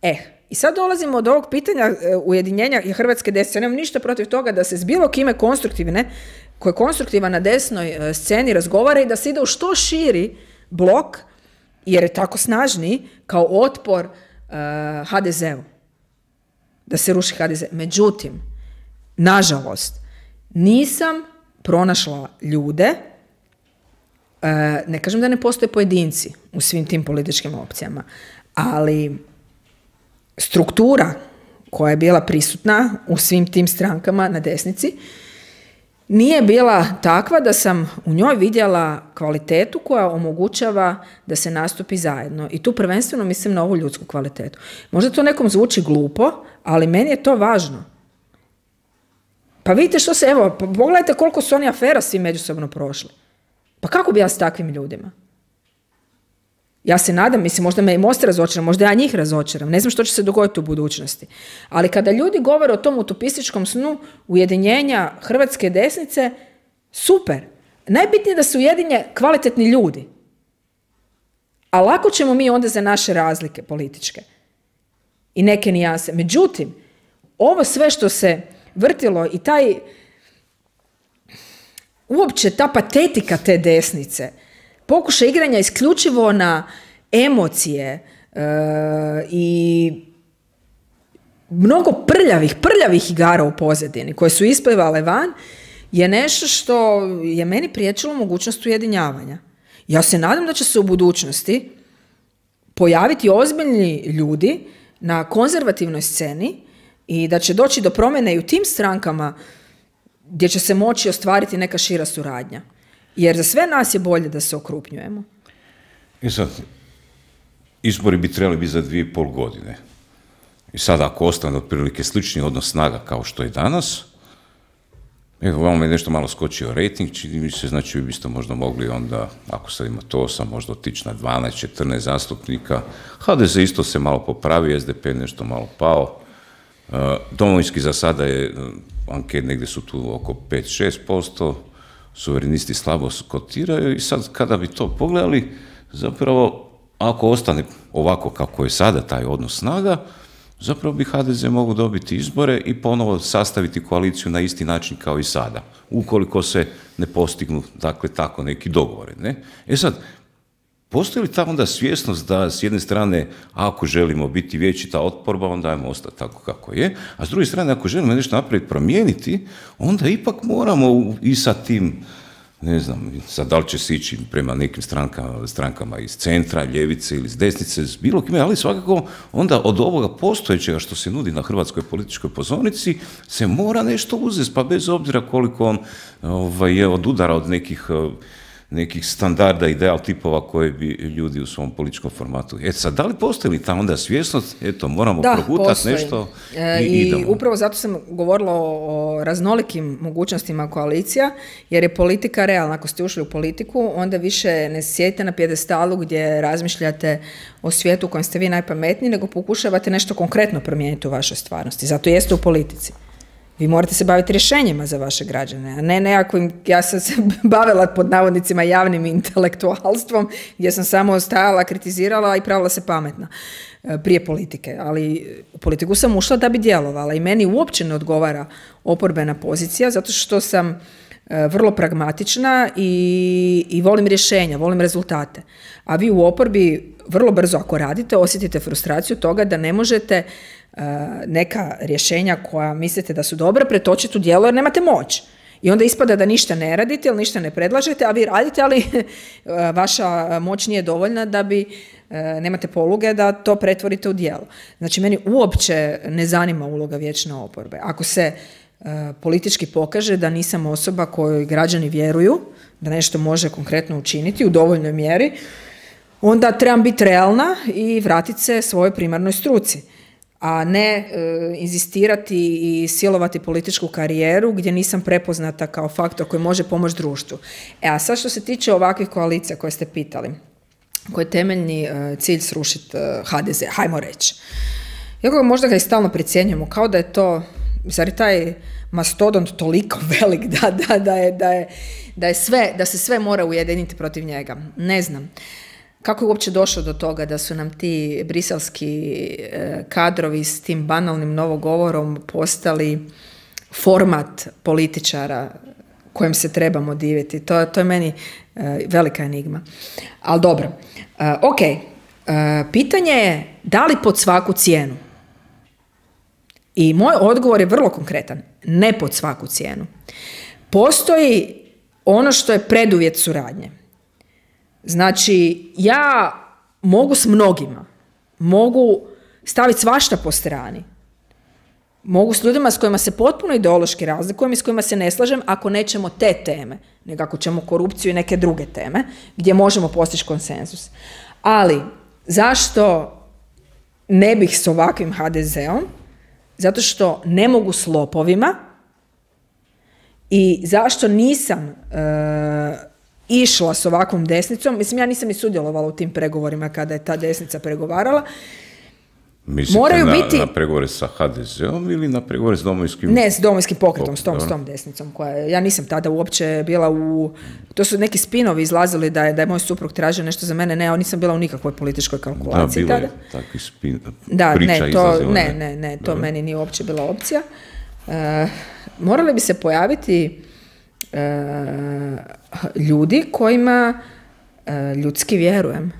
Eh, i sad dolazimo od ovog pitanja e, ujedinjenja hrvatske desnice. Ja nemam ništa protiv toga da se s bilo kime konstruktivne, ko je konstruktivan na desnoj e, sceni, razgovara i da se ide u što širi blok, jer je tako snažniji, kao otpor e, ha de zeu. Da se ruši ha de ze. Međutim, nažalost, nisam pronašla ljude, ne kažem da ne postoje pojedinci u svim tim političkim opcijama, ali struktura koja je bila prisutna u svim tim strankama na desnici, nije bila takva da sam u njoj vidjela kvalitetu koja omogućava da se nastupi zajedno. I tu prvenstveno mislim na ovu ljudsku kvalitetu. Možda to nekom zvuči glupo, ali meni je to važno. Pa vidite što se, evo, pogledajte koliko su oni afera svi međusobno prošli. Pa kako bi ja s takvim ljudima? Ja se nadam, mislim, možda me i Most razočaram, možda ja njih razočaram, ne znam što će se dogoditi u budućnosti. Ali kada ljudi govore o tom utopističkom snu ujedinjenja hrvatske desnice, super. Najbitnije je da se ujedinje kvalitetni ljudi. A lako ćemo mi onda za naše razlike političke i neke nijanse. Međutim, ovo sve što se vrtilo i taj, uopće ta patetika te desnice, pokušaj igranja isključivo na emocije e, i mnogo prljavih, prljavih igara u pozadini koje su isplivale van, je nešto što je meni priječilo mogućnost ujedinjavanja. Ja se nadam da će se u budućnosti pojaviti ozbiljni ljudi na konzervativnoj sceni i da će doći do promjene i u tim strankama gdje će se moći ostvariti neka šira suradnja. Jer za sve nas je bolje da se okrupnjujemo. I sad, izbori bi trebali biti za dvije i pol godine. I sad ako ostane otprilike slični odnos snaga kao što je danas, evo, vam je nešto malo skočio rejting, čini mi se, znači vi biste možda mogli onda, ako sad ima to osam, možda otići na dvanaest četrnaest zastupnika. ha de ze isto se malo popravi, es de pe nešto malo pao. Domovinski za sada je, anket negdje su tu oko pet do šest posto, suverenisti slabo kotiraju i sad kada bi to pogledali, zapravo ako ostane ovako kako je sada taj odnos snaga, zapravo bi ha de ze mogao dobiti izbore i ponovo sastaviti koaliciju na isti način kao i sada, ukoliko se ne postignu, dakle, tako neki dogovori, ne? E sad, postoji li ta onda svjesnost da s jedne strane, ako želimo biti vječita oporba, onda ajmo ostati tako kako je, a s druge strane, ako želimo nešto napraviti, promijeniti, onda ipak moramo i sa tim, ne znam, sad da li će se ići prema nekim strankama, strankama iz centra, ljevice ili iz desnice, s bilo kime, ali svakako onda od ovoga postojećega što se nudi na hrvatskoj političkoj pozornici se mora nešto uzeti, pa bez obzira koliko on ovaj, je od udara od nekih nekih standarda, ideal tipova koje bi ljudi u svom političkom formatu. E sad, da li postoji li ta onda svjesnost, eto, moramo progutati nešto i, i idemo. Upravo zato sam govorila o, o raznolikim mogućnostima koalicija, jer je politika realna. Ako ste ušli u politiku, onda više ne sjedite na pjedestalu gdje razmišljate o svijetu u kojem ste vi najpametniji, nego pokušavate nešto konkretno promijeniti u vašoj stvarnosti. Zato jeste u politici. Vi morate se baviti rješenjima za vaše građane, a ne nekakvim, ja sam se bavila pod navodnicima javnim intelektualstvom, gdje sam samo stajala, kritizirala i pravila se pametna prije politike. Ali u politiku sam ušla da bi djelovala i meni uopće ne odgovara oporbena pozicija, zato što sam vrlo pragmatična i, i volim rješenja, volim rezultate. A vi u oporbi vrlo brzo, ako radite, osjetite frustraciju toga da ne možete neka rješenja koja mislite da su dobra pretočiti u djelo jer nemate moć. I onda ispada da ništa ne radite ili ništa ne predlažete, a vi radite, ali vaša moć nije dovoljna da bi, nemate poluge da to pretvorite u djelo. Znači, meni uopće ne zanima uloga vječne oporbe. Ako se politički pokaže da nisam osoba kojoj građani vjeruju, da nešto može konkretno učiniti u dovoljnoj mjeri, onda trebam biti realna i vratiti se svojoj primarnoj struci, a ne e, inzistirati i silovati političku karijeru gdje nisam prepoznata kao faktor koji može pomoći društvu. E, a sad što se tiče ovakvih koalicija koje ste pitali, koji je temeljni e, cilj srušiti e, ha de ze, hajmo reći. Iako možda ga i stalno precjenjujemo, kao da je to, zar je taj mastodont toliko velik da, da, da, je, da, je, da, je sve, da se sve mora ujediniti protiv njega. Ne znam. Kako je uopće došlo do toga da su nam ti briselski kadrovi s tim banalnim novogovorom postali format političara kojem se trebamo diviti? To, to je meni velika enigma. Ali dobro. Ok. Pitanje je da li pod svaku cijenu? I moj odgovor je vrlo konkretan. Ne pod svaku cijenu. Postoji ono što je preduvjet suradnje. Znači, ja mogu s mnogima, mogu staviti svašta po strani, Mogu s ljudima s kojima se potpuno ideološki razlikujem i s kojima se ne slažem ako nećemo te teme, nego ako ćemo korupciju i neke druge teme gdje možemo postići konsenzus. Ali zašto ne bih s ovakvim ha de zeom? Zato što ne mogu s lopovima i zašto nisam e, išla s ovakvom desnicom. Mislim, ja nisam ni sudjelovala u tim pregovorima kada je ta desnica pregovarala. Mislite Moraju na, biti... na pregovore sa ha de zeom ili na pregovore s domovinskim... Ne, s domovinskim pokretom, Pok... s tom, s tom desnicom. Koja je, ja nisam tada uopće bila u... To su neki spinovi izlazili da je, da je moj suprug tražio nešto za mene. Ne, ja nisam bila u nikakvoj političkoj kalkulaciji da, tada. Da, bila je takvi spin... Da, priča ne, to, izlazila. Ne, ne, ne, to da. Meni nije uopće bila opcija. E, morali bi se pojaviti e, ljudi kojima e, ljudski vjerujem.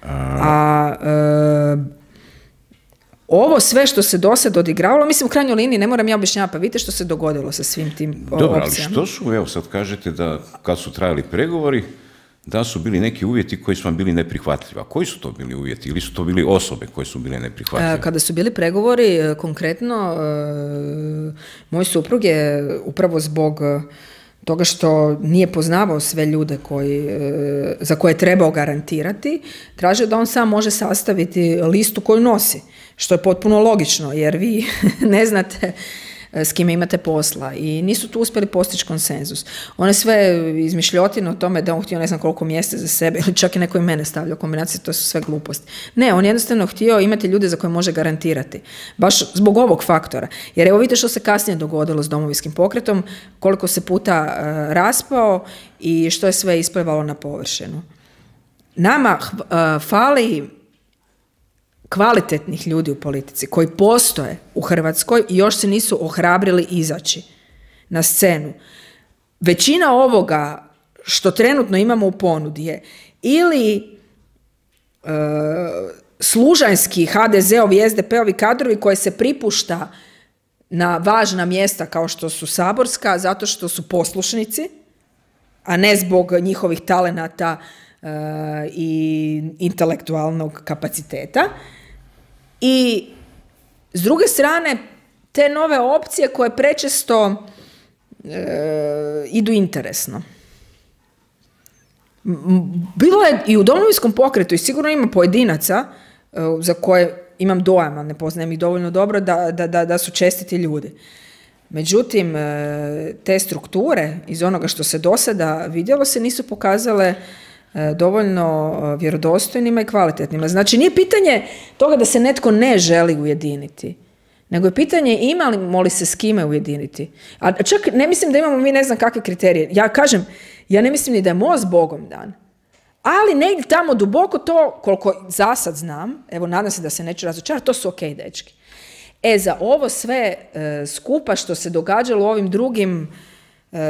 A... A e, ovo sve što se do sad odigravalo, mislim u krajnjoj liniji, ne moram ja objašnjavati, pa vidite što se dogodilo sa svim tim opcijama. Dobro, ali što su, evo sad kažete da kad su trajali pregovori, da su bili neki uvjeti koji su vam bili neprihvatljivi. A koji su to bili uvjeti? Ili su to bili osobe koje su bile neprihvatljive? Kada su bili pregovori, konkretno, moj suprug je upravo zbog toga što nije poznavao sve ljude koji, za koje je trebao garantirati, tražio da on sam može sastaviti listu koju nosi, što je potpuno logično, jer vi ne znate s kime imate posla i nisu tu uspjeli postići konsenzus. On je sve izmišljotine o tome da on htio ne znam koliko mjesta za sebe ili čak i neko i mene stavlja u kombinaciji, to su sve gluposti. Ne, on jednostavno htio imati ljude za koje može garantirati. Baš zbog ovog faktora. Jer evo vidite što se kasnije dogodilo s domovinskim pokretom, koliko se puta uh, raspao i što je sve isplivalo na površinu. Nama uh, fali kvalitetnih ljudi u politici koji postoje u Hrvatskoj i još se nisu ohrabrili izaći na scenu. Većina ovoga što trenutno imamo u ponudi je ili e, služanski ha de zeovi i es de pe-ovi kadrovi koje se pripušta na važna mjesta kao što su saborska zato što su poslušnici, a ne zbog njihovih talenata e, i intelektualnog kapaciteta. I s druge strane, te nove opcije koje prečesto e, idu interesno. Bilo je i u domovinskom pokretu i sigurno ima pojedinaca e, za koje imam dojam, ali ne poznajem ih dovoljno dobro, da, da, da, da su čestiti ljudi. Međutim, e, te strukture iz onoga što se do sada vidjelo se nisu pokazale dovoljno vjerodostojnima i kvalitetnima. Znači, nije pitanje toga da se netko ne želi ujediniti, nego je pitanje imamo li se s kime ujediniti. A čak ne mislim da imamo mi ne znam kakve kriterije. Ja kažem, ja ne mislim ni da je most Bogom dan, ali negdje tamo duboko to, koliko za sad znam, evo nadam se da se neću razočarati, to su ok, dečki. E, za ovo sve e, skupa što se događalo u ovim drugim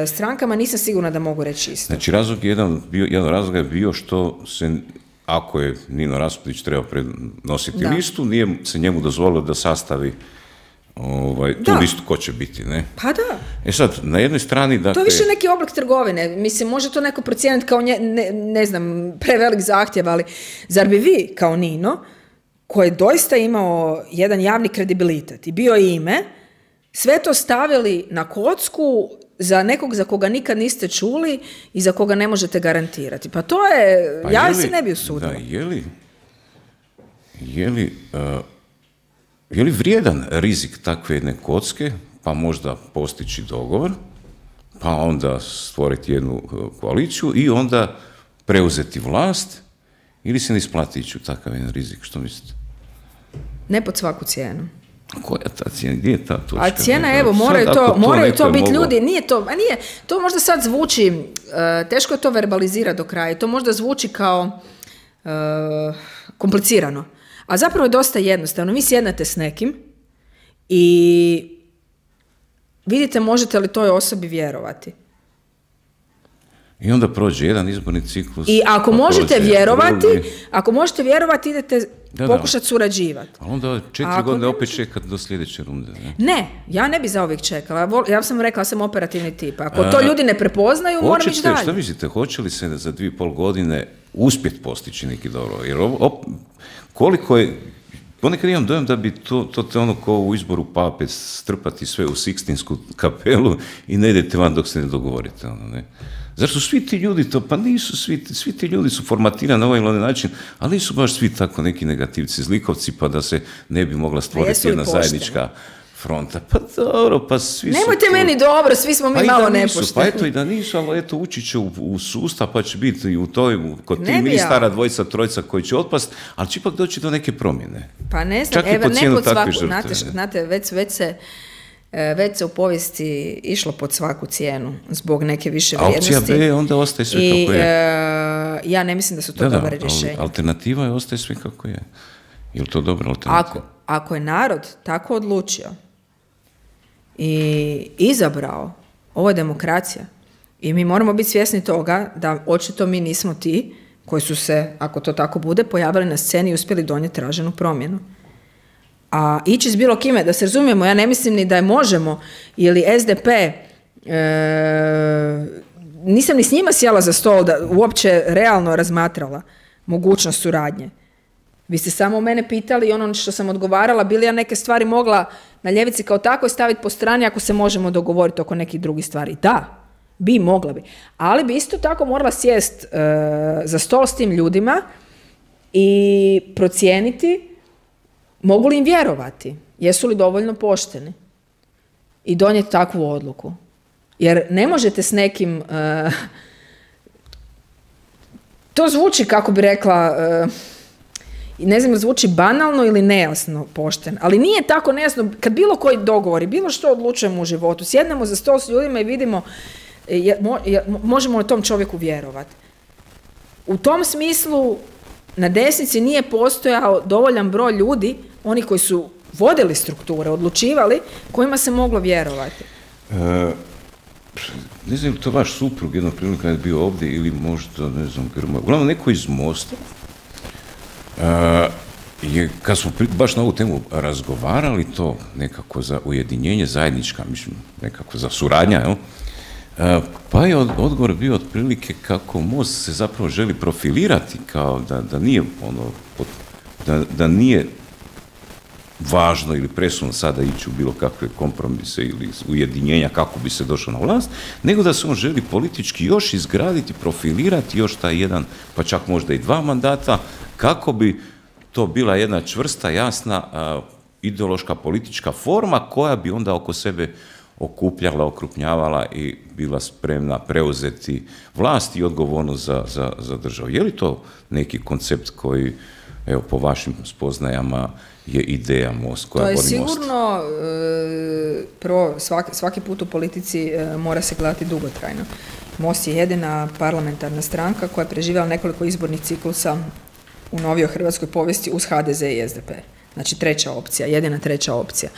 strankama nisam sigurna da mogu reći isto. Znači, razlog jedan, bio, jedan razlog je bio što se, ako je Nino Raspudić trebao prenositi da. listu, nije se njemu dozvolilo da sastavi ovaj, tu da. listu ko će biti, ne? Pa da. E sad, na jednoj strani... Dakle, to je više neki oblik trgovine. Mislim, može to neko procijeniti kao, nje, ne, ne znam, prevelik zahtjev, ali zar bi vi, kao Nino, koji je doista imao jedan javni kredibilitet i bio ime, sve to stavili na kocku za nekog za koga nikad niste čuli i za koga ne možete garantirati. Pa to je, pa ja je li, se ne bi usudila. Da, je li, je li, uh, je li vrijedan rizik takve jedne kocke, pa možda postići dogovor, pa onda stvoriti jednu koaliciju i onda preuzeti vlast, ili se ne isplati ići u takav jedan rizik, što mislite? Ne pod svaku cijenu. Koja ta cijena? Gdje je ta točka? A cijena, evo, moraju sad, to, to moraju to biti moglo... ljudi, nije to, a nije, to možda sad zvuči, uh, teško je to verbalizirati do kraja, to možda zvuči kao uh, komplicirano, a zapravo je dosta jednostavno. Vi sjednete s nekim i vidite možete li toj osobi vjerovati. I onda prođe jedan izborni ciklus. I ako možete vjerovati, drugi. ako možete vjerovati, idete da, pokušati surađivati. A onda četiri godine opet čekati do sljedeće runde. Ne? ne, ja ne bi za uvijek čekala. Ja sam rekla, ja sam operativni tip. Ako A, to ljudi ne prepoznaju, moram ići dalje. Što mislite, hoće li se za dvije i pol godine uspjeti postići neki dobro? Jer op, koliko je, ponekad imam dojam da bi to, to te ono ko u izboru pape strpati sve u Sikstinsku kapelu i ne idete van dok se ne dogovorite. Ono, ne. Zašto svi ti ljudi to, pa nisu svi, svi ti ljudi su formatirani na ovaj ili onaj način, ali nisu baš svi tako neki negativci, zlikovci, pa da se ne bi mogla stvoriti jedna pošteni? Zajednička fronta. Pa dobro, pa svi Nemojte su... meni dobro, svi smo mi pa malo nisu, nepošteni. Pa eto i da nisu, ali eto ući će u, u sustav, pa će biti i u toj, kod ti ministara dvojica, trojica koji će otpast, ali će ipak doći do neke promjene. Pa ne znam, evo ne pod svaku, znate, znate već, već se već se u povijesti išlo pod svaku cijenu zbog neke više vrijednosti. A opcija B onda ostaje sve I, kako je. E, ja ne mislim da su to da, dobre rješenja. Alternativa je ostaje sve kako je. Je li to dobra alternativa? Ako, ako je narod tako odlučio i izabrao, ovo je demokracija i mi moramo biti svjesni toga da očito mi nismo ti koji su se, ako to tako bude, pojavili na sceni i uspjeli donijeti traženu promjenu. A ići s bilo kime, da se razumijemo, ja ne mislim ni da je Možemo ili S D P, e, nisam ni s njima sjela za stol da uopće realno razmatrala mogućnost suradnje. Vi ste samo mene pitali i ono što sam odgovarala, bi li ja neke stvari mogla na ljevici kao tako staviti po strani ako se možemo dogovoriti oko nekih drugih stvari. Da, bi, mogla bi. Ali bi isto tako morala sjest e, za stol s tim ljudima i procijeniti mogu li im vjerovati, jesu li dovoljno pošteni i donijeti takvu odluku. Jer ne možete s nekim... Uh, to zvuči, kako bi rekla, uh, ne znam, zvuči banalno ili nejasno pošten, ali nije tako nejasno. Kad bilo koji dogovori, bilo što odlučujemo u životu, sjednemo za stol s ljudima i vidimo je, mo, je, možemo li tom čovjeku vjerovati. U tom smislu na desnici nije postojao dovoljan broj ljudi, oni koji su vodili strukture, odlučivali, kojima se moglo vjerovati. E, ne znam, to vaš suprug jednog prilika je bio ovdje ili možda, ne znam, Grmoja. Uglavnom, neko iz Mosta e, je, kad smo baš na ovu temu razgovarali, to nekako za ujedinjenje zajednička, mislim, nekako za suradnja, jel? E, pa je odgovor bio otprilike kako Most se zapravo želi profilirati kao da, da nije ono, da, da nije važno ili presudno sada ići u bilo kakve kompromise ili ujedinjenja kako bi se došlo na vlast, nego da se on želi politički još izgraditi, profilirati još taj jedan, pa čak možda i dva mandata, kako bi to bila jedna čvrsta, jasna, a, ideološka politička forma koja bi onda oko sebe okupljala, okrupnjavala i bila spremna preuzeti vlast i odgovornost za, za, za državu. Je li to neki koncept koji, evo, po vašim spoznajama je ideja Most, koja vodi Most? To je sigurno, e, prvo, svaki, svaki put u politici e, mora se gledati dugotrajno. Most je jedina parlamentarna stranka koja je preživjela nekoliko izbornih ciklusa u novijoj hrvatskoj povijesti uz H D Z i S D P. Znači treća opcija, jedina treća opcija.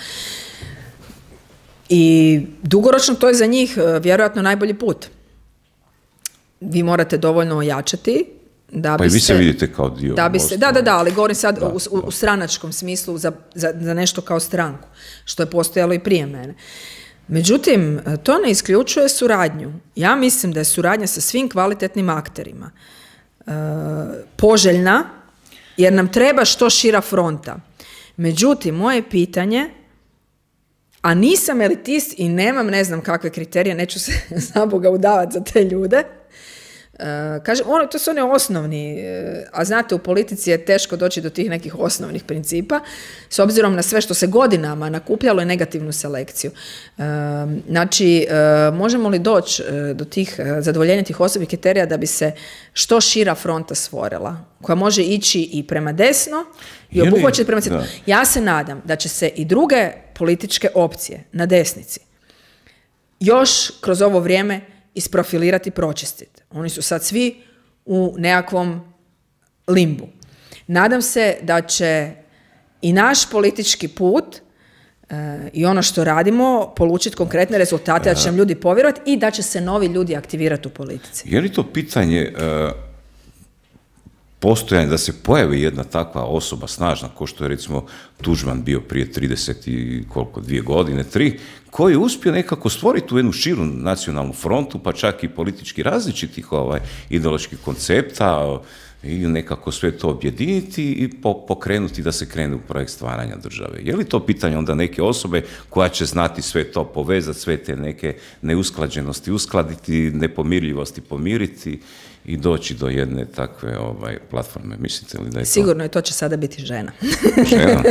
I dugoročno to je za njih vjerojatno najbolji put. Vi morate dovoljno ojačati da pa bi i vi se, se vidite kao dio da bi se, da, da, da, ali govorim sad da, u, u, u stranačkom smislu za, za, za nešto kao stranku, što je postojalo i prije mene. Međutim, to ne isključuje suradnju. Ja mislim da je suradnja sa svim kvalitetnim akterima e, poželjna, jer nam treba što šira fronta. Međutim, moje pitanje, a nisam elitist i nemam ne znam kakve kriterije, neću se za Boga udavati za te ljude. Uh, kažem, ono, to su one osnovni, uh, a znate, u politici je teško doći do tih nekih osnovnih principa, s obzirom na sve što se godinama nakupljalo i negativnu selekciju. Uh, znači, uh, možemo li doći uh, do tih, uh, zadovoljenja tih osobnih kriterija da bi se što šira fronta stvorila, koja može ići i prema desno i obuhvaćati prema centru. Ja se nadam da će se i druge političke opcije na desnici još kroz ovo vrijeme isprofilirati i pročistiti. Oni su sad svi u nekakvom limbu. Nadam se da će i naš politički put e, i ono što radimo polučiti konkretne rezultate, da će nam ljudi povjerovati i da će se novi ljudi aktivirati u politici. Je li to pitanje uh, postojanje da se pojavi jedna takva osoba snažna, kao što je recimo Tuđman bio prije trideset i koliko, dvije godine, tri, koji je uspio nekako stvoriti tu jednu širu nacionalnu frontu, pa čak i politički različitih ovaj, ideoloških koncepta, i nekako sve to objediniti i pokrenuti da se krene u projekt stvaranja države. Je li to pitanje onda neke osobe koja će znati sve to povezati, sve te neke neusklađenosti uskladiti, nepomirljivosti pomiriti i doći do jedne takve ovaj, platforme? Mislite li da je to? Sigurno je, to će sada biti žena. Žena?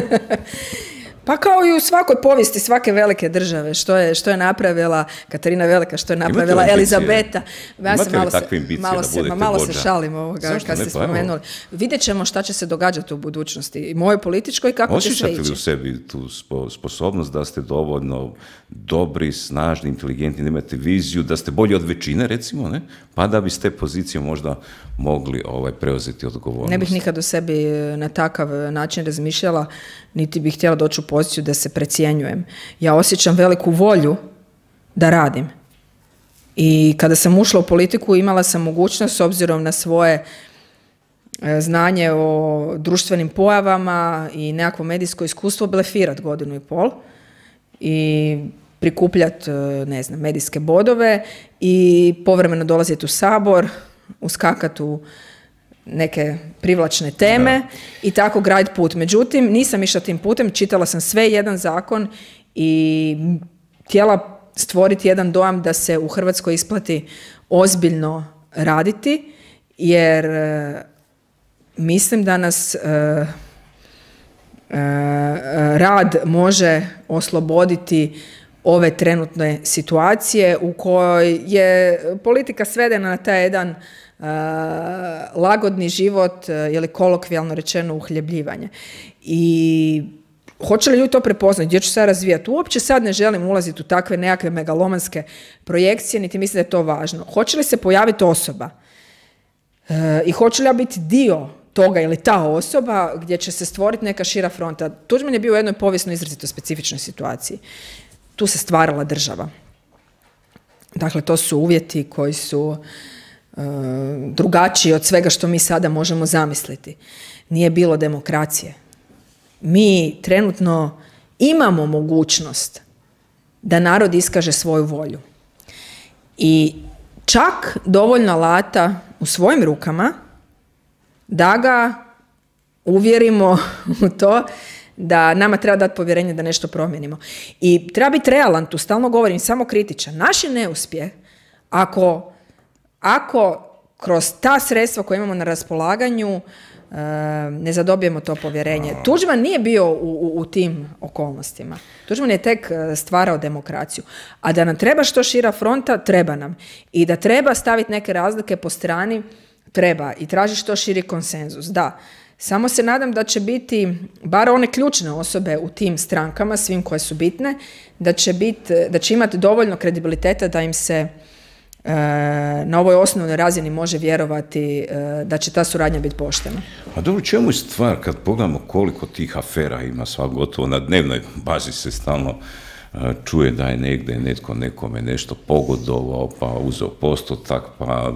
Pa kao i u svakoj povijesti svake velike države, što je, što je napravila Katarina Velika, što je napravila Elizabeta. Ja Imate li takve ambicije da budete vođa? Malo se šalim ovoga kad ste spomenuli. Vidjet ćemo šta će se događati u budućnosti. I moje političkoj i kako će sve ići. Osjećate li u sebi tu sposobnost da ste dovoljno dobri, snažni, inteligentni, da imate viziju, da ste bolji od većine, recimo, ne? Pa da bi s te pozicije možda mogli ovaj, preuzeti odgovornost? Ne bih nikad o sebi na takav način razmišljala, niti bih htjela doći u poziciju da se precjenjujem. Ja osjećam veliku volju da radim. I kada sam ušla u politiku imala sam mogućnost, s obzirom na svoje znanje o društvenim pojavama i nekakvo medijsko iskustvo, blefirati godinu i pol i prikupljati, ne znam, medijske bodove i povremeno dolaziti u Sabor, uskakati u neke privlačne teme da. I tako graditi put. Međutim, nisam išla tim putem, čitala sam sve jedan zakon i htjela stvoriti jedan dojam da se u Hrvatskoj isplati ozbiljno raditi, jer e, mislim da nas e, e, rad može osloboditi ove trenutne situacije u kojoj je politika svedena na taj jedan Uh, lagodni život uh, ili kolokvijalno rečeno uhljebljivanje. I hoće li ljudi to prepoznati, gdje ću sad razvijati? Uopće sad ne želim ulaziti u takve nekakve megalomanske projekcije, niti mislim da je to važno. Hoće li se pojaviti osoba uh, i hoće li ja biti dio toga ili ta osoba gdje će se stvoriti neka šira fronta? Tuđman je bio u jednoj povijesno izrazito specifičnoj situaciji. Tu se stvarala država. Dakle, to su uvjeti koji su drugačiji od svega što mi sada možemo zamisliti. Nije bilo demokracije. Mi trenutno imamo mogućnost da narod iskaže svoju volju. I čak dovoljno alata u svojim rukama da ga uvjerimo u to da nama treba dati povjerenje da nešto promijenimo. I treba biti realan, tu stalno govorim, samo kritičan. Naš je neuspjeh ako Ako kroz ta sredstva koje imamo na raspolaganju ne zadobijemo to povjerenje. Tuđman nije bio u, u, u tim okolnostima. Tuđman je tek stvarao demokraciju. A da nam treba što šira fronta, treba nam. I da treba staviti neke razlike po strani, treba. I traži što širi konsenzus. Da. Samo se nadam da će biti, bar one ključne osobe u tim strankama, svim koje su bitne, da će, bit, da će imati dovoljno kredibiliteta da im se na ovoj osnovnoj razini može vjerovati da će ta suradnja biti poštena. A dobro, čemu je stvar kad pogledamo koliko tih afera ima, sva gotovo na dnevnoj bazi se stalno čuje da je negdje netko nekome nešto pogodovao, pa uzeo postotak, pa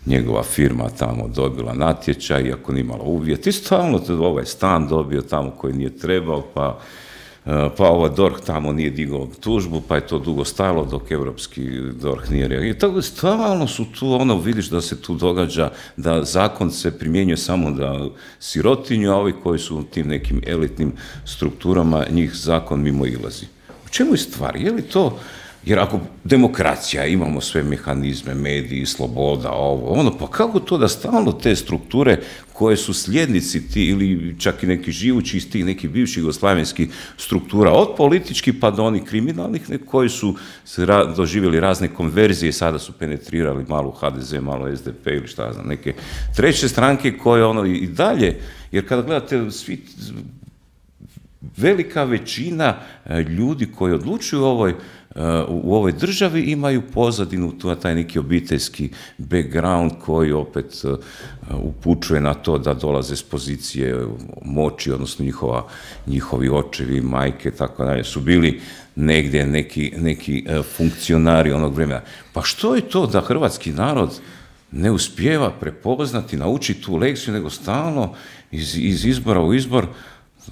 njegova firma tamo dobila natječaj, iako nije imala uvjet. I stalno ovaj stan dobio tamo koji nije trebao, pa pa ovaj D O R H tamo nije digao tužbu, pa je to dugo stajalo dok europski D O R H nije reagirao. I tako stalno su tu, ono, vidiš da se tu događa, da zakon se primjenjuje samo da sirotinju, a ovi koji su u tim nekim elitnim strukturama, njih zakon mimo ilazi. U čemu je stvar? Je li to, jer ako demokracija, imamo sve mehanizme, mediji, sloboda, ovo, ono, pa kako to da stalno te strukture koje su slijednici ti ili čak i neki živući iz tih nekih bivših jugoslavenskih struktura, od političkih pa do onih kriminalnih, ne, koji su ra, doživjeli razne konverzije i sada su penetrirali malo H D Z, malo S D P ili šta znam, neke treće stranke koje ono i dalje, jer kada gledate svi, velika većina ljudi koji odlučuju u ovoj u ovoj državi imaju pozadinu, taj neki obiteljski background koji opet upućuje na to da dolaze s pozicije moći, odnosno njihova, njihovi očevi, majke, tako dalje, su bili negdje neki, neki funkcionari onog vremena. Pa što je to da hrvatski narod ne uspijeva prepoznati, naučiti tu lekciju, nego stalno iz, iz izbora u izbor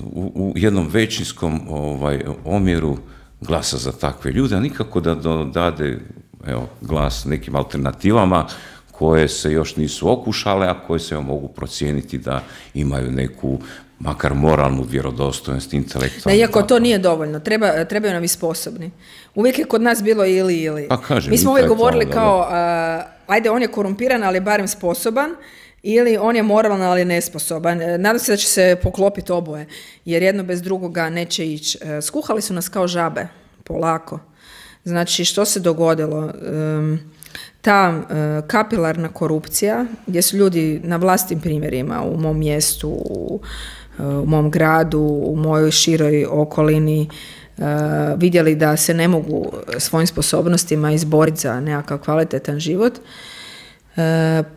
u, u jednom većinskom ovaj, omjeru glasa za takve ljude, a nikako da dade evo, glas nekim alternativama koje se još nisu okušale, a koje se mogu procijeniti da imaju neku makar moralnu vjerodostojnost, intelektualnu. Iako to nije dovoljno, Treba, trebaju nam i sposobni. Uvijek je kod nas bilo ili ili. Pa kažem, mi smo uvijek govorili kao, uh, ajde on je korumpiran, ali je barem sposoban, ili on je moralan, ali nesposoban. Nadam se da će se poklopiti oboje, jer jedno bez drugoga neće ići. Skuhali su nas kao žabe, polako. Znači, što se dogodilo? Um, ta uh, kapilarna korupcija, gdje su ljudi na vlastnim primjerima u mom mjestu, u, u mom gradu, u mojoj široj okolini, uh, vidjeli da se ne mogu svojim sposobnostima izboriti za nekakav kvalitetan život, uh,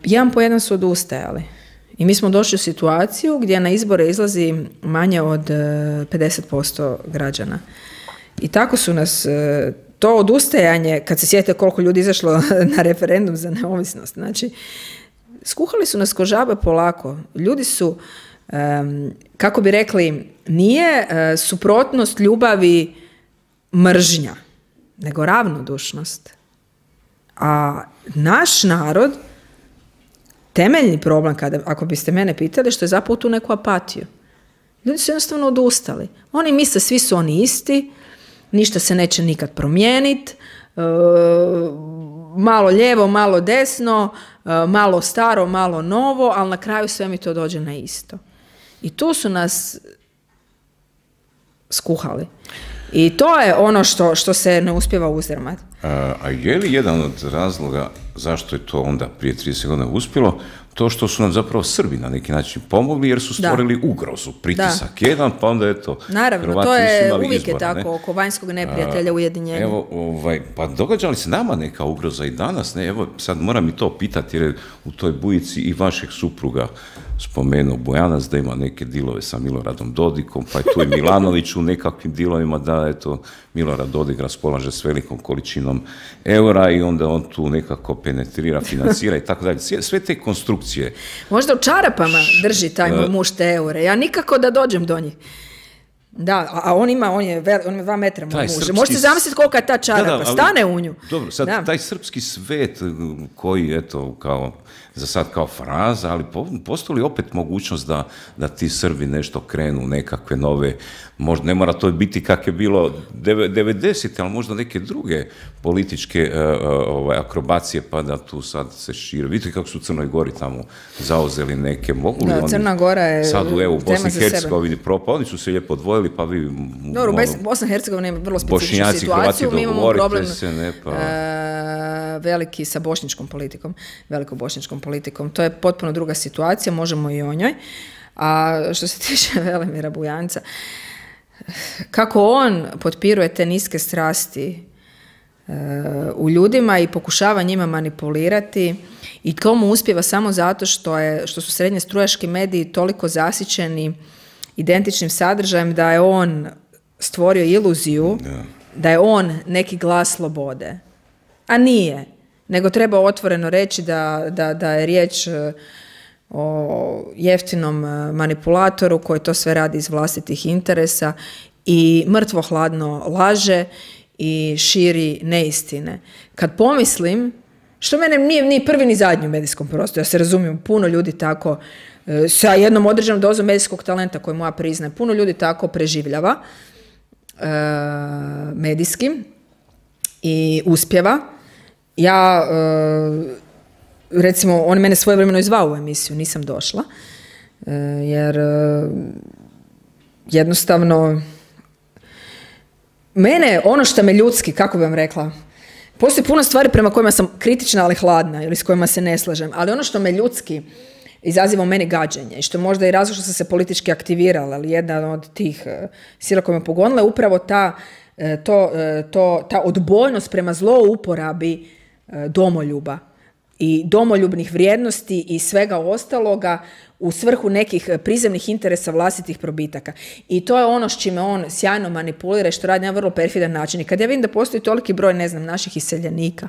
jedan po jedan su odustajali. I mi smo došli u situaciju gdje na izbore izlazi manje od uh, pedeset posto građana. I tako su nas... Uh, To odustajanje, kad se sjetite koliko ljudi izašlo na referendum za neovisnost, znači, skuhali su nas ko žabe polako. Ljudi su, um, kako bi rekli, nije uh, suprotnost ljubavi mržnja, nego ravnodušnost. A naš narod, temeljni problem, kada, ako biste mene pitali, što je zapravo tu neku apatiju. Ljudi su jednostavno odustali. Oni misle, svi su oni isti, ništa se neće nikad promijeniti, e, malo lijevo, malo desno, e, malo staro, malo novo, ali na kraju sve mi to dođe na isto. I tu su nas skuhali. I to je ono što, što se ne uspijeva uzdrmati. A, a je li jedan od razloga zašto je to onda prije trideset godina uspjelo, to što su nam zapravo Srbi na neki način pomogli, jer su stvorili da. ugrozu, pritisak da. jedan, pa onda je to. Naravno, Hrvati to je imali uvijek izbora, je tako, ne? oko vanjskog neprijatelja ujedinjenja. Evo, ovaj, pa događa li se nama neka ugroza i danas? Ne? Evo, sad moram i to pitati, jer je u toj bujici i vašeg supruga spomenuo Bojanac da ima neke dilove sa Miloradom Dodikom, pa je tu i Milanović u nekakvim dilovima, da eto, Milorad Dodik raspolaže s velikom količinom eura i onda on tu nekako penetrira, financira i tako dalje. Sve te konstrukcije. Možda u čarapama drži taj moj muž te eure. Ja nikako da dođem do njih. Da, a on ima, on je, vel, on je dva metra moj muž. Srpski... Možete zamisliti kolika je ta čarapa, da, da, ali, stane u nju. Dobro, sad da. Taj srpski svet koji, eto, kao, za sad kao fraza, ali postoji li opet mogućnost da, da ti Srbi nešto krenu, nekakve nove, možda ne mora to biti kak je bilo devedesete, ali možda neke druge političke uh, ovaj, akrobacije, pa da tu sad se šire. Vidite kako su u Crnoj Gori tamo zauzeli neke, mogu li da, oni Crna Gora je sad u evo Bosni i Hercegovini propao, oni su se lijepo odvojili, pa vi... Dobro, ono, Bosna i Hercegovina ima vrlo specifičnu situaciju, mi imamo problem se, ne, pa... uh, veliki sa bošnjačkom politikom, velikobošnjačkom politikom. To je potpuno druga situacija, možemo i o njoj. A što se tiče Velimira Bujanca, kako on potpiruje te niske strasti uh, u ljudima i pokušava njima manipulirati i to mu uspjeva samo zato što, je, što su srednje strujaški mediji toliko zasićeni identičnim sadržajem da je on stvorio iluziju da. da je on neki glas slobode. A nije. Nego treba otvoreno reći da, da, da je riječ o jeftinom manipulatoru koji to sve radi iz vlastitih interesa i mrtvo hladno laže i širi neistine. Kad pomislim, što mene nije ni prvi ni zadnji u medijskom prostoru, ja se razumijem, puno ljudi tako sa jednom određenom dozom medijskog talenta koju moja priznaje, puno ljudi tako preživljava e, medijski i uspjeva. Ja, e, recimo, on mene svojevremeno i zvao u emisiju, nisam došla, e, jer e, jednostavno mene, ono što me ljudski, kako bi vam rekla, postoji puno stvari prema kojima sam kritična, ali hladna, ili s kojima se ne slažem, ali ono što me ljudski izaziva u meni gađenje i što možda i razlog što sam se politički aktivirala, ali jedna od tih uh, sila koja me pogonila je upravo ta, uh, to, uh, to, ta odbojnost prema zlouporabi uh, domoljuba i domoljubnih vrijednosti i svega ostaloga u svrhu nekih prizemnih interesa vlastitih probitaka. I to je ono s čime on sjajno manipulira i što radi na vrlo perfidan način. I kad ja vidim da postoji toliki broj, ne znam, naših iseljenika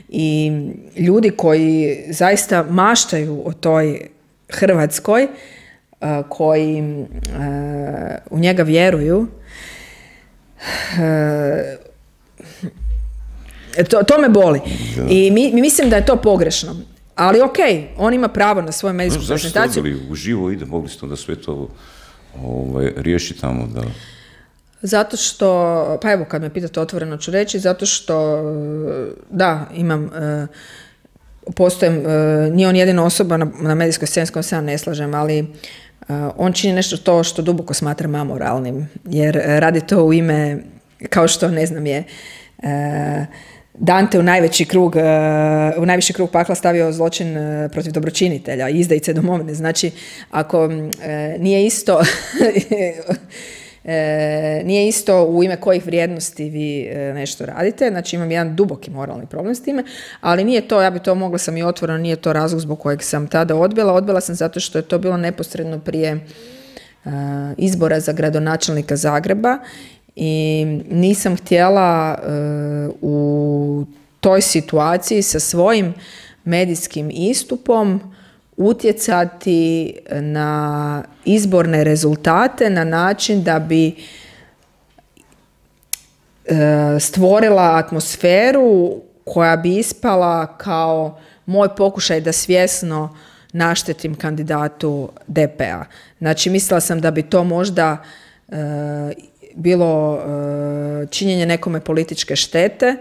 i ljudi koji zaista maštaju o toj Hrvatskoj, uh, koji uh, u njega vjeruju, uh, to, to me boli. I mi, mi mislim da je to pogrešno. ali ok, on ima pravo na svoju medijsku no, prezentaciju. Zašto ste odbili u živo ide, mogli ste onda sve to ovaj, riješiti tamo da... Zato što, pa evo kad me pitate otvoreno ću reći, zato što da, imam, postojem, nije on jedina osoba na, na medijskoj sceni s kojom se ja ne slažem, ali on čini nešto to što duboko smatram amoralnim, jer radi to u ime, kao što ne znam je, Dante u najveći krug, u najviši krug pakla stavio zločin protiv dobročinitelja, izdajice domovine. Znači, ako nije isto... E, nije isto u ime kojih vrijednosti vi e, nešto radite, znači imam jedan duboki moralni problem s time, ali nije to, ja bi to mogla sam i otvoreno, nije to razlog zbog kojeg sam tada odbila, odbila sam zato što je to bilo neposredno prije e, izbora za gradonačelnika Zagreba i nisam htjela e, u toj situaciji sa svojim medijskim istupom utjecati na izborne rezultate na način da bi e, stvorila atmosferu koja bi ispala kao moj pokušaj da svjesno naštetim kandidatu D P-a. Znači, mislila sam da bi to možda e, bilo e, činjenje nekome političke štete,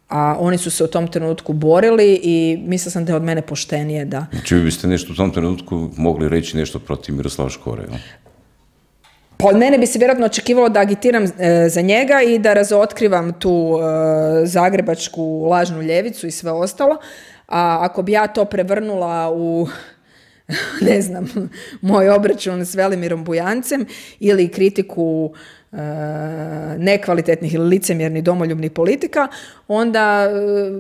a oni su se u tom trenutku borili i mislila sam da je od mene poštenije da... Znači vi biste nešto u tom trenutku mogli reći nešto protiv Miroslava Škore, ja? Pa od mene bi se vjerojatno očekivalo da agitiram e, za njega i da razotkrivam tu e, zagrebačku lažnu ljevicu i sve ostalo, a ako bi ja to prevrnula u... ne znam, moj obračun s Velimirom Bujancem ili kritiku e, nekvalitetnih ili licemjernih domoljubnih politika, onda e,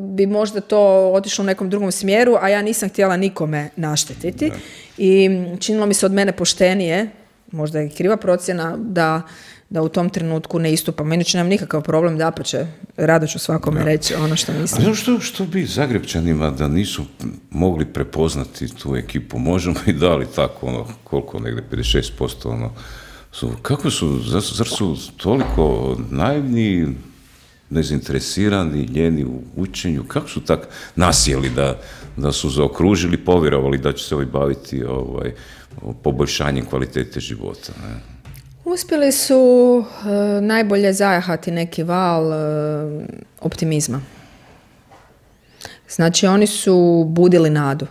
bi možda to otišlo u nekom drugom smjeru, a ja nisam htjela nikome naštetiti. Da. I činilo mi se od mene poštenije, možda je kriva procjena, da, da u tom trenutku ne istupam. Inače nemam nikakav problem, dapače, rado ću svakome da. reći ono što mislim. A što, što bi Zagrebčanima da nisu mogli prepoznati tu ekipu? Možemo i dali tako, ono, koliko, negdje pedeset šest posto, ono, su, kako su, zar su toliko naivni, nezainteresirani, ljeni u učenju, kako su tak nasjeli da, da su zaokružili, povjerovali da će se ovaj baviti ovaj, poboljšanjem kvalitete života, ne? Uspjeli su e, najbolje zajahati neki val e, optimizma. Znači, oni su budili nadu.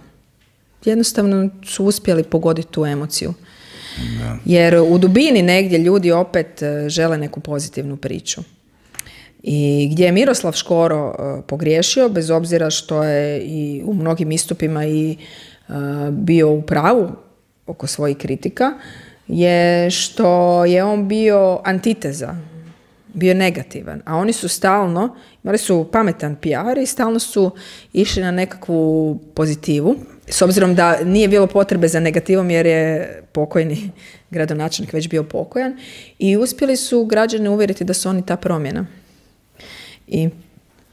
Jednostavno su uspjeli pogoditi tu emociju. Da. Jer u dubini negdje ljudi opet e, žele neku pozitivnu priču. I gdje je Miroslav Škoro e, pogriješio, bez obzira što je i u mnogim istupima i e, bio u pravu oko svojih kritika, je što je on bio antiteza, bio negativan, a oni su stalno, imali su pametan P R i stalno su išli na nekakvu pozitivu, s obzirom da nije bilo potrebe za negativom jer je pokojni gradonačelnik već bio pokojan, i uspjeli su građane uvjeriti da su oni ta promjena. I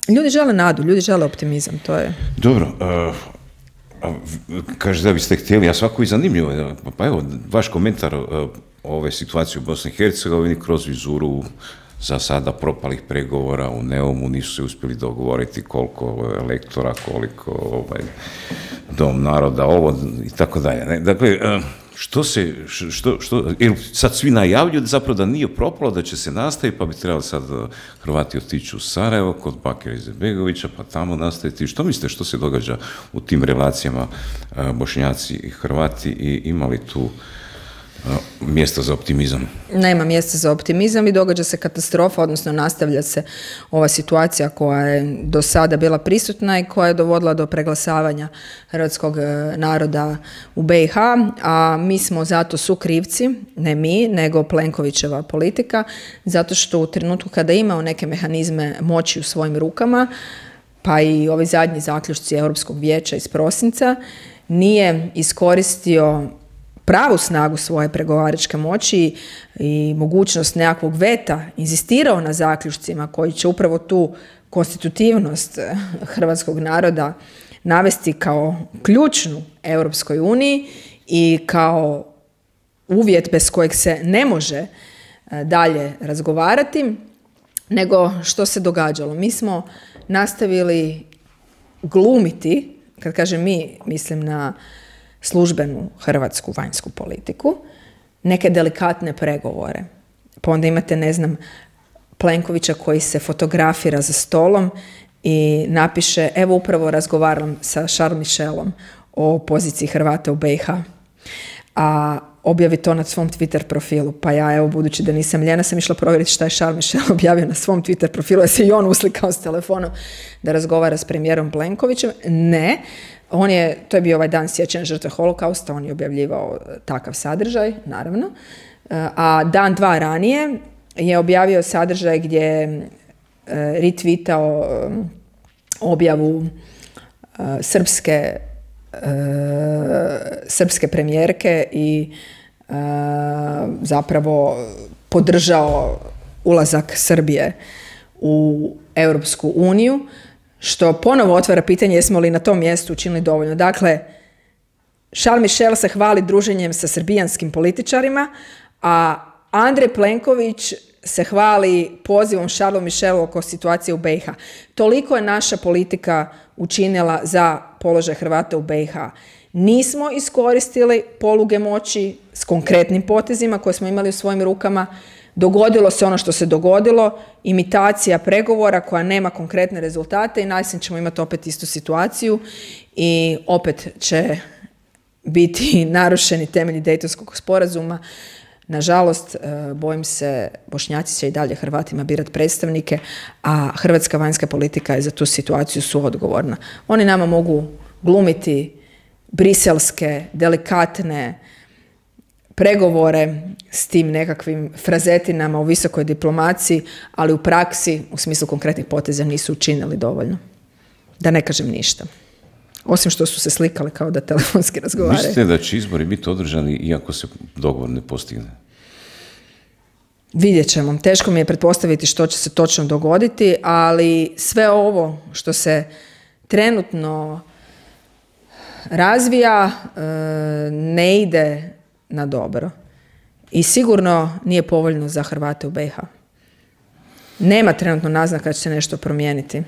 ljudi žele nadu, ljudi žele optimizam, to je... Dobro, uh... kaže da biste htjeli, a svako i zanimljivo, pa evo, vaš komentar o ove situacije u Bosni i Hercegovini kroz vizuru za sada propalih pregovora u Neumu, nisu se uspjeli dogovoriti koliko lektora, koliko ovaj, dom naroda, ovo i tako dalje. Dakle, što se, što, što, sad svi najavljuju zapravo da nije propalo, da će se nastaviti, pa bi trebali sad Hrvati otići u Sarajevo kod Bakira Izetbegovića, pa tamo nastaviti. Što mislite, što se događa u tim relacijama Bošnjaci i Hrvati i imali tu mjesta za optimizam? Nema mjesta za optimizam i događa se katastrofa, odnosno nastavlja se ova situacija koja je do sada bila prisutna i koja je dovodila do preglasavanja hrvatskog naroda u B i H, a mi smo zato sukrivci, ne mi, nego Plenkovićeva politika, zato što u trenutku kada je imao neke mehanizme moći u svojim rukama, pa i ovi zadnji zaključci Europskog vijeća iz prosinca, nije iskoristio pravu snagu svoje pregovaračke moći i mogućnost nekakvog veta, inzistirao na zaključcima koji će upravo tu konstitutivnost hrvatskog naroda navesti kao ključnu Europskoj uniji i kao uvjet bez kojeg se ne može dalje razgovarati, nego što se događalo. Mi smo nastavili glumiti kad kažem mi, mislim na službenu hrvatsku vanjsku politiku, neke delikatne pregovore. Pa onda imate, ne znam, Plenkovića koji se fotografira za stolom i napiše, evo upravo razgovaram sa Charles Michelom o poziciji Hrvata u B i H. A objavi to na svom Twitter profilu. Pa ja, evo, budući da nisam ljena, sam išla provjeriti šta je Charles Michel objavio na svom Twitter profilu, da se i on uslikao s telefonom da razgovara s premijerom Plenkovićem. Ne, on je, to je bio ovaj dan sjećanja žrtve holokausta, on je objavljivao takav sadržaj, naravno. A dan, dva ranije je objavio sadržaj gdje je retweetao objavu srpske srpske premijerke i zapravo podržao ulazak Srbije u Europsku uniju, što ponovo otvara pitanje jesmo li na tom mjestu učinili dovoljno. Dakle, Charles Michel se hvali druženjem sa srbijanskim političarima, a Andrej Plenković se hvali pozivom Charlesu Michelu oko situacije u B i H. Toliko je naša politika učinila za položaj Hrvata u B i H. Nismo iskoristili poluge moći s konkretnim potezima koje smo imali u svojim rukama. Dogodilo se ono što se dogodilo, imitacija pregovora koja nema konkretne rezultate i najsen ćemo imati opet istu situaciju i opet će biti narušeni temelji Dejtonskog sporazuma. Nažalost, bojim se, Bošnjaci će i dalje Hrvatima birati predstavnike, a hrvatska vanjska politika je za tu situaciju suodgovorna. Oni nama mogu glumiti briselske, delikatne pregovore s tim nekakvim frazetinama u visokoj diplomaciji, ali u praksi, u smislu konkretnih poteza, nisu učinili dovoljno. Da ne kažem ništa. Osim što su se slikali kao da telefonski razgovaraju. Mislite da će izbori biti održani iako se dogovor ne postigne? Vidjet ćemo. Teško mi je pretpostaviti što će se točno dogoditi, ali sve ovo što se trenutno razvija ne ide na dobro. I sigurno nije povoljno za Hrvate u B i H. Nema trenutno naznaka da će se nešto promijeniti.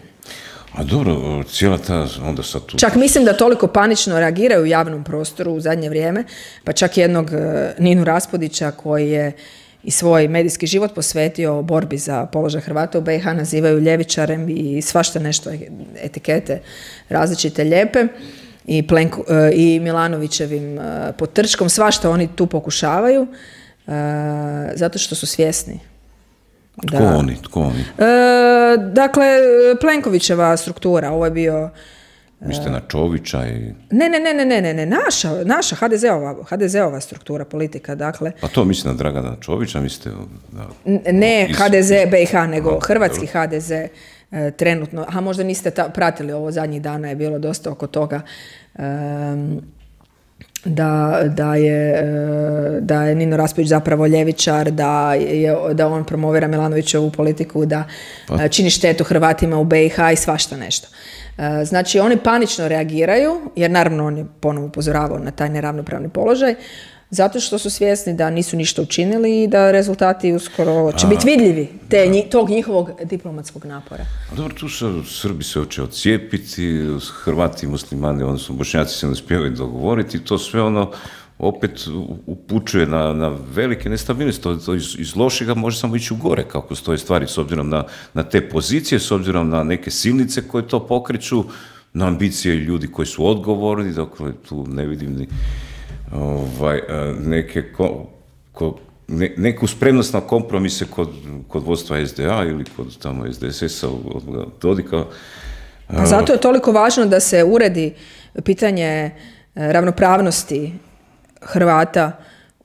A dobro, cijela ta onda sad tu... Čak mislim da toliko panično reagiraju u javnom prostoru u zadnje vrijeme, pa čak jednog Ninu Raspudića koji je i svoj medijski život posvetio borbi za položaj Hrvata u B i H nazivaju ljevičarem i svašta nešto etikete različite lijepe i, Plenko, i Milanovićevim potrčkom, svašta oni tu pokušavaju zato što su svjesni. Da. Tko oni? Tko oni? E, dakle, Plenkovićeva struktura, ovo je bio... Mislite na Čovića i... Ne, ne, ne, ne, ne, ne, naša, naša ha de zea-ova, ha de zea-ova struktura, politika, dakle... Pa to mislite na Dragana Čovića, mislite... Da, ne iz, ha de ze B i H, nego aha, hrvatski dobro. ha de ze e, trenutno. A možda niste ta, pratili ovo zadnjih dana, je bilo dosta oko toga... Um, Da, da, je, da je Nino Raspudić zapravo ljevičar, da, je, da on promovira Milanovićevu politiku, da pa. čini štetu Hrvatima u B i H i svašta nešto. Znači, oni panično reagiraju, jer naravno on je ponovo upozoravao na taj neravnopravni položaj, zato što su svjesni da nisu ništa učinili i da rezultati uskoro će biti vidljivi te, nji, tog njihovog diplomatskog napora. A dobro, tu se Srbi se hoće odcijepiti, Hrvati i muslimani, odnosno Bošnjaci se ne uspijevaju dogovoriti, to sve ono opet upućuje na, na velike nestabilnosti. To, to iz, iz lošega može samo ići u gore, kako stoje stvari, s obzirom na, na te pozicije, s obzirom na neke silnice koje to pokreću, na ambicije ljudi koji su odgovorni, dakle tu ne vidim ni ovaj, neke ko, ko, ne, neku spremnost na kompromise kod, kod vodstva es de a ili kod tamo es de es es-a od Dodika. Pa zato je toliko važno da se uredi pitanje ravnopravnosti Hrvata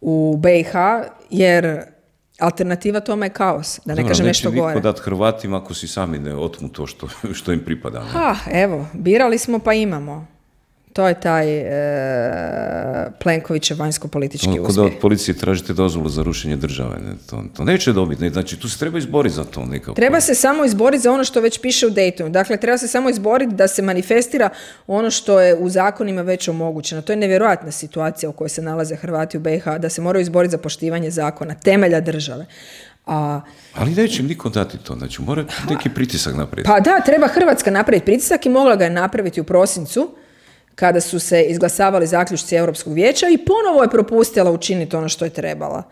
u B i H, jer alternativa tome je kaos, da ne Dobro, kažem nešto gore. Neće niko dati Hrvatima ako si sami ne otmu to što, što im pripada. Ne? Ha, evo, birali smo pa imamo. To je taj e, Plenkovićev vanjsko-politički uspjeh. Kod od policije tražite dozvolu za rušenje države. Ne? To, to neće dobiti. Ne? Znači, tu se treba izboriti za to nekako. Treba se samo izboriti za ono što već piše u Daytonu. Dakle, treba se samo izboriti da se manifestira ono što je u zakonima već omogućeno. To je nevjerojatna situacija u kojoj se nalaze Hrvati u B i H, da se moraju izboriti za poštivanje zakona, temelja države. A, ali neće im niko dati to, znači mora neki pritisak napraviti. Pa da, treba Hrvatska napraviti pritisak i mogla ga je napraviti u prosincu, kada su se izglasavali zaključci Europskog vijeća i ponovo je propustila učiniti ono što je trebala.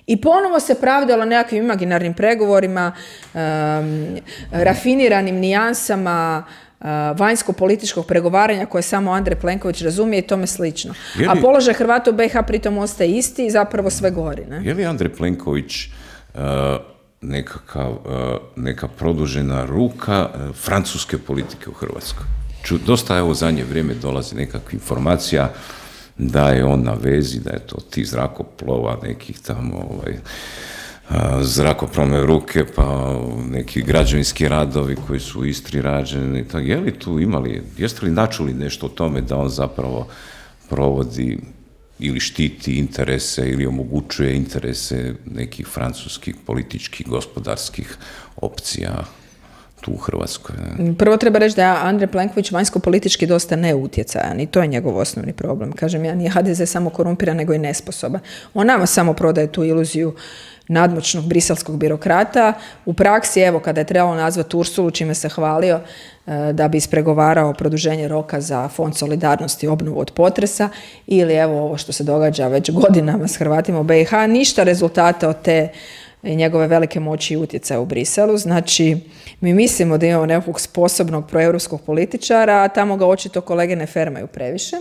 I ponovo se pravdala nekakvim imaginarnim pregovorima, um, rafiniranim nijansama, uh, vanjsko-političkog pregovaranja koje samo Andrej Plenković razumije i tome slično. Li, a položaj Hrvata u B iH pritom ostaje isti i zapravo sve gori. Ne? Je li Andrej Plenković uh, nekakav, uh, neka produžena ruka uh, francuske politike u Hrvatskoj? Ču, dosta je u zadnje vrijeme dolazi nekakva informacija da je on na vezi, da je to ti zrakoplova, nekih tamo ovaj, zrakoplovne ruke, pa neki građevinski radovi koji su u Istri rađeni. Je li tu imali, jeste li načuli nešto o tome da on zapravo provodi ili štiti interese ili omogućuje interese nekih francuskih političkih, gospodarskih opcija tu u Hrvatskoj? Ne? Prvo treba reći da je Andrej Plenković vanjsko-politički dosta neutjecajan i to je njegov osnovni problem. Kažem, ja nije H D Z samo korumpiran, nego i nesposoban. On nama samo prodaje tu iluziju nadmoćnog briselskog birokrata. U praksi, evo, kada je trebalo nazvati Ursulu, čime se hvalio da bi ispregovarao produženje roka za Fond solidarnosti i obnovu od potresa, ili evo ovo što se događa već godinama s Hrvatima u B iH, ništa rezultata od te njegove velike moći i utjecaja u Briselu. Znači, mi mislimo da imamo nekog sposobnog proeuropskog političara, a tamo ga očito kolege ne fermaju previše.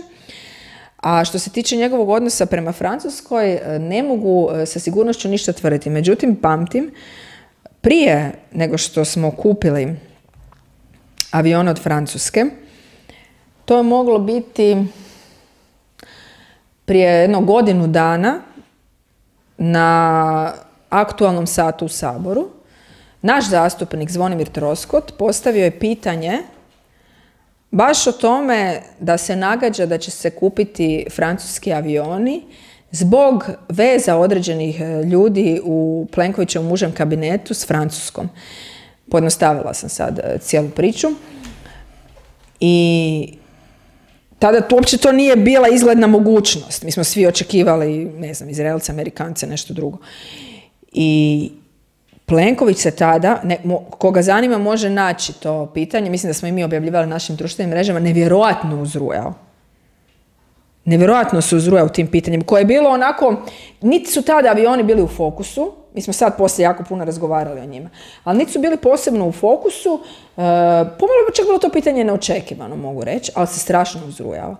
A što se tiče njegovog odnosa prema Francuskoj, ne mogu sa sigurnošću ništa tvrditi. Međutim, pamtim, prije nego što smo kupili avione od Francuske, to je moglo biti prije jedno godinu dana na aktualnom satu u Saboru. Naš zastupnik Zvonimir Troskot postavio je pitanje baš o tome da se nagađa da će se kupiti francuski avioni zbog veza određenih ljudi u Plenkovićevom užem kabinetu s Francuskom. Pojednostavila sam sad cijelu priču. I tada to, uopće to nije bila izgledna mogućnost. Mi smo svi očekivali, ne znam, Izraelce, Amerikance, nešto drugo. I Plenković se tada, ne, mo, koga zanima može naći to pitanje, mislim da smo i mi objavljivali na našim društvenim mrežama, nevjerojatno uzrujao. Nevjerojatno se uzrujao tim pitanjem, koje je bilo onako, niti su tada avioni bili u fokusu, mi smo sad poslije jako puno razgovarali o njima, ali niti su bili posebno u fokusu, e, pomalo bi čak bilo to pitanje neočekivano, mogu reći, ali se strašno uzrujao.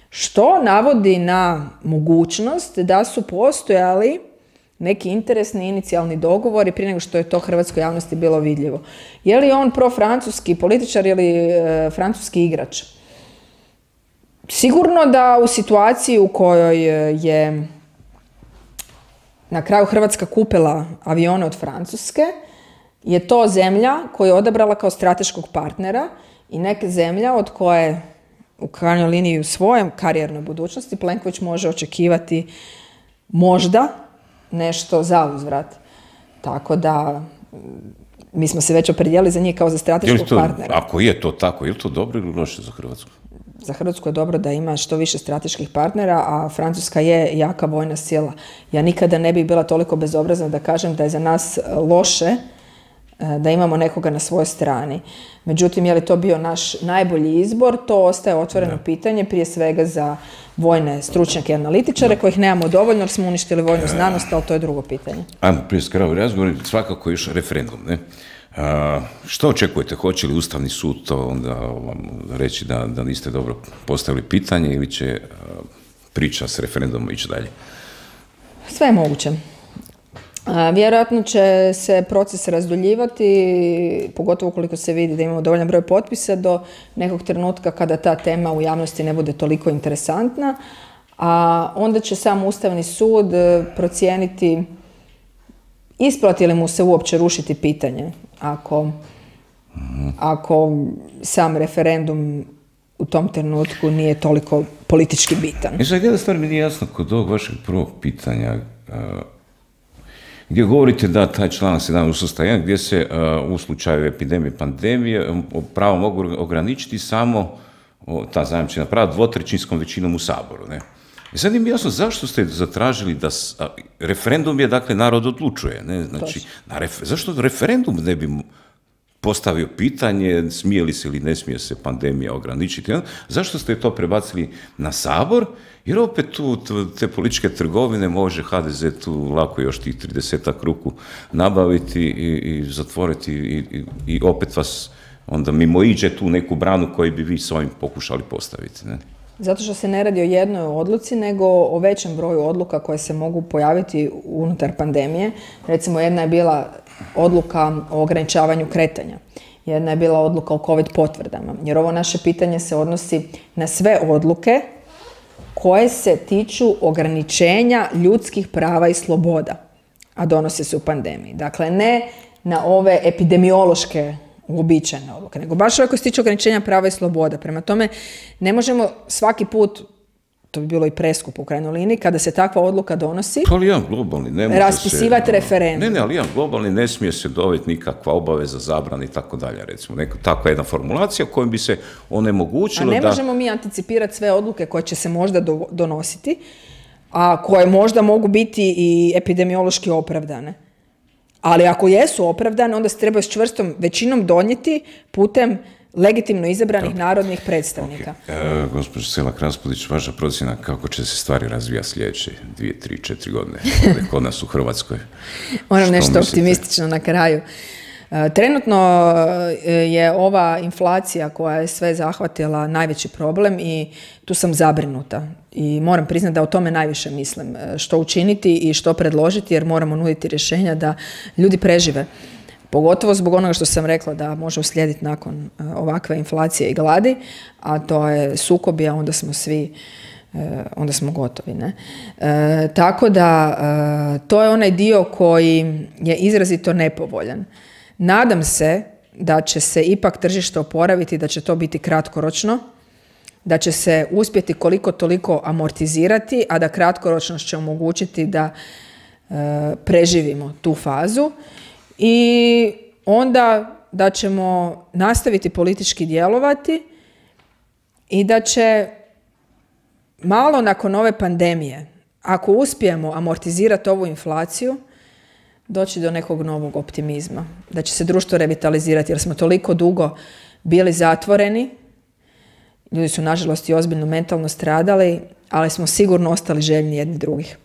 Što navodi na mogućnost da su postojali neki interesni inicijalni dogovori prije nego što je to hrvatskoj javnosti bilo vidljivo. Je li on profrancuski političar ili e, francuski igrač? Sigurno da u situaciji u kojoj je na kraju Hrvatska kupila avione od Francuske, je to zemlja koju je odabrala kao strateškog partnera i neka zemlja od koje u krajnjoj liniji u svojem karijernoj budućnosti Plenković može očekivati možda nešto za uzvrat. Tako da mi smo se već opredijelili za njih kao za strateškog to, partnera. Ako je to tako, je li to dobro ili loše za Hrvatsku? Za Hrvatsku je dobro da ima što više strateških partnera, a Francuska je jaka vojna sila. Ja nikada ne bih bila toliko bezobrazna da kažem da je za nas loše da imamo nekoga na svojoj strani. Međutim, je li to bio naš najbolji izbor, to ostaje otvoreno da. pitanje, prije svega za vojne stručnjake i analitičare, da. kojih nemamo dovoljno jer smo uništili vojnu znanost, ali to je drugo pitanje. Ajmo, prije skravo razgovor, svakako još referendum, ne? A, što očekujete? Hoće li Ustavni sud to onda vam reći da, da niste dobro postavili pitanje ili će a, priča s referendumom ići dalje? Sve je moguće. A, vjerojatno će se proces razduljivati, pogotovo ukoliko se vidi da imamo dovoljan broj potpisa do nekog trenutka kada ta tema u javnosti ne bude toliko interesantna, a onda će sam Ustavni sud procijeniti isplati li mu se uopće rušiti pitanje ako, ako sam referendum u tom trenutku nije toliko politički bitan. I sad jedna stvar mi nije jasno kod ovog vašeg prvog pitanja, gdje govorite da taj članak sedamnaest Ustava jedan gdje se u slučaju epidemije, pandemije pravo mogu ograničiti samo ta zajamčena prava dvotrećinskom većinom u Saboru, ne? I sad im jasno zašto ste zatražili da a, referendum je, dakle, narod odlučuje, ne? Znači, na ref, zašto referendum ne bi postavio pitanje smije li se ili ne smije se pandemija ograničiti. Zašto ste to prebacili na Sabor? Jer opet tu te političke trgovine može ha de ze tu lako još tih tridesetak ruku nabaviti i, i zatvoriti i, i, i opet vas onda mimo iđe tu neku branu koju bi vi s ovim pokušali postaviti. Ne? Zato što se ne radi o jednoj odluci, nego o većem broju odluka koje se mogu pojaviti unutar pandemije. Recimo, jedna je bila odluka o ograničavanju kretanja. Jedna je bila odluka o COVID potvrdama. Jer ovo naše pitanje se odnosi na sve odluke koje se tiču ograničenja ljudskih prava i sloboda, a donose se u pandemiji. Dakle, ne na ove epidemiološke uobičajene odluke, nego baš ove koje se tiču ograničenja prava i sloboda. Prema tome, ne možemo svaki put, to bi bilo i preskupo u krajnjoj liniji, kada se takva odluka donosi, ali jedan globalni ne može raspisivati se, referendum. Ne, ne, ali jedan globalni ne smije se dovesti nikakva obaveza, zabrana i tako dalje, recimo. Neka, takva jedna formulacija kojom bi se onemogućilo da... A ne možemo da... mi anticipirati sve odluke koje će se možda do, donositi, a koje možda mogu biti i epidemiološki opravdane. Ali ako jesu opravdane, onda se treba s čvrstom većinom donijeti putem legitimno izabranih Dobre. narodnih predstavnika. Okay. E, gospođo Selak-Raspudić, vaša procjena kako će se stvari razvijati sljedeće dvije, tri, četiri godine kod nas u Hrvatskoj? Moram nešto mislite? optimistično na kraju. Trenutno je ova inflacija koja je sve zahvatila najveći problem i tu sam zabrinuta. I moram priznati da o tome najviše mislim. Što učiniti i što predložiti, jer moramo nuditi rješenja da ljudi prežive. Pogotovo zbog onoga što sam rekla da može uslijediti nakon ovakve inflacije i gladi, a to je sukobi, a onda smo svi, onda smo gotovi. Ne? E, tako da to je onaj dio koji je izrazito nepovoljan. Nadam se da će se ipak tržište oporaviti, da će to biti kratkoročno, da će se uspjeti koliko toliko amortizirati, a da kratkoročno će omogućiti da e, preživimo tu fazu i onda da ćemo nastaviti politički djelovati i da će malo nakon ove pandemije, ako uspijemo amortizirati ovu inflaciju, doći do nekog novog optimizma, da će se društvo revitalizirati, jer smo toliko dugo bili zatvoreni, ljudi su nažalost i ozbiljno mentalno stradali, ali smo sigurno ostali željni jedni drugih.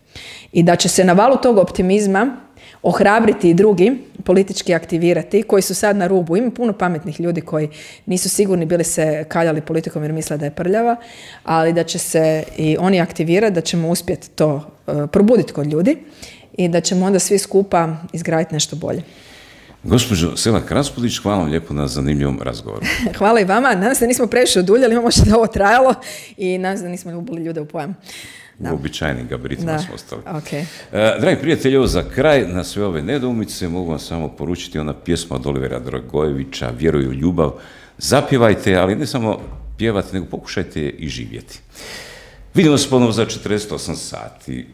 I da će se na valu tog optimizma ohrabriti i drugi, politički aktivirati, koji su sad na rubu. Ima puno pametnih ljudi koji nisu sigurni bili se kaljali politikom jer misle da je prljava, ali da će se i oni aktivirati, da ćemo uspjeti to uh, probuditi kod ljudi i da ćemo onda svi skupa izgraditi nešto bolje. Gospođo Selak-Raspudić, hvala vam lijepo na zanimljivom razgovoru. Hvala i vama. Nadam se da nismo previše oduljali, imamo što da ovo trajalo i nadam se da nismo ljubili ljude u pojam. Da. U običajnim gabaritima smo ostali. Okay. Uh, dragi prijatelji, ovo za kraj, na sve ove nedoumice mogu vam samo poručiti ona pjesma od Olivera Dragojevića, Vjeruj u ljubav. Zapjevajte, ali ne samo pjevati, nego pokušajte i živjeti. Vidimo se ponovo za četrdeset osam sati.